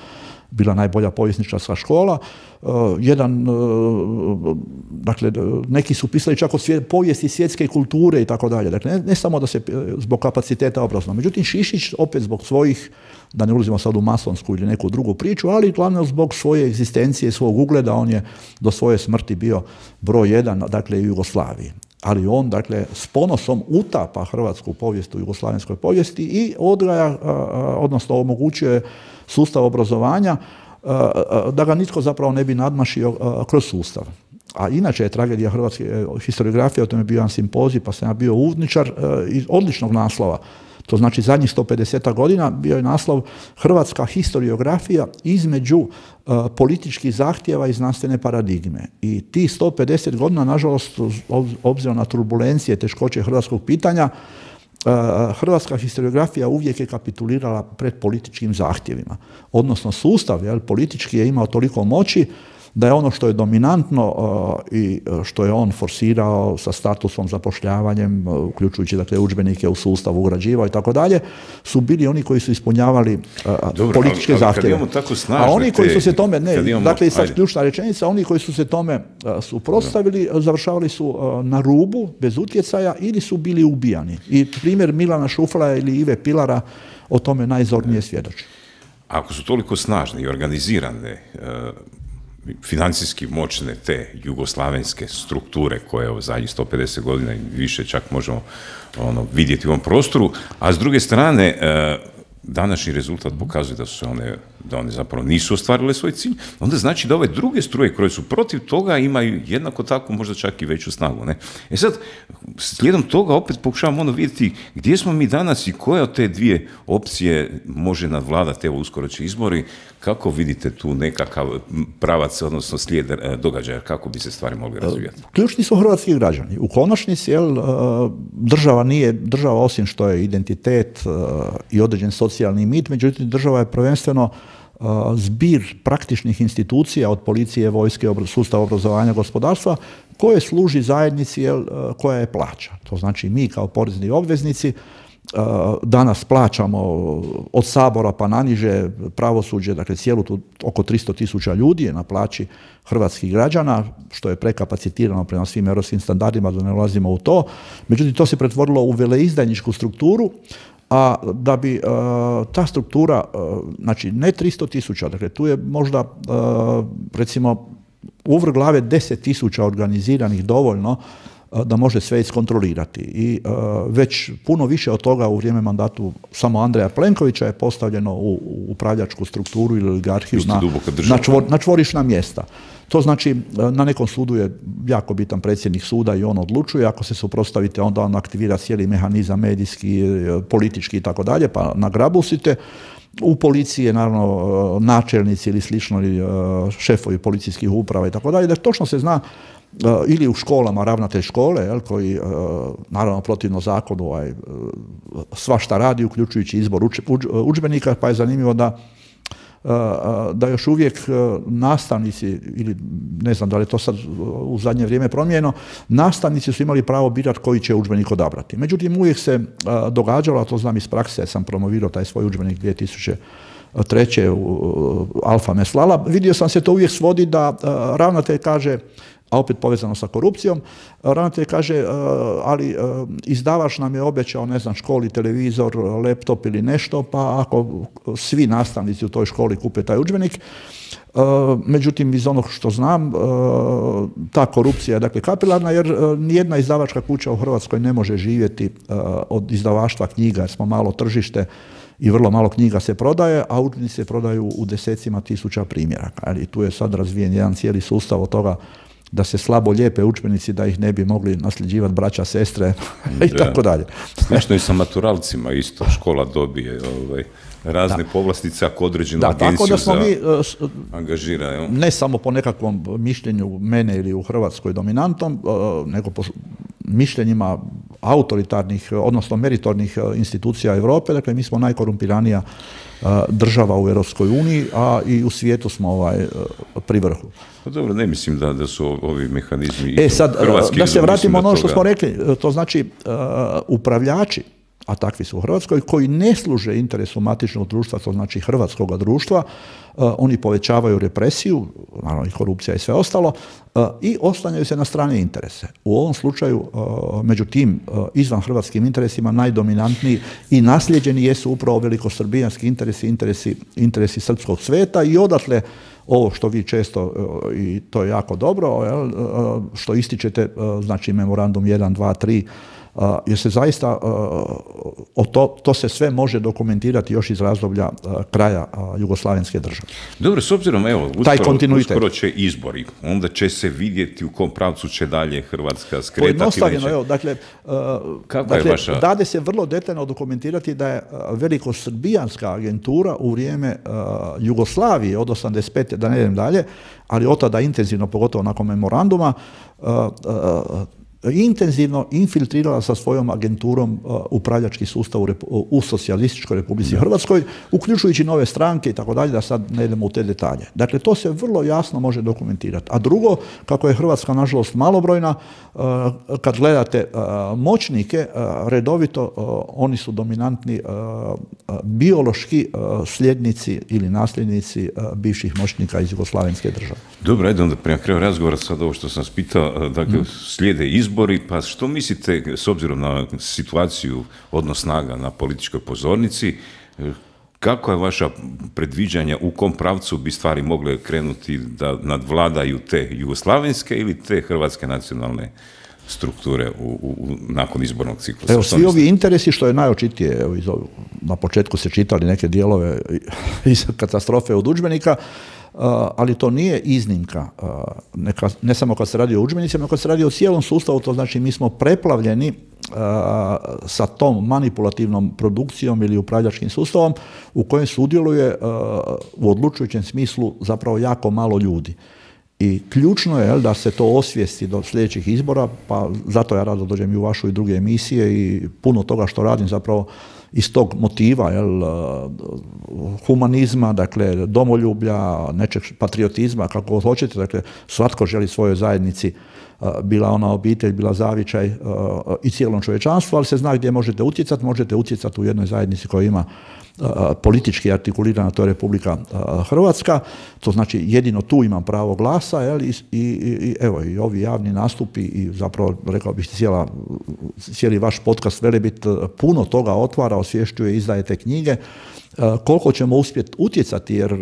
bila najbolja povjesničarska škola. Uh, jedan, uh, dakle, neki su pisali čak o svijet, povijesti svjetske kulture i tako dalje. Dakle, ne, ne samo da se zbog kapaciteta obrazovanja. Međutim, Šišić opet zbog svojih, da ne ulazimo sad u masonsku ili neku drugu priču, ali glavno zbog svoje egzistencije, svog ugleda, on je do svoje smrti bio broj jedan, dakle, u Jugoslaviji. Ali on, dakle, s ponosom utapa hrvatsku povijest u jugoslavenskoj povijesti i odgaja, odnosno omogućuje sustav obrazovanja da ga nitko zapravo ne bi nadmašio kroz sustav. A inače je tragedija hrvatske historiografije, o tome je bio jedan simpozij, pa sam ja bio uvodničar iz odličnog naslova. To znači zadnjih sto pedeset godina bio je naslov Hrvatska historiografija između uh, političkih zahtjeva i znanstvene paradigme. I ti sto pedeset godina, nažalost, obzirom na turbulencije, teškoće hrvatskog pitanja, uh, hrvatska historiografija uvijek je kapitulirala pred političkim zahtjevima. Odnosno sustav, jel, politički je imao toliko moći da je ono što je dominantno uh, i što je on forsirao sa statusom, zapošljavanjem, uh, uključujući, dakle, udžbenike u sustav, ugrađivao i tako dalje, su bili oni koji su ispunjavali uh, Dobro, političke ali, ali zahtjeve. A oni koji su se tome, ne, imamo, dakle, i sad ključna rečenica, oni koji su se tome uh, suprotstavili, uh, završavali su uh, na rubu, bez utjecaja, ili su bili ubijani. I primjer Milana Šufla ili Ive Pilara o tome najzornije svjedoči. Ako su toliko snažne i organizirane, uh, financijski moćne te jugoslavenske strukture koje u zadnjih sto pedeset godina i više čak možemo ono, vidjeti u ovom prostoru, a s druge strane današnji rezultat pokazuje da su one, da one zapravo nisu ostvarile svoj cilj, onda znači da ove druge struje koje su protiv toga imaju jednako tako možda čak i veću snagu. Ne? E sad, slijedom toga opet pokušavamo ono vidjeti gdje smo mi danas i koja od te dvije opcije može nadvladati, evo uskoro će izbori, kako vidite tu nekakav pravac, odnosno slijed događaja, kako bi se stvari mogli razvijati? Ključni su hrvatski građani. U konačnici, jel, država nije, država osim što je identitet i određen socijalni mit, međutim država je prvenstveno zbir praktičnih institucija od policije, vojske, sustava obrazovanja, gospodarstva, koje služi zajednici, jel, koja je plaća. To znači mi kao porezni obveznici danas plaćamo od Sabora pa naniže pravosuđe, dakle cijelu tu oko tristo tisuća ljudi je na plaći hrvatskih građana, što je prekapacitirano prema svim europskim standardima, da ne ulazimo u to. Međutim, to se pretvorilo u veleizdajničku strukturu, a da bi uh, ta struktura, uh, znači ne tristo tisuća, dakle tu je možda uh, recimo u vrh glave deset tisuća organiziranih dovoljno da može sve iskontrolirati. I uh, već puno više od toga u vrijeme mandatu samo Andreja Plenkovića je postavljeno u, u upravljačku strukturu ili oligarhiju na, na, čvor, na čvorišna mjesta. To znači, na nekom sudu je jako bitan predsjednik suda i on odlučuje, ako se suprotstavite, onda on aktivira cijeli mehanizam medijski, politički i tako dalje, pa nagrabusite. U policiji je naravno načelnici ili slično, ili šefovi policijskih uprava i tako dalje, da točno se zna, ili u školama ravnatelj škole, jel, koji naravno protivno zakonu ovaj, svašta radi, uključujući izbor udžbenika, pa je zanimljivo da da još uvijek nastavnici, ili ne znam da li je to sad u zadnje vrijeme promijenjeno, nastavnici su imali pravo birati koji će udžbenik odabrati. Međutim, uvijek se događalo, a to znam iz prakse, sam promovirao taj svoj udžbenik dvije tisuće treće u Alfa Meslala, vidio sam se to uvijek svodi da ravnatelj kaže, a opet povezano sa korupcijom, ravnatelj kaže, ali izdavač nam je obećao, ne znam, školi televizor, laptop ili nešto, pa ako svi nastavnici u toj školi kupe taj udžbenik, međutim, iz onog što znam, ta korupcija je dakle kapilarna, jer nijedna izdavačka kuća u Hrvatskoj ne može živjeti od izdavaštva knjiga, jer smo malo tržište i vrlo malo knjiga se prodaje, a udžbenici se prodaju u desecima tisuća primjeraka. I tu je sad razvijen jedan cijeli sustav od toga da se slabo lijepe udžbenici, da ih ne bi mogli nasljeđivati braća, sestre i da. Tako dalje. Slično i sa maturalcima isto, škola dobije ovaj, razne da. povlastice ako određenu da, agenciju da smo za mi, uh, angažira. Jo? Ne samo po nekakvom mišljenju mene ili u Hrvatskoj dominantom, uh, nego po mišljenjima autoritarnih, odnosno meritornih institucija Europe. Dakle, mi smo najkorumpiranija uh, država u Europskoj uniji, a i u svijetu smo ovaj, uh, pri vrhu. Pa dobro, ne mislim da, da su ovi mehanizmi e, sad, hrvatski. Da se vratimo ono što smo rekli, to znači uh, upravljači, a takvi su u Hrvatskoj, koji ne služe interesu matičnog društva, to znači hrvatskog društva, uh, oni povećavaju represiju, naravno i korupcija i sve ostalo, uh, i oslanjaju se na strane interese. U ovom slučaju, uh, među tim uh, izvan hrvatskim interesima, najdominantniji i nasljeđeni jesu upravo velikosrbijanski interesi, interesi, interesi srpskog sveta i odatle ovo što vi često, i to je jako dobro, što ističete, znači memorandum jedan, dva, tri, jer se zaista to, to se sve može dokumentirati još iz razdoblja kraja jugoslavenske države. Dobro, s obzirom, evo, uskoro, uskoro će izbori, onda će se vidjeti u kom pravcu će dalje Hrvatska skretati. Pojednostavljeno, evo, dakle, dakle je vaša... dade se vrlo detaljno dokumentirati da je velikosrbijanska agentura u vrijeme Jugoslavije od osamdeset pete da ne idem dalje, ali od tada intenzivno, pogotovo nakon memoranduma, intenzivno infiltrirala sa svojom agenturom uh, upravljački sustav u, repu, u socijalističkoj Republici da. Hrvatskoj, uključujući nove stranke i tako dalje, da sad ne idemo u te detalje. Dakle, to se vrlo jasno može dokumentirati. A drugo, kako je Hrvatska nažalost malobrojna, uh, kad gledate uh, moćnike, uh, redovito uh, oni su dominantni uh, uh, biološki uh, sljednici ili nasljednici uh, bivših moćnika iz jugoslavenske države. Dobro, ajde onda prema kraju razgovora sad ovo što sam spitao, dakle, hmm. slijede izbori. Pa što mislite, s obzirom na situaciju odnos snaga na političkoj pozornici, kako je vaša predviđanja, u kom pravcu bi stvari mogle krenuti da nadvladaju te jugoslavenske ili te hrvatske nacionalne strukture u, u, nakon izbornog ciklusa. Evo, svi ovi interesi, što je najočitije, evo, iz, na početku se čitali neke dijelove iz katastrofe od udžbenika, Uh, ali to nije iznimka, uh, neka, ne samo kad se radi o udžbenicima, nego kad se radi o cijelom sustavu, to znači mi smo preplavljeni uh, sa tom manipulativnom produkcijom ili upravljačkim sustavom u kojem sudjeluje uh, u odlučujućem smislu zapravo jako malo ljudi. I ključno je, jel, da se to osvijesti do sljedećih izbora, pa zato ja rado dođem i u vašu i druge emisije i puno toga što radim zapravo iz tog motiva, jel, humanizma, dakle, domoljublja, nečeg patriotizma, kako hoćete, dakle, svatko želi svojoj zajednici, bila ona obitelj, bila zavičaj i cijelom čovječanstvu, ali se zna gdje možete utjecati, možete utjecati u jednoj zajednici koja ima politički artikulirana, to je Republika Hrvatska, to znači jedino tu imam pravo glasa, jel, i, i, i evo, i ovi javni nastupi i zapravo, rekao bih, cijela, cijeli vaš podcast Velebit puno toga otvara, osvješćuje, izdajete knjige, koliko ćemo uspjeti utjecati, jer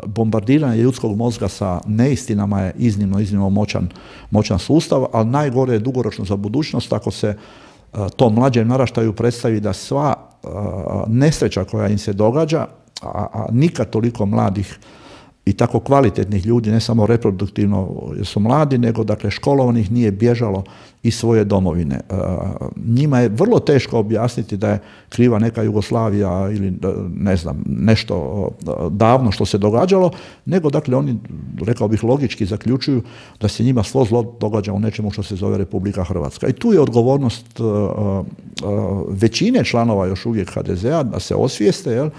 bombardiranje ljudskog mozga sa neistinama je iznimno, iznimno moćan, moćan sustav, ali najgore je dugoročno za budućnost ako se to mlađem naraštaju predstavi da sva nesreća koja im se događa, a, a nikad toliko mladih i tako kvalitetnih ljudi, ne samo reproduktivno jer su mladi, nego dakle školovanih nije bježalo iz svoje domovine. Njima je vrlo teško objasniti da je kriva neka Jugoslavija ili ne znam, nešto davno što se događalo, nego dakle oni, rekao bih, logički zaključuju da se njima svo zlo događa u nečemu što se zove Republika Hrvatska. I tu je odgovornost većine članova još uvijek ha de ze a da se osvijeste, jel,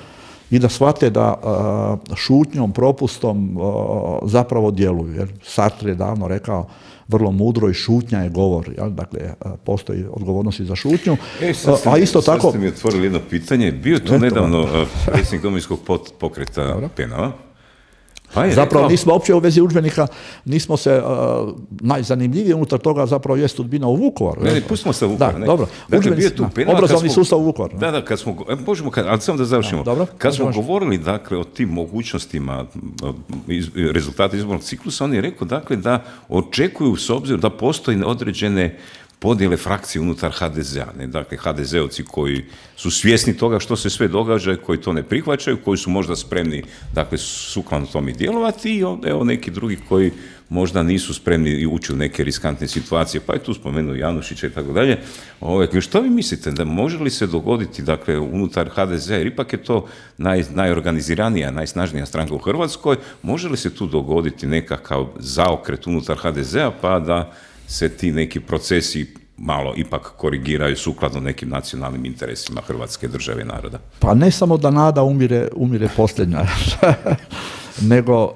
i da shvate da uh, šutnjom, propustom uh, zapravo djeluju. Jer Sartre je davno rekao vrlo mudro i šutnja je govor. Jel? Dakle, uh, postoji odgovornost i za šutnju. E, sad ste, uh, a isto sad tako... ste mi otvorili jedno pitanje. Bio tu nedavno uh, predsjednik Domovinskog pokreta Dobro. Penava. Pa je, zapravo rekao... nismo uopće u vezi udžbenika, nismo se, uh, najzanimljivije unutar toga zapravo je sudbina u Vukovaru. Ne, ne, pustimo se u Vukovar. Da, ne. dobro. Dakle, bio tu Penava, obrazovni smo, sustav u Vukovaru. Da, da, kad smo, možemo, ali samo da završimo. Da, dobro, kad smo možemo. govorili, dakle, o tim mogućnostima iz, rezultata izbornog ciklusa, on je rekao, dakle, da očekuju s obzirom da postoji određene podjele frakcije unutar ha de ze a. Ne? Dakle, ha de ze ovci koji su svjesni toga što se sve događa, koji to ne prihvaćaju, koji su možda spremni, dakle, sukladno tome djelovati, i evo neki drugi koji možda nisu spremni i ući u neke riskantne situacije, pa je tu spomenuo Janušića i tako dalje. Što vi mislite, da može li se dogoditi, dakle, unutar ha de ze a, jer ipak je to naj, najorganiziranija, najsnažnija stranka u Hrvatskoj, može li se tu dogoditi nekakav zaokret unutar ha de ze a, pa da se ti neki procesi malo ipak korigiraju sukladno nekim nacionalnim interesima Hrvatske države i naroda? Pa ne samo da nada umire, umire posljednja, nego uh,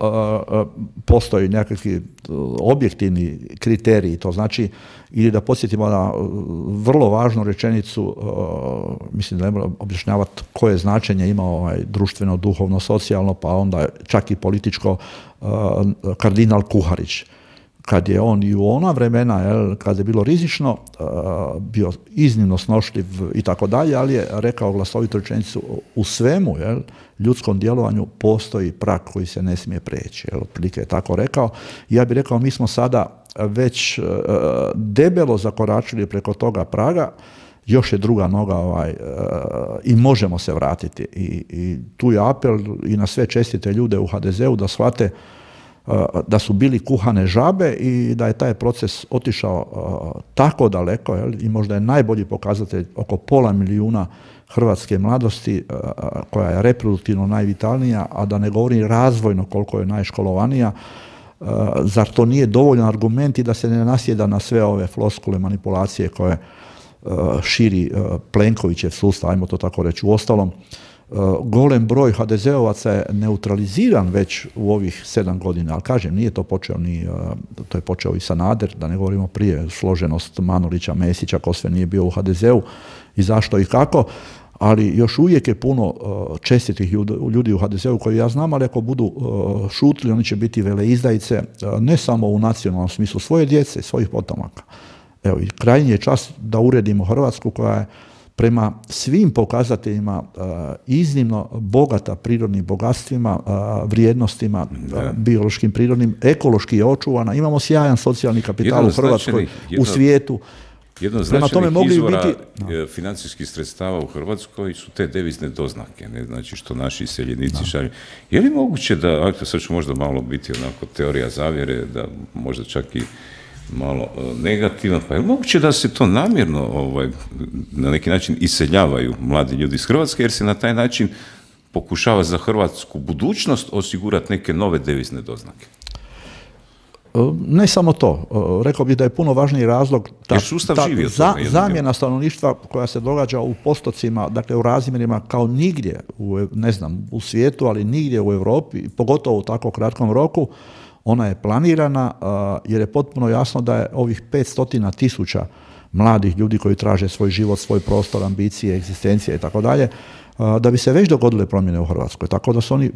uh, postoji nekakvi objektivni kriteriji. To znači, ili da podsjetimo na uh, vrlo važnu rečenicu, uh, mislim da ne moram objašnjavati koje značenje ima ovaj, društveno, duhovno, socijalno, pa onda čak i političko, uh, kardinal Kuharić. Kad je on i u ona vremena, jel, kad je bilo rizično, uh, bio iznimno snošljiv i tako dalje, ali je rekao glasovitu rečenicu, u svemu, jel, ljudskom djelovanju postoji prag koji se ne smije preći. Jel, otprilike je tako rekao. Ja bih rekao, mi smo sada već uh, debelo zakoračili preko toga praga, još je druga noga ovaj, uh, i možemo se vratiti. I, i tu je apel i na sve čestite ljude u ha de ze u da shvate da su bili kuhane žabe i da je taj proces otišao uh, tako daleko, jel, i možda je najbolji pokazatelj oko pola milijuna hrvatske mladosti uh, koja je reproduktivno najvitalnija, a da ne govorim razvojno koliko je najškolovanija. Uh, zar to nije dovoljan argument i da se ne nasjeda na sve ove floskule, manipulacije koje uh, širi uh, Plenkovićev sustav, ajmo to tako reći. Uostalom, golem broj ha de ze ovaca je neutraliziran već u ovih sedam godina, ali kažem, nije to počeo ni, to je počeo i Sanader, da ne govorimo prije, složenost Manolića, Mesića, ko sve nije bio u ha de ze u i zašto i kako, ali još uvijek je puno čestitih ljudi u ha de ze u koji ja znam, ali ako budu šutili, oni će biti veleizdajice, ne samo u nacionalnom smislu svoje djece, svojih potomaka. Evo, i krajnji je čas da uredimo Hrvatsku koja je prema svim pokazateljima iznimno bogata prirodnim bogatstvima, vrijednostima, da. biološkim, prirodnim, ekološki je očuvana. Imamo sjajan socijalni kapital jedno u Hrvatskoj, jedno, u svijetu. Jedno od značajnih izvora biti, no. financijskih sredstava u Hrvatskoj su te devizne doznake, ne? Znači što naši iseljenici no. šalju. Je li moguće da, ako sad ću možda malo biti onako teorija zavjere, da možda čak i malo negativno, pa je li moguće da se to namjerno ovaj, na neki način iseljavaju mladi ljudi iz Hrvatske, jer se na taj način pokušava za hrvatsku budućnost osigurati neke nove devizne doznake? Ne samo to. Rekao bih da je puno važniji razlog ta, ta za, zamjena stanovništva koja se događa u postocima, dakle u razmjerima kao nigdje, u, ne znam, u svijetu, ali nigdje u Europi, pogotovo u tako kratkom roku. Ona je planirana jer je potpuno jasno da je ovih petsto tisuća mladih ljudi koji traže svoj život, svoj prostor, ambicije, egzistencije i tako dalje, da bi se već dogodile promjene u Hrvatskoj. Tako da su oni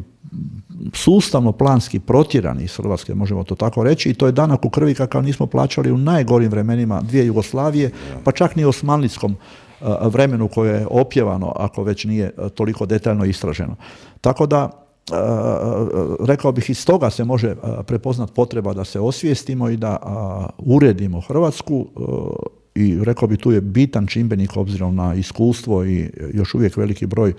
sustavno, planski protjerani iz Hrvatske, možemo to tako reći, i to je danak u krvi kakav nismo plaćali u najgorim vremenima dvije Jugoslavije, pa čak ni u osmanlijskom vremenu koje je opjevano, ako već nije toliko detaljno istraženo. Tako da, rekao bih, iz toga se može prepoznati potreba da se osvijestimo i da uredimo Hrvatsku. I rekao bi, tu je bitan čimbenik obzirom na iskustvo i još uvijek veliki broj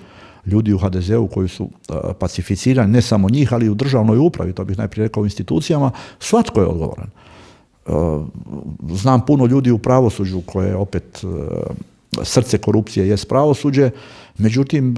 ljudi u ha de zeu koji su uh, pacificirani, ne samo njih, ali i u državnoj upravi, to bih najprije rekao u institucijama, svatko je odgovoran. Uh, znam puno ljudi u pravosuđu koje opet uh, srce korupcije jest pravosuđe, međutim,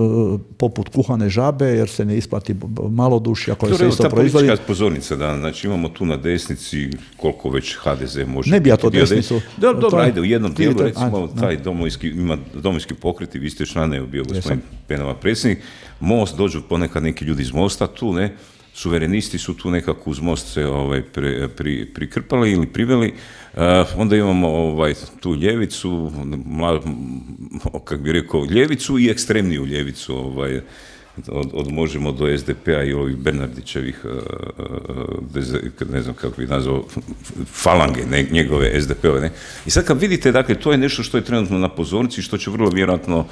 poput kuhane žabe, jer se ne isplati malodušja koje se isto proizvodi. Ta politička pozornica, da, znači imamo tu na desnici koliko već ha de ze može... Ne bi ja to desnicu... Dobro, dobro, ajde, u jednom dijelu, recimo, taj domovinski, ima domovinski pokret i vi ste člane, je bio gospodin Penava predsjednik, Most, dođu ponekad neki ljudi iz Mosta tu, ne, suverenisti su tu nekako uz Most se ovaj, pri, pri, prikrpali ili priveli. Uh, onda imamo ovaj, tu ljevicu, mla, kako bi rekao, ljevicu i ekstremniju ljevicu, ovaj, od, od Možemo do es de pe a i ovih Bernardićevih, uh, ne znam kako bi nazvao, falange, ne, njegove es de pe ove. Ne? I sad kad vidite, dakle, to je nešto što je trenutno na pozornici, što će vrlo vjerojatno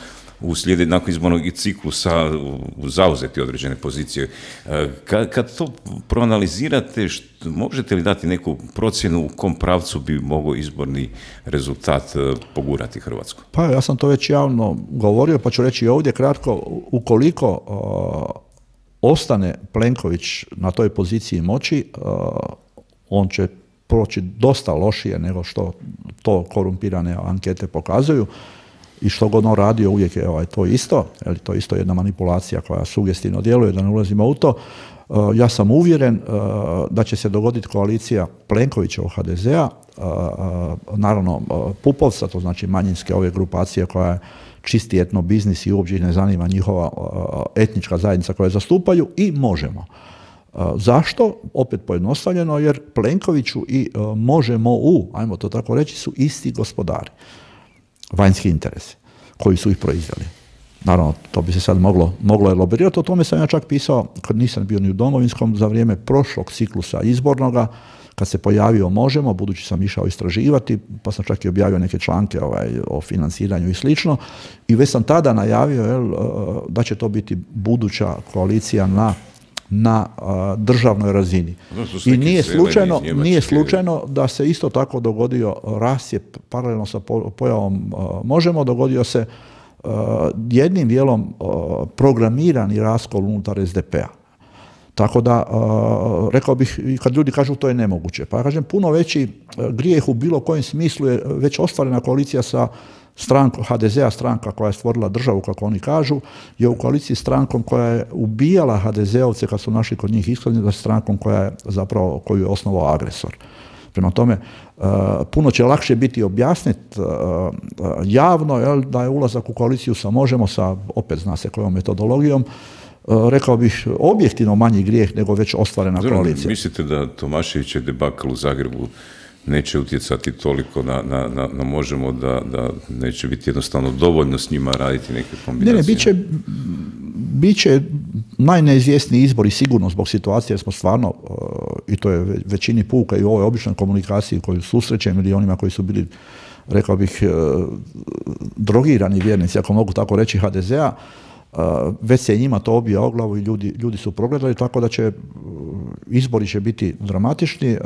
uslijedi nakon izbornog ciklusa zauzeti određene pozicije. Kad, kad to proanalizirate, što, možete li dati neku procjenu u kom pravcu bi mogao izborni rezultat pogurati Hrvatsku? Pa ja sam to već javno govorio, pa ću reći ovdje kratko, ukoliko uh, ostane Plenković na toj poziciji moći, uh, on će proći dosta lošije nego što to korumpirane ankete pokazuju. I što god on radio, uvijek je ovaj, to isto, jer to je isto jedna manipulacija koja sugestivno djeluje, da ne ulazimo u to. Uh, ja sam uvjeren uh, da će se dogoditi koalicija Plenkovićevog ha de zea, uh, uh, naravno uh, Pupovca, to znači manjinske ove grupacije koja je čisti etno biznis i uopće ih ne zanima njihova uh, etnička zajednica koju zastupaju, i Možemo. Uh, zašto? Opet pojednostavljeno, jer Plenkoviću i uh, Možemo u, ajmo to tako reći, su isti gospodari. Vanjski interesi koji su ih proizveli. Naravno, to bi se sad moglo, moglo elaborirati. O tome sam ja čak pisao, kad nisam bio ni u Domovinskom, za vrijeme prošlog ciklusa izbornoga, kad se pojavio Možemo, budući sam išao istraživati, pa sam čak i objavio neke članke ovaj, o financiranju i slično, i već sam tada najavio jel, da će to biti buduća koalicija na na a, državnoj razini. I nije slučajno, nije slučajno da se isto tako dogodio rascjep paralelno sa pojavom a, Možemo, dogodio se a, jednim dijelom a, programirani raskol unutar es de pe a. Tako da, a, rekao bih, kad ljudi kažu to je nemoguće, pa ja kažem, puno veći grijeh u bilo kojem smislu je već ostvarena koalicija sa strankom ha de zea, stranka koja je stvorila državu, kako oni kažu, je u koaliciji s strankom koja je ubijala ha de zeovce kad su našli kod njih iskaznice, strankom koja je zapravo, koju je osnovao agresor. Prema tome, uh, puno će lakše biti objasniti uh, uh, javno jel, da je ulazak u koaliciju sa Možemo, sa, opet zna se kojom metodologijom, uh, rekao bih, objektivno manji grijeh nego već ostvarena Zdravo, koalicija. Mislite da Tomaševićev debakl u Zagrebu neće utjecati toliko na, na, na, na Možemo, da, da neće biti jednostavno dovoljno s njima raditi neke kombinacije? Ne, ne, bit će, bit će najneizvjesniji izbor i sigurno zbog situacije, jer smo stvarno, uh, i to je većini puka i u ovoj običnoj komunikaciji koju susrećem ili onima koji su bili rekao bih, drogirani vjernici, ako mogu tako reći, ha de zea, već se njima to obija o glavu i ljudi, ljudi su progledali, tako da će izbori će biti dramatični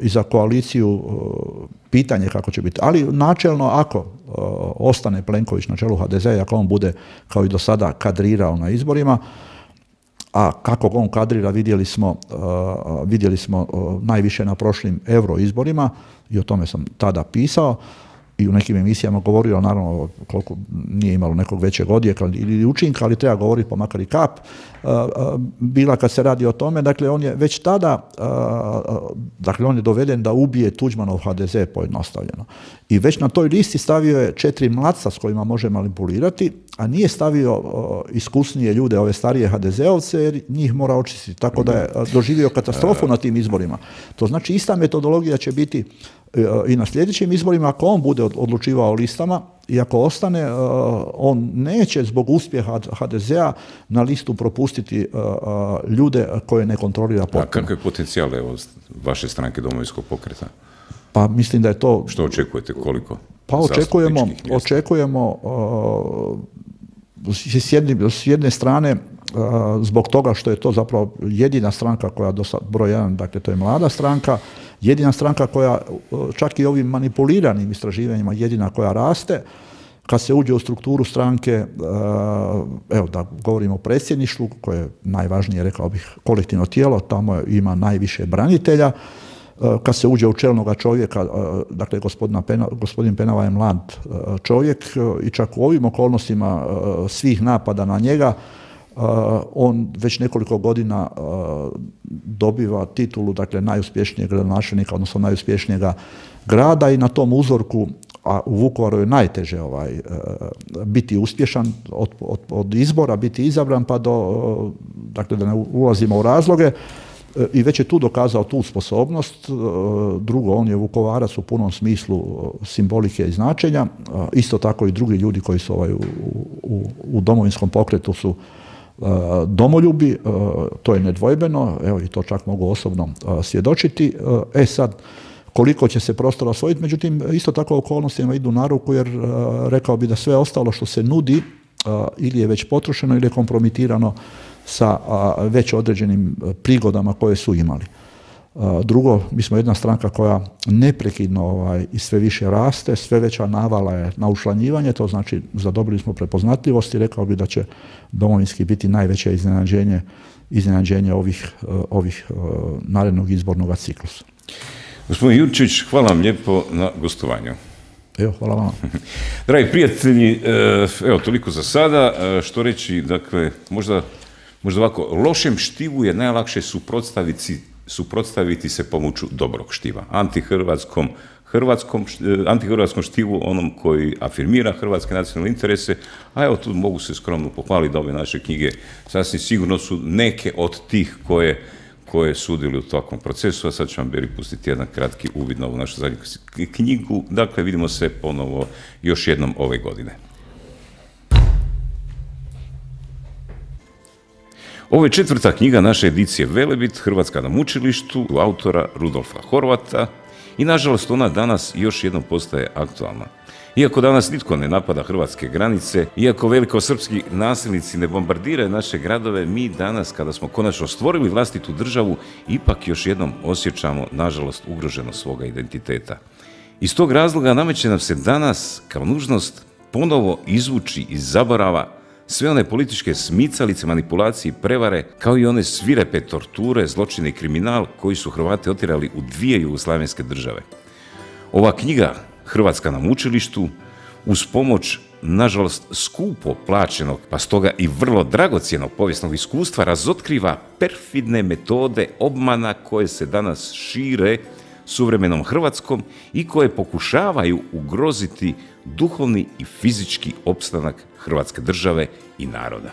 i za koaliciju pitanje kako će biti. Ali načelno, ako ostane Plenković na čelu ha de zea, ako on bude kao i do sada kadrirao na izborima, a kako on kadrira vidjeli smo, vidjeli smo najviše na prošlim euro izborima i o tome sam tada pisao i u nekim emisijama govorio, naravno koliko nije imalo nekog većeg odjeka ili učinka, ali treba govoriti pa makar i kap, bila kad se radi o tome, dakle on je već tada, dakle on je doveden da ubije Tuđmanov ha de ze pojednostavljeno. I već na toj listi stavio je četiri mladca s kojima može manipulirati, a nije stavio iskusnije ljude, ove starije ha de zeovce, jer njih mora očistiti, tako da je doživio katastrofu na tim izborima. To znači ista metodologija će biti i na sljedećim izborima, ako on bude odlučivao o listama i ako ostane, on neće zbog uspjeha ha de zea na listu propustiti ljude koje ne kontrolira potpuno. A kakav je potencijal evo, vaše stranke Domovinskog pokreta? Pa mislim da je to... Što očekujete, koliko? Pa očekujemo, očekujemo uh, s, jedne, s jedne strane uh, zbog toga što je to zapravo jedina stranka koja do sad, broj jedan, dakle to je mlada stranka, jedina stranka koja čak i ovim manipuliranim istraživanjima jedina koja raste. Kad se uđe u strukturu stranke, evo da govorimo o predsjedništvu, koje je najvažnije, rekao bih, kolektivno tijelo, tamo ima najviše branitelja. Kad se uđe u čelnoga čovjeka, dakle Pena, gospodin Penava je mlad čovjek i čak u ovim okolnostima svih napada na njega, on već nekoliko godina dobiva titulu, dakle najuspješnijeg gradonačelnika, odnosno najuspješnijega grada i na tom uzorku, a u Vukovaru je najteže ovaj, biti uspješan od, od, od izbora, biti izabran pa do, dakle da ne ulazimo u razloge, i već je tu dokazao tu sposobnost. Drugo, on je Vukovarac u punom smislu simbolike i značenja, isto tako i drugi ljudi koji su ovaj, u, u, u Domovinskom pokretu su domoljubi, to je nedvojbeno, evo i to čak mogu osobno svjedočiti. E sad, koliko će se prostora osvojiti, međutim, isto tako okolnostima idu na ruku, jer rekao bi da sve ostalo što se nudi ili je već potrošeno ili je kompromitirano sa već određenim prigodama koje su imali. Drugo, mi smo jedna stranka koja neprekidno ovaj, i sve više raste, sve veća navala je na učlanjivanje, to znači zadobili smo prepoznatljivost i rekao bi da će Domovinski biti najveće iznenađenje, iznenađenje ovih, ovih narednog izbornog ciklusa. Gospodin Jurčić, hvala vam lijepo na gostovanju. Evo, hvala vam. Dragi prijatelji, evo toliko za sada. Što reći, dakle, možda, možda ovako, lošem štivu je najlakše suprotstaviti suprotstaviti se pomoću dobrog štiva. Antihrvatskom, hrvatskom, antihrvatskom štivu, onom koji afirmira hrvatske nacionalne interese, a evo tu mogu se skromno pohvaliti da ove naše knjige sasvim sigurno su neke od tih koje, koje sudili u takvom procesu, a sad ću vam Beri pustiti jedan kratki uvid na ovu našu zadnju knjigu. Dakle, vidimo se ponovo još jednom ove godine. Ovo je četvrta knjiga naše edicije Velebit, Hrvatska na mučilištu, autora Rudolfa Horvata i nažalost ona danas još jednom postaje aktualna. Iako danas nitko ne napada hrvatske granice, iako velikosrpski nasilnici ne bombardiraju naše gradove, mi danas kada smo konačno stvorili vlastitu državu, ipak još jednom osjećamo nažalost ugroženost svoga identiteta. Iz tog razloga nameće nam se danas kao nužnost ponovo izvući iz zaborava sve one političke smicalice, manipulacije i prevare, kao i one svirepe torture, zločine i kriminal koji su Hrvate otjerali u dvije jugoslavenske države. Ova knjiga, Hrvatska na mučilištu, uz pomoć, nažalost, skupo plaćenog, pa stoga i vrlo dragocjenog povijesnog iskustva, razotkriva perfidne metode obmana koje se danas šire suvremenom Hrvatskom i koje pokušavaju ugroziti duhovni i fizički opstanak Hrvatske države i naroda.